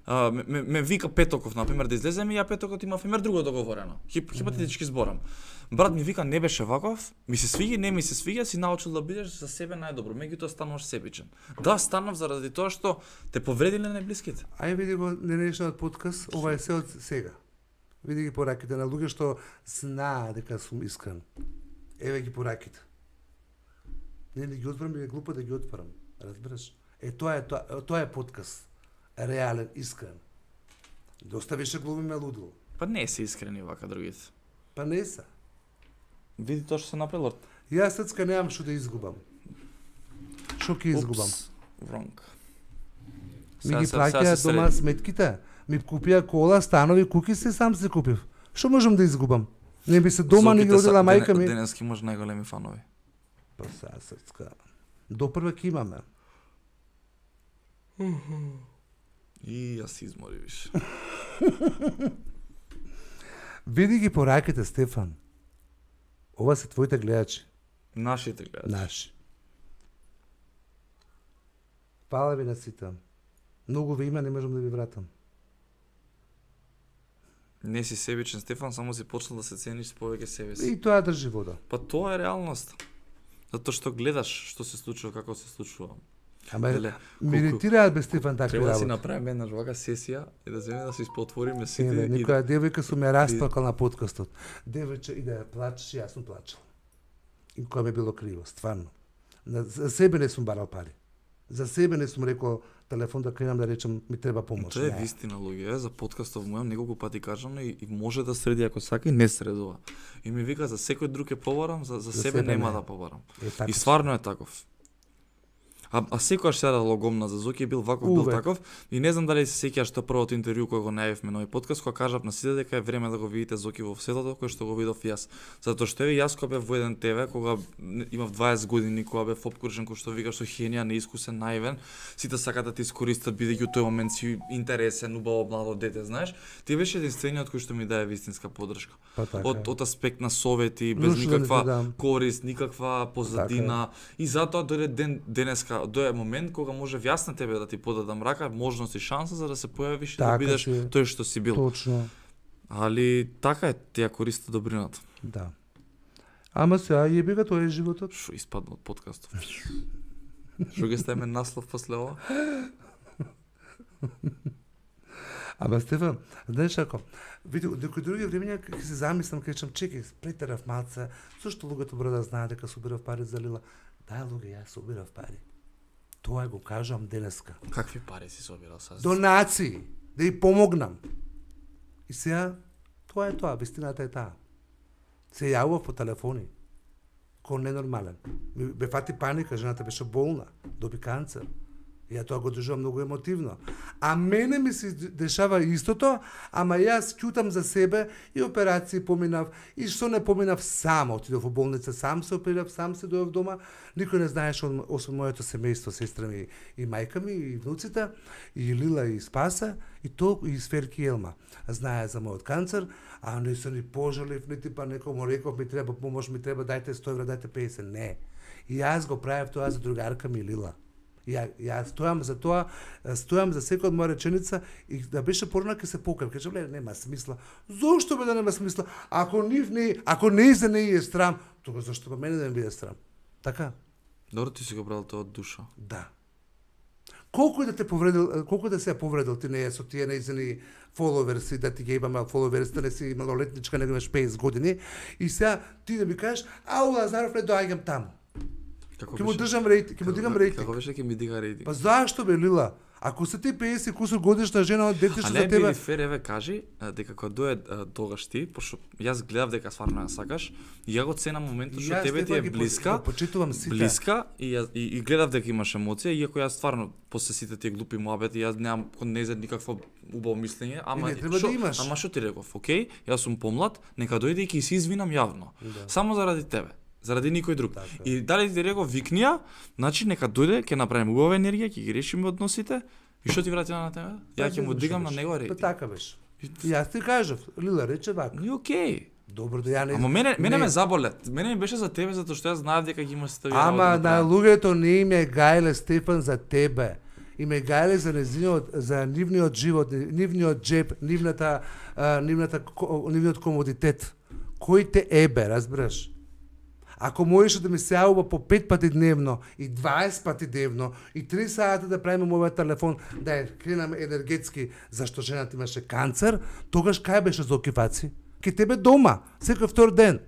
Uh, ме, ме, ме вика Петоков, например, да излеземе и ја Петокот има, например, друго договорено. Хип, хипотетички зборам. Брат ми вика, не беше ваков, ми се свиѓа, не ми се свиѓа, си научил да бидеш за себе најдобро, меѓутоа стануваш себичен. Да, станав заради тоа што те повредиле најблиските. ај види го денешниот подкаст, ова е се од сега. Види ги пораките на луѓе што знаат дека сум искрен. Еве ги пораките. Не, не ги отварам, е глупо да ги отварам. Разбираш? Е, тоа е, тоа, тоа е подкаст. Реален, искрен. Доста више глумиме лудило. Па не се искрени вака другите. Па не са. Види тоа што се направило. Јас сецка немам што да изгубам. Што ќе изгубам? Упс, wrong. Ми Сега ги се- сега плаќаат се дома среди. сметките. Ми купија кола, станови, куки се сам се купив. Што можам да изгубам? Не би се дома не ги Зоките са- родила мајка дене- ми. Денески имаш најголеми фанови. Па сега сецка. До прва ќе имаме. И јас се измори више. Види ги пораките, Стефан. Ова се твоите гледачи, Нашите гледачи. наши. Фала ви на сите. Многу ви има, не можам да ви вратам. Не си себичен, Стефан, само си почнал да се цениш повеќе себе си. И тоа држи вода. Па тоа е реалност. Затоа што гледаш што се случува, како се случува. Ама Леле, ми колку- иritiraат бе Стефан такви Треба да си работи. направиме една вака сесија и да земеме да се испотвориме Е, сите бе, и некоја да... девојка сум ја расплакал на подкастот. Девојче и да ја плачеш, јас сум плачал. И кога ми било криво, стварно. На, за себе не сум барал пари. За себе не сум рекол телефон да кренам да речем ми треба помош. Тоа е Не. вистина, луѓе, за подкастов мојам неколку пати кажано и, и може да среди ако сака и не средува. И ми вика за секој друг ќе побарам, за, за, За себе, себе нема не. да побарам. Е, така И сум. стварно е таков. А, а секогаш сега логомна за Зоки е бил ваков, бил Увек. таков. И не знам дали се сеќаш што првото интервју кога го најавивме на овој подкаст, кога кажав на сите дека е време да го видите Зоки во светото, кој што го видов јас. Затоа што еве јас кога бев во еден Те ве, кога не- имав дваесет години, кога бев опкружен кој што вика што хенија, неискусен, наивен, сите сакаат да те искористат бидејќи у тој момент си интересен, убаво младо дете, знаеш. Ти беше единствениот кој што ми даде вистинска поддршка. Па така. Од од аспект на совети, без Нушто да не ти никаква дам. корист, никаква позадина. И затоа дојде ден денеска, дојде момент кога може јас на тебе да ти подадам рака, можност и шанса за да се појавиш и да Така бидеш си е. тој што си бил. Точно. Али така е, ти ја користи добрината. Да. Ама сега јеби ga, тоа е животот. Што испадна од подкастов. Што ќе ставиме наслов после ова? Ама Стефан, знаеш ако, види, некои други времења ќе се замислам, ќе речам, чекај, претерав малце, зошто луѓето бро да знаат дека собирав пари за Лила? Да, луѓе, јас собирав пари. Тоа го кажам денеска. Какви пари си собирал сега? Донации, да ја помогнам. И сега, тоа е тоа, вистината е таа. Се јавува по телефони. Кој ненормален. Ми бе фати паника, жената беше болна, доби канцер. И ја тоа го држувам многу емотивно. А мене ми се дешава истото, ама јас ќутам за себе и операции поминав, и што не поминав сам, отидов во болница, сам се оперирав, сам се дојав дома, никој не знаеше освен моето семејство, сестра ми и мајка ми и внуците, и Лила и Спаса, и толку и Сферки и Елма. Знае за мојот канцер, а не се ни пожалив, нити па некому реков ми треба помош, ми треба дајте сто евра, дајте песет, не. И јас го правев тоа за другарка ми Лила. Ја, ја стојам за тоа, стојам за секоја од моја реченица и да беше порано ке се покажам. Кажам, ле, нема смисла. Зошто бе да нема смисла? Ако нив не, ако не за не е страм, тога зашто па мене да ми биде страм? Така? Добро, ти си го брал тоа од душа. Да. Колку да те повредил, колку да се повредил ти не е со тие неизени фоловерси, да ти ги имаме фоловерси, да не си малолетничка, не имаш петдесет години, и сега ти да ми кажеш, ау, Лазаров, не доаѓам таму. Ќе му држам рейтинг, ќе му дигам рейтинг. Како беше ќе ми дига рейтинг? Па зашто бе, Лила? Ако се ти петдесет кусур годишна жена, дете што за тебе... А не би фер, еве кажи, дека кога дое тогаш ти, пошто јас гледав дека стварно ја сакаш, и ја го ценам моментот што тебе ти е блиска, почитувам сите. Блиска и, ја, и, и гледав дека имаш емоција, иако јас стварно после сите тие глупи муабети, јас немам кон нејзад никакво убаво мислење, ама не шо, да имаш. Ама што ти реков, окей, јас сум помлад, нека дојде и ќе се извинам јавно. Да. Само заради тебе. Заради никој друг. Така. И дали ти реков викнија, значи нека дојде, ќе направиме убава енергија, ќе ги решиме односите. И што ти врати на тебе? Ја ќе му дигам на него рейтинг. Па така беше. И јас ти кажав, Лила рече вака. И окей. Добро да ја не. Ама мене мене не. ме заболет. Мене ми беше за тебе затоа што јас знаев дека ги има сите овие Ама работи на луѓето не им е гајле Стефан за тебе. Им е гајле за незиниот, за нивниот живот, нивниот джеб, нивната, а, нивната, нивниот комодитет. Кој те ебе, разбираш? Ако можеше да ми се јавува по пет пати дневно и дваесет пати дневно и три сата да правиме мојот телефон да ја кренаме енергетски зашто жената имаше канцер, тогаш кај беше Зоки Фаци? Ке тебе дома, секој втор ден.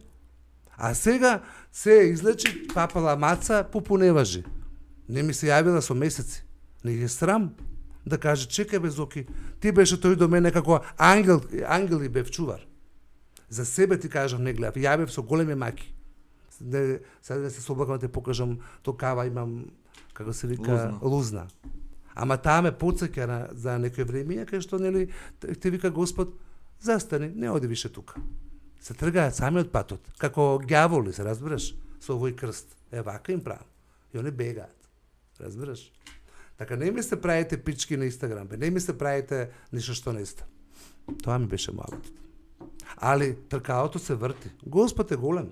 А сега се излечи папала маца, попуневажи. Не ми се јавила со месеци. Не е срам да каже, чекај бе Зоки, ти беше тој до мене како ангел, ангел и бев чувар. За себе ти кажам, не гледав, јавев со големи маки. Не, сега да се соблакам да те покажам, то кава имам, како се вика, лузна. лузна. Ама таа ме потсеќа на, за некој време, кај што, нели, те вика Господ, застани, не оди више тука. Се тргаат сами од патот, како ѓаволи, се разбираш, со овој крст. Е, вака им правам. И они бегаат, разбираш. Така, не ми се правите пички на Инстаграм, бе, не ми се правите ништо што не сте. Тоа ми беше муабетот. Али, тркалото се врти. Господ е голем.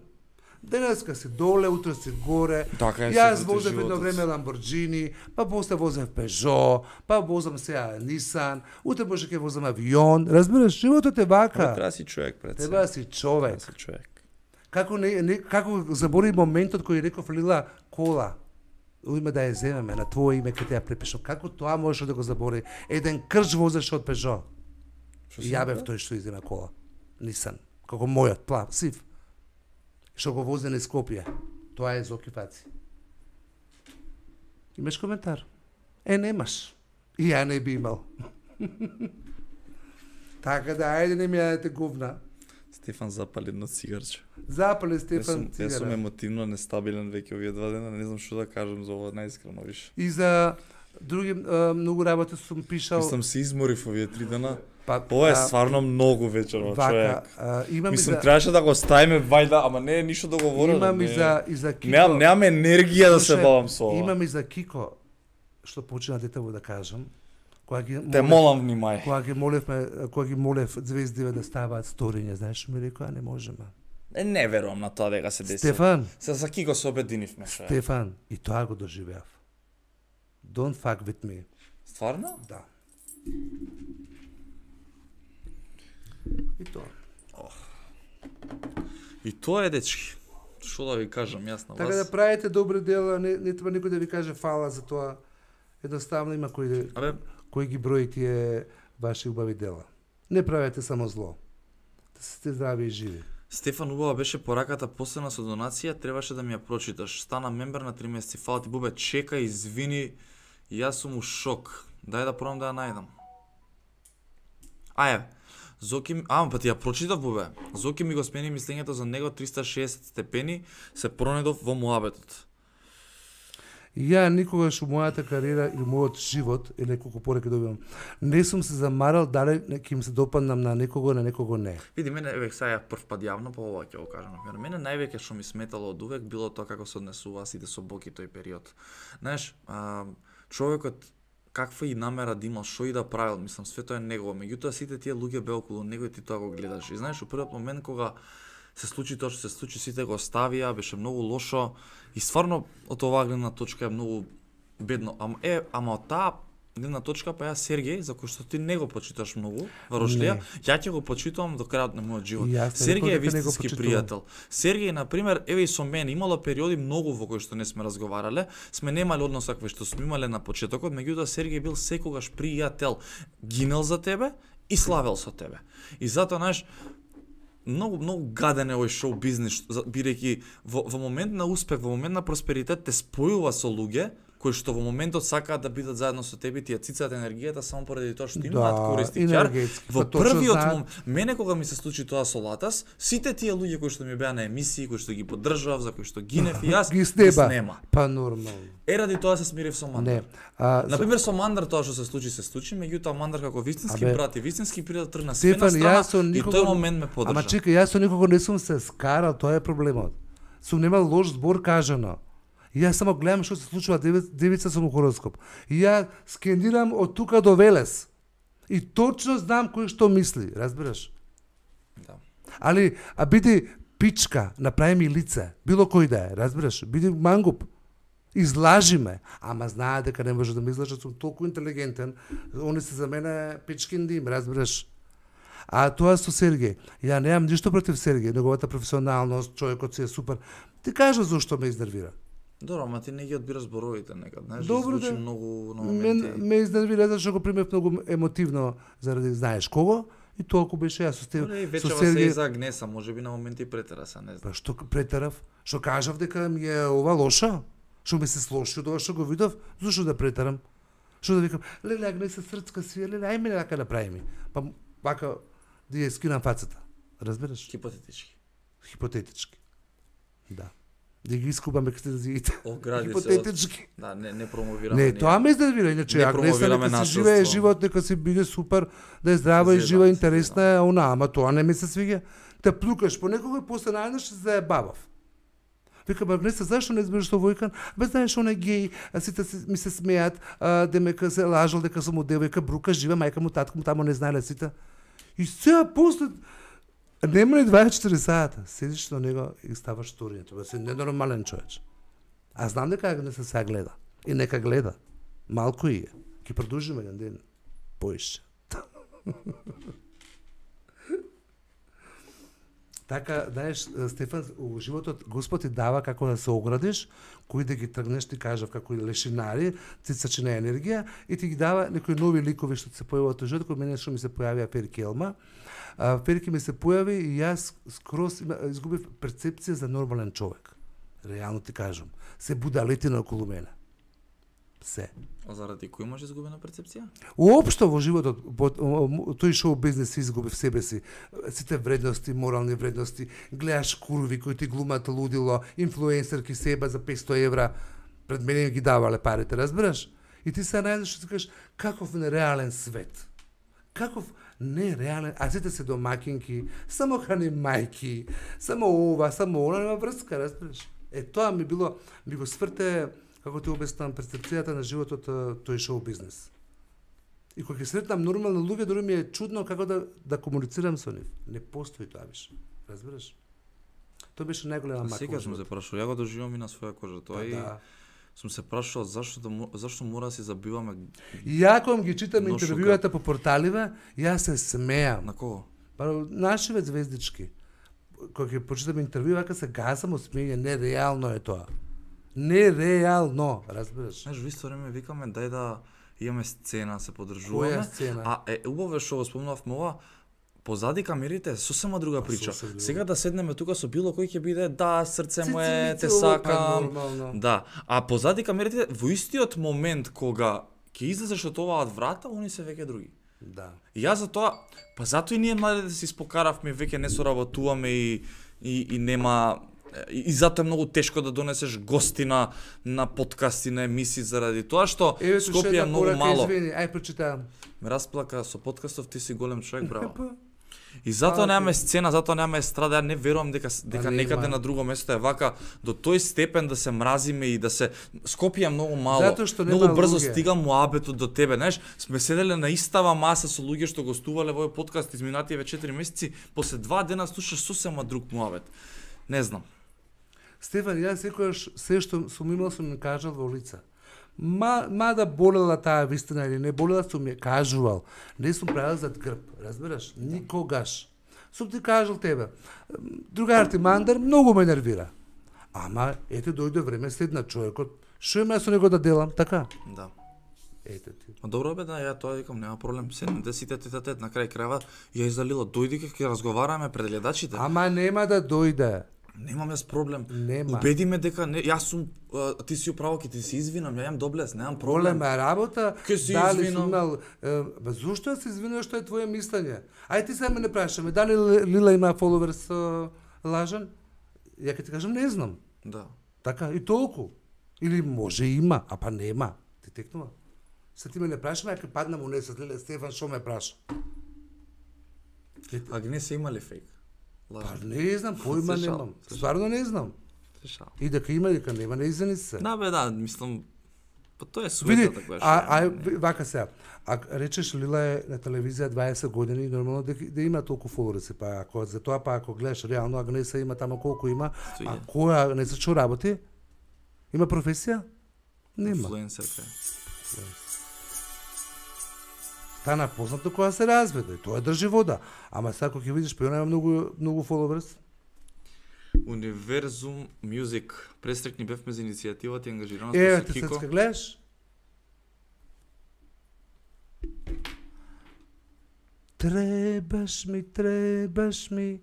Денеска си доле, утре си горе. Така е, јас возев едно време Ламборджини, па после возев Пежо, па возам сега Нисан, утре може ќе возам авион. Разбираш, животот е вака. Треба да си човек пред се. Треба да си човек. Треба да си човек. Како не, не како забори моментот кој реков Лила кола. Уиме да ја земеме на твое име кога ја препишам. Како тоа можеш да го забори? Еден крш возеше од Пежо. И ја бев тој што изема кола. Нисан. Како мојот, плав, сив. Што го вози на Скопје. Тоа е Зоки Фаци. Имаш коментар? Е, немаш. И ја не би имал. Така да, ајде не ми јадете говна. Стефан запали едно цигарче. Запали Стефан цигара. Јас сум емотивно нестабилен веќе овие два дена, не знам што да кажам за ова најискрено више. И за други а, многу работи сум пишал. Мислам се изморив овие три дена. Па, Ова е а, стварно многу вечерно, човек. А, имам Мислам, за... требаше да го ставиме вајда, ама не е ништо да говорам. Имам не... и за, и за Кико. Немам, немам енергија да се бавам со ова. Имам и за Кико, што почина детево да кажам. Кога ги Те молам внимај. Кога ги молевме, кога ги молев звездиве да ставаат сториња, знаеш што ми рекоа, не можеме. Е, не верувам на тоа дека се деси. Стефан. Се за Кико се обединивме, шо. Стефан, и тоа го доживеав. Don't fuck with me. Стварно? Да. И тоа. И тоа е, дечки. Што да ви кажам јас на вас? Така да правите добри дела, не, не треба никој да ви каже фала за тоа. Едноставно има кој да, Абе, кој ги брои тие ваши убави дела. Не правете само зло. Да сте здрави и живи. Стефан, убава беше пораката последна со донација, требаше да ми ја прочиташ. Стана мембер на три месеци. Фала ти, Бубе, чека, извини. Јас сум у шок. Дај да пробам да ја најдам. Аје. Зоки, а, па ти ја прочитав, Бубе. Зоки ми го смени мислењето за него триста и шеесет степени, се пронедов во муабетот. Ја никогаш у мојата кариера или мојот живот, или неколку пореки добивам, не сум се замарал дали ќе им се допаднам на некого, на некого не. Види, мене, еве, сега прв пат јавно, па ова ќе го кажам. Например, мене највеќе што ми сметало од увек било тоа како се однесуваа сите со Боки тој период. Знаеш, а, човекот каква и намера да имал, што и да правил, мислам, све тоа е негово. Меѓутоа сите тие луѓе беа околу него и ти тоа го гледаш. И знаеш, у првиот момент кога се случи тоа што се случи, сите го оставија, беше многу лошо и стварно од оваа гледна точка е многу бедно. Ама е, ама од таа гледна точка па ја Сергеј, за кој што ти не го почиташ многу, Варошлија, ја ќе го почитувам до крајот на мојот живот. Сергеј е вистински пријател. Сергеј, на пример, еве и со мене имало периоди многу во кои што не сме разговарале, сме немале однос какви што сме имале на почетокот, меѓутоа Сергеј бил секогаш пријател, гинел за тебе и славел со тебе. И затоа, знаеш, многу многу гаден е овој шоу бизнес, бидејќи во, во момент на успех, во момент на просперитет те спојува со луѓе кои што во моментот сакаат да бидат заедно со тебе, ти ја цицаат енергијата само поради тоа што имаат Да, користи. Ќар, енергетски, во па точно првиот знаат. момент, мене кога ми се случи тоа со Латас, сите тие луѓе кои што ми беа на емисии, кои што ги поддржав, за кои што гинев и јас, Ги снеба. снема. Па нормално. Е, ради тоа се смирив со Мандар. Не. А, Например, со Мандар тоа што се случи, се случи, меѓутоа Мандар како вистински Абе, брат и вистински пријател тргна све на Стефан, страна јас со и никого... тој момент ме поддржа. Ама чекај, јас со никого не сум се скарал, тоа е проблемот. Сум немал лош збор кажано. И јас само гледам што се случува, девица, девица сум у хороскоп. И ја скендирам од тука до Велес. И точно знам кој што мисли, разбираш? Да. Али, а биди пичка, направи ми лице, било кој да е, разбираш? Биди мангуп. Излажи ме, ама знае дека не може да ме излажат, сум толку интелигентен, они се за мене пичкин дим, разбираш? А тоа со Сергеј, ја немам ништо против Сергеј, неговата професионалност, човекот си е супер. Ти кажа зошто ме изнервира. Добро, ама ти не ги одбираш зборовите некад, знаеш, Добро, звучи да. многу на Мен моменти. ме изнервира зашто го примев многу емотивно заради знаеш кого и толку беше јас со Стеф- Добре, и со вечева се и Сергеј. за гнеса, може би на моменти претера се, не знам. Па што претерав? Што кажав дека ми е ова лоша? Што ми се слоши од ова што го видов? Зошто да претерам? Што да викам, леле, агне се срцка си, леле, ајме лака да прави ми. Па вака да ја скинам фацата. Разбираш? Хипотетички. Хипотетички. Да. Да ги искупаме екстензиите. Огради се. Хипотетички. Да, не не промовираме. Не, ние. тоа ме изнервира, иначе Не Агнеса промовираме нека си насилство. живее живот, нека си биде супер, да е здрава и Зедам жива, се, интересна е, она, ама тоа не ми се свиѓа. Те плукаш по некого и после најдеш се заебавав. Викам, Агнеса, зашто не избереш со Војкан? Бе, знаеш, он е геј, а сите се, ми се смеат, а, демека се лажал дека сум му девојка, брука, жива, мајка му, татко му, тамо не знаеле сите. И сега после нема ли дваесет и четири сата, седиш на него и ставаш сторињето, бе, си ненормален човеч. А знам дека Агнеса сега гледа. И нека гледа. Малку и е. Ке продолжиме еден ден. Поише. Така, знаеш, Стефан, у животот Господ ти дава како да се оградиш, кои да ги тргнеш, ти кажав, како и лешинари, цицачина енергија, и ти ги дава некои нови ликови што се појавуваат во животот, кој мене што ми се појавија Перки Елма. А, Перки ми се појави и јас скроз има- изгубив перцепција за нормален човек. Реално ти кажам. Се будалетина околу мене. Се. А заради кој имаш изгубена перцепција? Уопшто во животот, по- тој шоу бизнес си изгуби в себе си. Сите вредности, морални вредности, гледаш курви кои ти глумат лудило, инфлуенсерки себе за петсто евра, пред мене ги давале парите, разбираш? И ти се најдеш што ти кажеш, каков нереален свет. Каков нереален, а сите се домакинки, само храни мајки, само ова, само она, нема врска, разбираш? Е, тоа ми било, ми го сврте, како ти обяснам, перцепцијата на животот а, тој шоу бизнес. И кога ќе сретнам нормални луѓе, дори ми е чудно како да да комуницирам со нив. Не постои тоа више. Разбираш? Тоа беше најголема мака. Сега сум се прашал, ја го доживам и на своја кожа тоа и Да. сум се прашал зашто да мо- зашто мора да си забиваме И ја кога ги читам Но интервјуата по порталиве, јас се смеам. на кого? Па нашиве звездички. Кога ќе почитам интервју, вака се газам од смење, нереално е тоа. Нереално, разбираш? Знаеш, во исто време викаме дај да имаме сцена, се поддржуваме. Која сцена? А е убаво е што го спомнавме ова, позади камерите е сосема друга прича. сосем друга. Сега да седнеме тука со било кој ќе биде да срце му е, Цици, те цици, опа, сакам. нормално. Да, а позади камерите во истиот момент кога ќе излезеш од оваа врата, они се веќе други. Да. И јас за тоа, па затоа и ние младите се испокаравме, веќе не соработуваме и и, и нема и, и затоа е многу тешко да донесеш гости на на подкасти, на емисии заради тоа што Еве што Скопје е една многу порака, мало. Извини, ај прочитам. Ме расплака со подкастов, ти си голем човек, браво. Па, И затоа А, немаме ти- сцена, затоа немаме естрада, ја не верувам дека дека нема. некаде на друго место е вака до тој степен да се мразиме и да се Скопје е многу мало. Затоа што нема многу брзо луѓе. стига муабетот до тебе, знаеш, сме седеле на истава маса со луѓе што гостувале во овој подкаст изминативе четири месеци, после два дена слушаш сосема друг муабет. Не знам. Стефан, јас секогаш се што сум имал сум ми кажал во лица. Ма, мада болела таа вистина или не болела, сум ја кажувал. Не сум правил зад грб, разбираш? Никогаш. Сум ти кажал тебе. Другар ти Мандар многу ме нервира. Ама, ете, дојде време, седна човекот. Шо има со него да делам, така? Да. Ете ти. Ма добро бе, да, ја тоа викам, нема проблем. Седнете сите тет а тет на крај крајва, ја издалила, дојди ќе разговараме пред гледачите. Ама нема да дојде. Немам јас проблем. Нема. Убеди ме дека не, јас сум а, ти си управо, ќе ти се извинам, ја имам доблес, немам проблем. Голема работа, Ке се дали извинам. сум имал... Е, ба зошто да се извинуваш, што е твое мислење? Ај ти сега ме не прашаме, дали Лила има фоловерс uh, лажен? Ја ќе ти кажам, не знам. Да. Така, и толку. Или може има, а па нема. Ти текнува. Се ти ме не прашаме, ја ќе паднам у несет, Лиле, Стефан, шо ме праша? А ги не се имали фейк? Па Лажен. не знам, појма Се шал, немам. се шал. Стварно не знам. Се шал. И дека има, дека нема, не извини се. Да бе, да, мислам, па тоа е Види, суетата која а, а, не- вака сега, а речеш Лила е на телевизија дваесет години, нормално да, да има толку фоловерси, па ако за тоа па ако гледаш реално Агнеса има тамо колку има, а Стоје. која Агнеса што работи? Има професија? Нема. Инфлуенсерка. Стана познато кога се разведе, тоа држи вода. Ама сега кога ќе видиш, па има многу многу фоловерс. Универзум Music. Престрекни бевме за иницијативата и ангажираност Еве со те Кико. сецка гледаш? Требаш ми, требаш ми.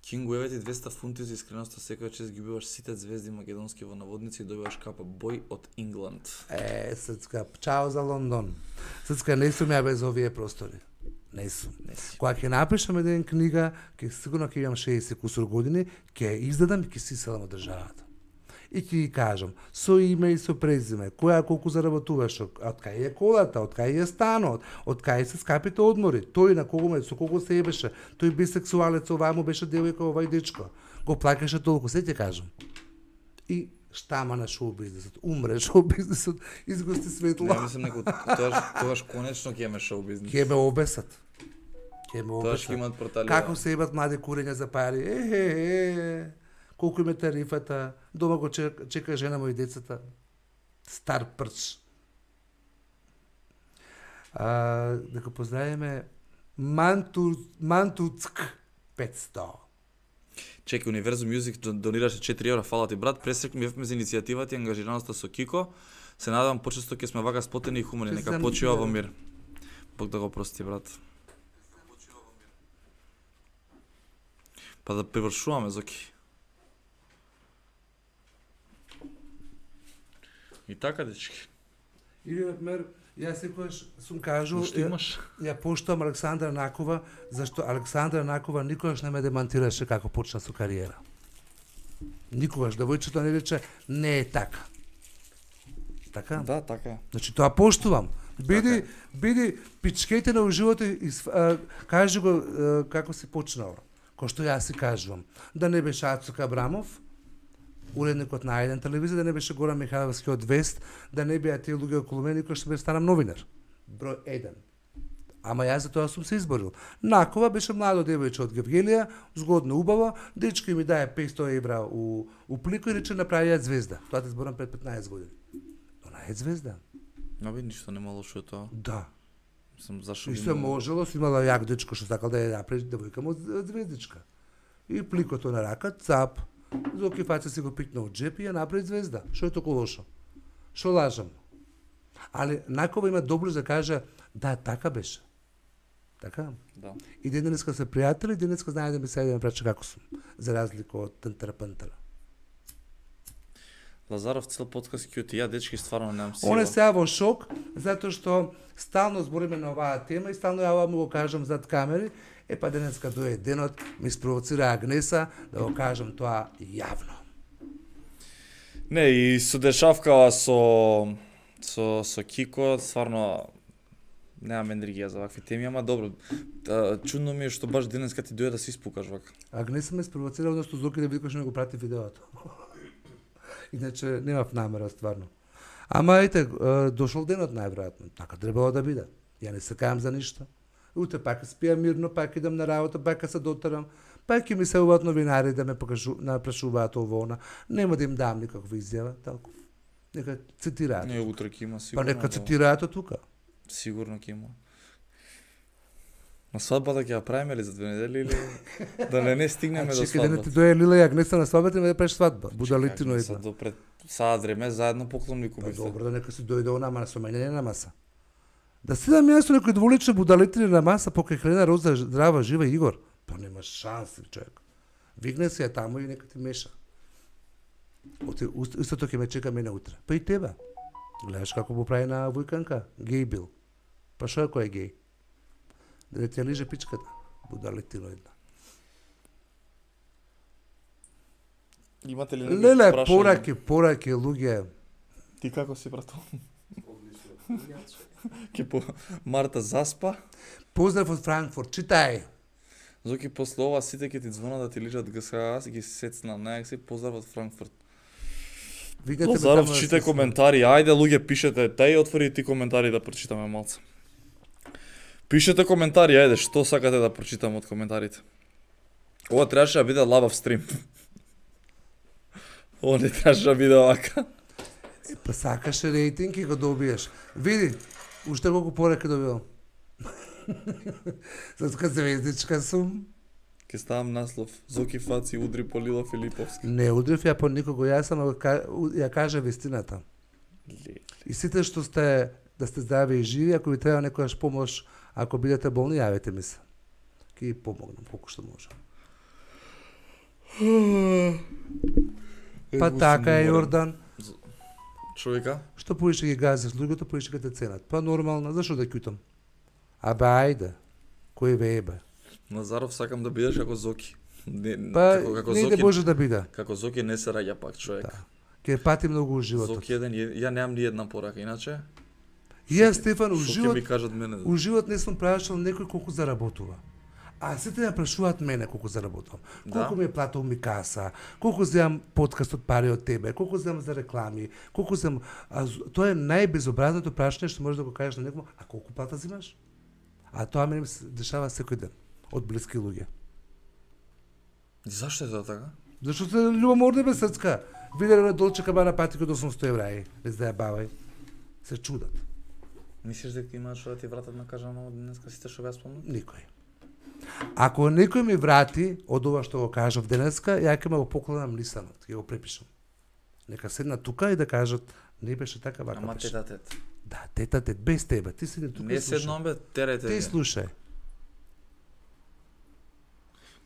Кингу, еве ти двеста фунти за искреноста, секоја чест ги убиваш сите звезди македонски во наводници и добиваш капа бој од Ингланд. Е, Сецка, чао за Лондон. Сецка, не сум ја без овие простори. Не сум. Не си. Кога ќе напишам еден книга, ќе сигурно ќе имам шеесет кусур години, ќе ја издадам и ќе си селам од државата. И ќе ги кажам, со име и со презиме, која колку заработуваш, од кај е колата, од кај е станот, од кај се скапите одмори, тој на кого ме, со кого се ебеше, тој бисексуалец, оваа му беше девојка, овај дечко, го плакаше толку, се ќе кажам. И штама на шоу бизнисот, умре шоу бизнисот, изгости светло. Не, мислам неко тогаш тогаш конечно ќе имаме шоу бизнис. Ќе ме обесат. Ќе ме Тогаш обесат. ќе имаат портали. Како се ебат млади курења за пари? Е, е, е, колку им е тарифата, дома го чека, чека жена му и децата. Стар прч. А, да го поздравиме Манту, Мантуцк петсто. Чеки, Универзум Music дон- донираше четири евра, фала ти брат. Пресрекни бевме за иницијативата и ангажираноста со Кико. Се надевам почесто ќе сме вака сплотени и хумани. Ќе Нека сам- почива во мир. Бог да го прости, брат. Па да привршуваме, Зоки. И така, дечки. Или, например, јас секогаш сум кажал, Што ја, имаш? ја поштувам Александра Накова, зашто Александра Накова никогаш не ме демантираше како почна со кариера. Никогаш, девојчето не рече, не е така. Така? Да, така е. Значи тоа поштувам. Биди, биди пичкете на уживото и св- а, кажи го а, како си почнала. Кој што јас си кажувам. Да не беше Ацук Абрамов, уредникот на еден телевизија, да не беше Горан Михайловски од Вест, да не беа тие луѓе околу мене кои што бе станам новинар. Број еден. Ама јас за тоа сум се изборил. Накова беше младо девојче од Гевгелија, згодно убаво, дечко ми даде петсто евра у, у плико и рече направи ја звезда. Тоа те зборам пред петнаесет години. Она е звезда. Наби ништо нема лошо од тоа. Да. Мислам, зашо И би се имало- можело, си имала јак дечко што сакал да ја направи девојка му од звездичка. И пликото на рака, цап, Зоки фаца си го пикна од джеп и ја направи звезда. Што е толку лошо? Што лажам? Али Накова има доблест да каже, да, така беше. Така? Да. И денеска се пријатели, денеска знае да ми се да ме прача како сум, за разлика од тантара-пантара. Лазаров цел подкаст ќе ти ја дечки стварно немам сила. Он е сега во шок, затоа што стално збориме на оваа тема и стално ја му го кажам зад камери, е па денеска дојде денот, ми спровоцира Агнеса да го кажам тоа јавно. Не, и со дешавкава со со со Кико, стварно немам енергија за вакви теми, ама добро. Та, чудно ми е што баш денеска ти дојде да се испукаш вака. Агнеса ме спровоцира, одnosno Зоки да види кој што ми го прати видеото. Иначе немав намера стварно. Ама ете, дошол денот најверојатно. Така требало да биде. Ја не се кајам за ништо. Утре пак спијам мирно, пак идам на работа, пак се дотерам. Пак ќе ми се уват новинари да ме покажу, напрашуваат ово она. Нема да им дам никаква изјава, толку. Нека цитираат. Не, утре ќе има Па сигурно. нека да. цитираат од тука. Сигурно ќе има. На свадбата ќе ја правиме ли за две недели или да не не стигнеме А до чекай да не свадбата? ти дојде Лила и Агнеса на свадбата и ме да правиш свадба. Будалитино Сад идва. до пред саат време заедно поклонни Па купивте. добро, да нека си дојде она, ама со мене не на маса. Да седам јас со некој дволични будалитини на маса покрај Хелена Роза, здрава, жива Игор. Па нема шанси, човек. Вигне се ја таму и нека ти меша. Оти, уст- истото ќе ме чека мене утре. Па и тебе. Гледаш како го прави на Војканка? Геј бил. Па шо е кој е геј? Да не ти ја лиже пичката. Будалитино една. Имате ли некои Леле, прашања? пораки, пораки, луѓе. Ти како си брато? Ке по Марта заспа. Поздрав од Франкфурт, читај. Зоки после ова сите ќе ти звонат да ти лижат ГСХ, аз ги сецнам, најак поздрав од Франкфурт. Викнете ме Лазаров, таму да читај се коментари, ајде луѓе пишете, тај отвори ти коментари да прочитаме малце. Пишете коментари, ајде, што сакате да прочитаме од коментарите. Ова требаше да биде лабав стрим. Ова не требаше да биде овака. Па сакаше рейтинг и го добиеш. Види, уште колку пораки добивам. Затоа звездичка сум. Ке ставам наслов. Зоки Фаци удри по Лила Филиповски. Не удрив ја по никого, јас сам го ка- у- ја кажа вистината. Ле. И сите што сте, да сте здрави и живи, ако ви треба некојаш помош, ако бидете болни, јавете ми се. Ке ви помогнам колку што можам. Па Егу така сум е, уморен. Јордан. Човека? Што поише ги газиш луѓето, поише ќе те ценат. Па нормално, зашо да ќутам? Абе, ајде. Кој ве ебе? Назаров сакам да бидеш како Зоки. Не, Па, како, како не Зоки, иде Боже да биде. како Зоки не се раѓа пак човек. Да. Ке пати многу у животот. Зоки еден, ја ја немам ни една порака, иначе И јас, Стефан, у што ќе живот, ми кажат мене? у живот не сум прашал некој колку заработува. А сите ме прашуваат мене колку заработувам. Колку Да. ми е платил ми каса, колку земам подкаст од пари од тебе, колку земам за реклами, колку земам... А, з- тоа е најбезобразното прашање што можеш да го кажеш на некој, а колку плата земаш? А тоа мене ми се дешава секој ден од блиски луѓе. И зашто е тоа така? Зашто се љубоморни без срцка. Виделе на Долче Кабана пати кod осумсто евра, е, без да ја бавај. Се чудат. Мислиш дека има што да ти вратат на кажано денеска сите што ја спомнав? Никој. Ако некој ми врати од ова што го кажав денеска, ја ќе ме го покладам лисанот, ќе го препишам. Нека седнат тука и да кажат, не беше така, вака Ама беше. тета тет. Да, тета тет, без тебе, ти седни тука Не и слушај. седнам бе, терете. Ти ги. слушај.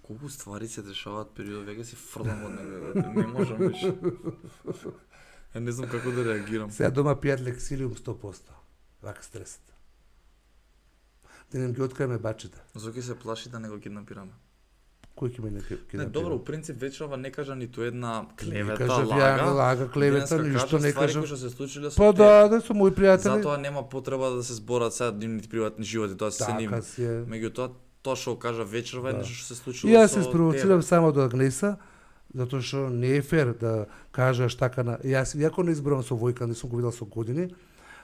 Колку ствари се дешаваат период, веќе си фрлам од него, брате, не можам више. Ја не знам како да реагирам. Сега дома пијат лексилиум сто проценти. Вака стресат. Да не ги откриеме бачите. Зоки се плаши да не го киднапираме. Кој ќе ме не ќе Не, добро, у принцип вечерва не кажа ниту една клевета, кажав ја, лага. лага, клевета, Денеска ништо кажа не ствари кажав. кои што се случиле со Па тебе. да, да, со мои пријатели. Затоа нема потреба да се зборат сега нивните приватни животи, тоа се нив. Така си е. Меѓутоа, тоа што го кажа вечерва е Да. нешто што се И случило јас со се спровоцирам тебе. само до Агнеса, затоа што не е фер да кажеш така на... Јас, иако не изборам со Војка, не сум го видел со години,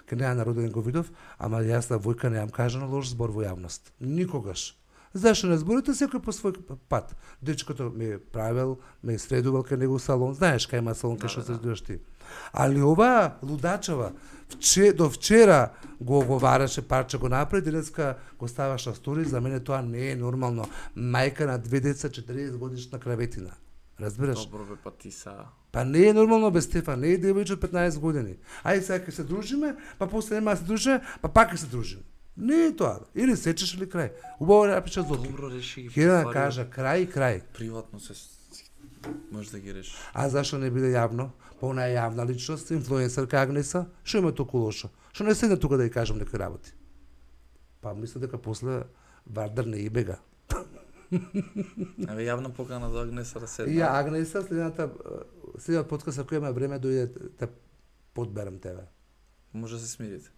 ке неа на роден го видов, ама јас на Војка немам кажано лош збор во јавност. Никогаш. Зашто не зборите секој по свој пат? Дечкото ме е правил, ме е средувал кај него салон, знаеш кај има салон кај Да, што да, се да. средуваш ти. Али ова лудачава, вче, до вчера го оговараше, парче го направи, денеска го ставаш на стори, за мене тоа не е нормално. Мајка на две деца, четириесет годишна краветина. Разбираш? Добро бе, па ти са. Па не е нормално без Стефан, не е девојче од петнаесет години. Ај сега ќе се дружиме, па после нема да се дружиме, па пак ќе се дружиме. Не е тоа. Или сечеш или крај. Убаво напиша Зоки. Добро реши ги. Ќе да ствари, кажа крај и крај. Приватно се може да ги решиш. А зашо не биде јавно? Па она е јавна личност, инфлуенсерка Агнеса, што има толку лошо? Што не седне тука да ја кажам некои работи? Па мислам дека после Вардар не и бега. Еве јавна покана до Агнеса да седне. И ја Агнеса следната следниот подкаст ако има време дојде да подберам тебе. Може да се смирите.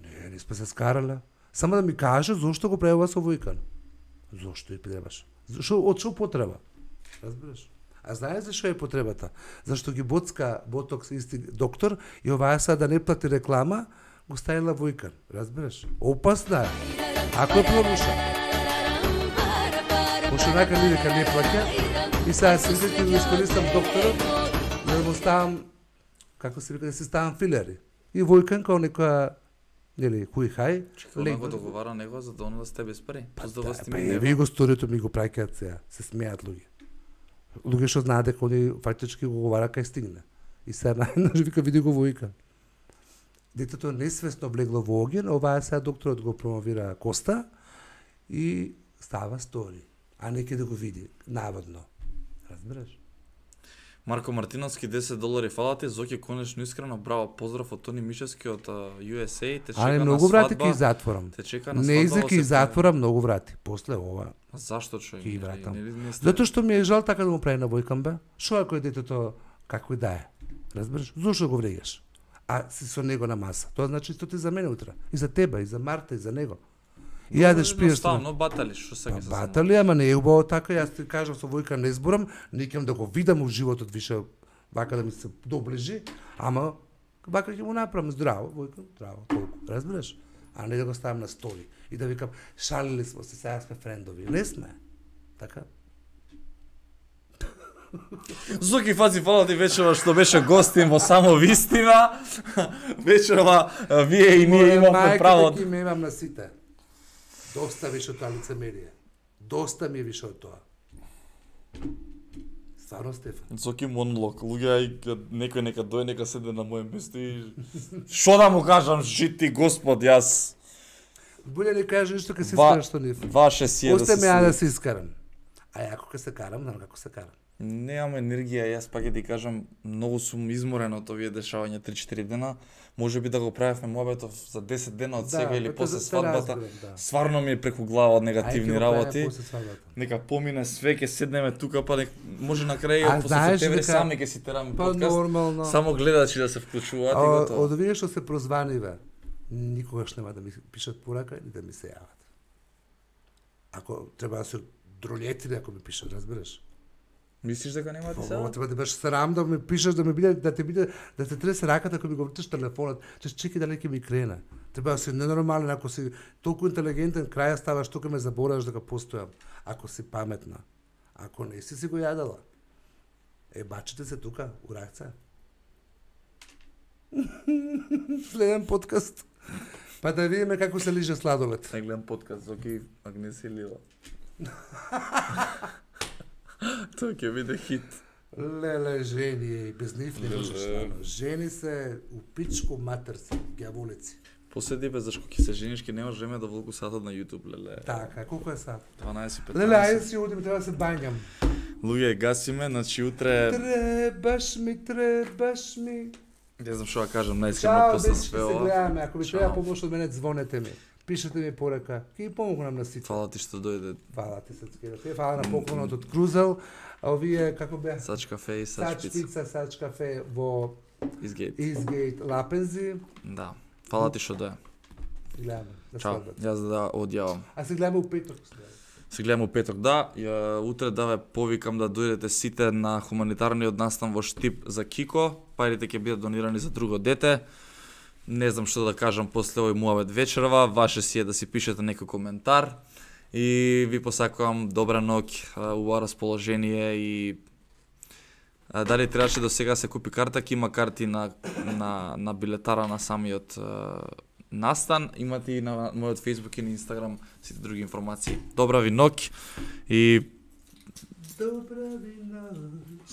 Не, не сме се скарале. Само да ми каже зошто го правува со Војкан. Зошто и требаш? Зашо од што потреба? Разбираш? А знаеш зашо е потребата? Зашто ги боцка ботокс исти доктор и оваа сега да не плати реклама, го ставила Војкан. Разбираш? Опасна е. Ако е проруша. Пошто нака ни дека не плаќа и сега се ќе го искористам докторот за да му ставам, како се вика, да си ставам филери. И Војкан као некоја нели хуј хај, Лего го договара него за да он да сте без пари. Па, За да да, вас ти па ми и нема. ви го сторието ми го праќаат сега, се смеат луѓе. Луѓе што знаат дека они фактички го говора кај стигне. И сега најнаш вика види го Војкан. Детето несвесно влегло во оѓен, оваа сега докторот го промовира Коста и става стори, а не ќе да го види, наводно. Разбираш? Марко Мартиновски десет долари фала ти, Зоки конечно искрено браво, поздрав од Тони Мишевски од Ю Ес Ей, те чека Али на многу врати свадба. ќе затворам. Те чека на Не свадба. изе во ќе септември. затворам многу врати. После ова. А зашто човек? Ќе ги Не- вратам. не- не- не сте- Затоа што ми е жал така да му прави на Војкан бе. Што ако е детето како и да е? Разбираш? Зошто го вреѓаш? А си со него на маса. Тоа значи исто ти за мене утре. И за тебе, и за Марта, и за него. И јадеш пиеш со Едноставно батали, што сега се батали, ама не е убаво така, јас ти кажам со Војкан не зборам, не ќе да го видам у животот више вака да ми се доближи, ама вака ќе му направам здраво, Војкан, здраво, толку, разбираш? А не да го ставам на стори и да викам шалили сме се, сега сме френдови. Не сме. Така? Зоки Фази, фала ти вечерва што беше гостин во само вистина. Вечерва вие и ние имавме право. Мајката ќе ме имам на сите. Доста више од тоа лицемерие. Доста ми е више од тоа. Стварно, Стефан. Зоки монолог, луѓе, ај некој нека дојде, нека седне на моје место и што да му кажам, жити Господ, јас Боле не кажа ништо кога се Ва- искараш со нив. ваше си е да Осте се ме ја да слушам. се искарам. А ја кога се карам, знам како се карам. Немам енергија, јас пак ќе ти кажам, многу сум изморен од овие дешавања три-четири дена. Може би да го правевме мобетов за десет дена од сега или па после те свадбата. разбирам, да. Стварно ми е преку глава од Ај, ќе негативни го работи. правиме после свадбата. Нека помине све, ќе седнеме тука, па нек, може на крај А после знаеш септември дека- сами ќе си тераме Па подкаст. нормално. Само гледачи да се вклучуваат и А, готово. од овие што се прозваниве, никогаш нема да ми пишат порака или да ми се јават. Ако треба да се дролетили ако ми пишат, разбираш? Мислиш дека нема да ти се? Ова треба да беше срам да ми пишеш, да ми биде, да те биде, да те тресе раката ако ми го вртиш телефонот, че чекај дали ќе ми крене. Треба да си ненормален, ако си толку интелигентен, краја ставаш тука ме забораваш дека постојам. Ако си паметна. Ако не си си го јадала. Е, бачите се тука, у ракца. Следен подкаст. Па да видиме како се лиже сладолед. Не гледам подкаст, Зоки Агнеси Лила. Тоа ќе биде хит. Леле, жени, и без нив не Леле. можеш стварно. Жени се у пичку матер се, гјаволици. Поседи бе, зашко ќе се жениш, ќе немаш време да волку сатот на YouTube, леле. Така, колку е сад? дванаесет Леле, ајде петнаесет. си одим, треба да се бањам. Луѓе, гасиме, значи утре, Требаш ми, требаш ми. не знам што да кажам, најискрено Чао, после дечки, све се ова. гледаме. Ако ви Чао. треба помош од мене, звонете ми. Пишете ми порака. Ќе ги помогнам на сите. Фала ти што дојде. Фала ти се цкерате. Фала на поклонот од Крузел. А овие, како беа? Сач кафе и сач Сач пица. пица, сач кафе во Изгейт. Изгейт Лапензи. Да. Фала ти што дојде. Гледаме на Чао. свадбата. Јас да одјавам. А се гледаме у петок. Се гледаме у петок, да. Ја, утре да ве повикам да дојдете сите на хуманитарниот настан во Штип за Кико. Парите ќе бидат донирани за друго дете. Не знам што да кажам после овој муавет вечерва. Ваше си е да си пишете некој коментар. И ви посакувам добра ноќ, убаво расположение и а, дали требаше до сега се купи карта, ќе има карти на, на, на билетара на самиот а, настан. Имате и на мојот Facebook и на Instagram сите други информации. Добра ви ноќ и Добра ви ноќ.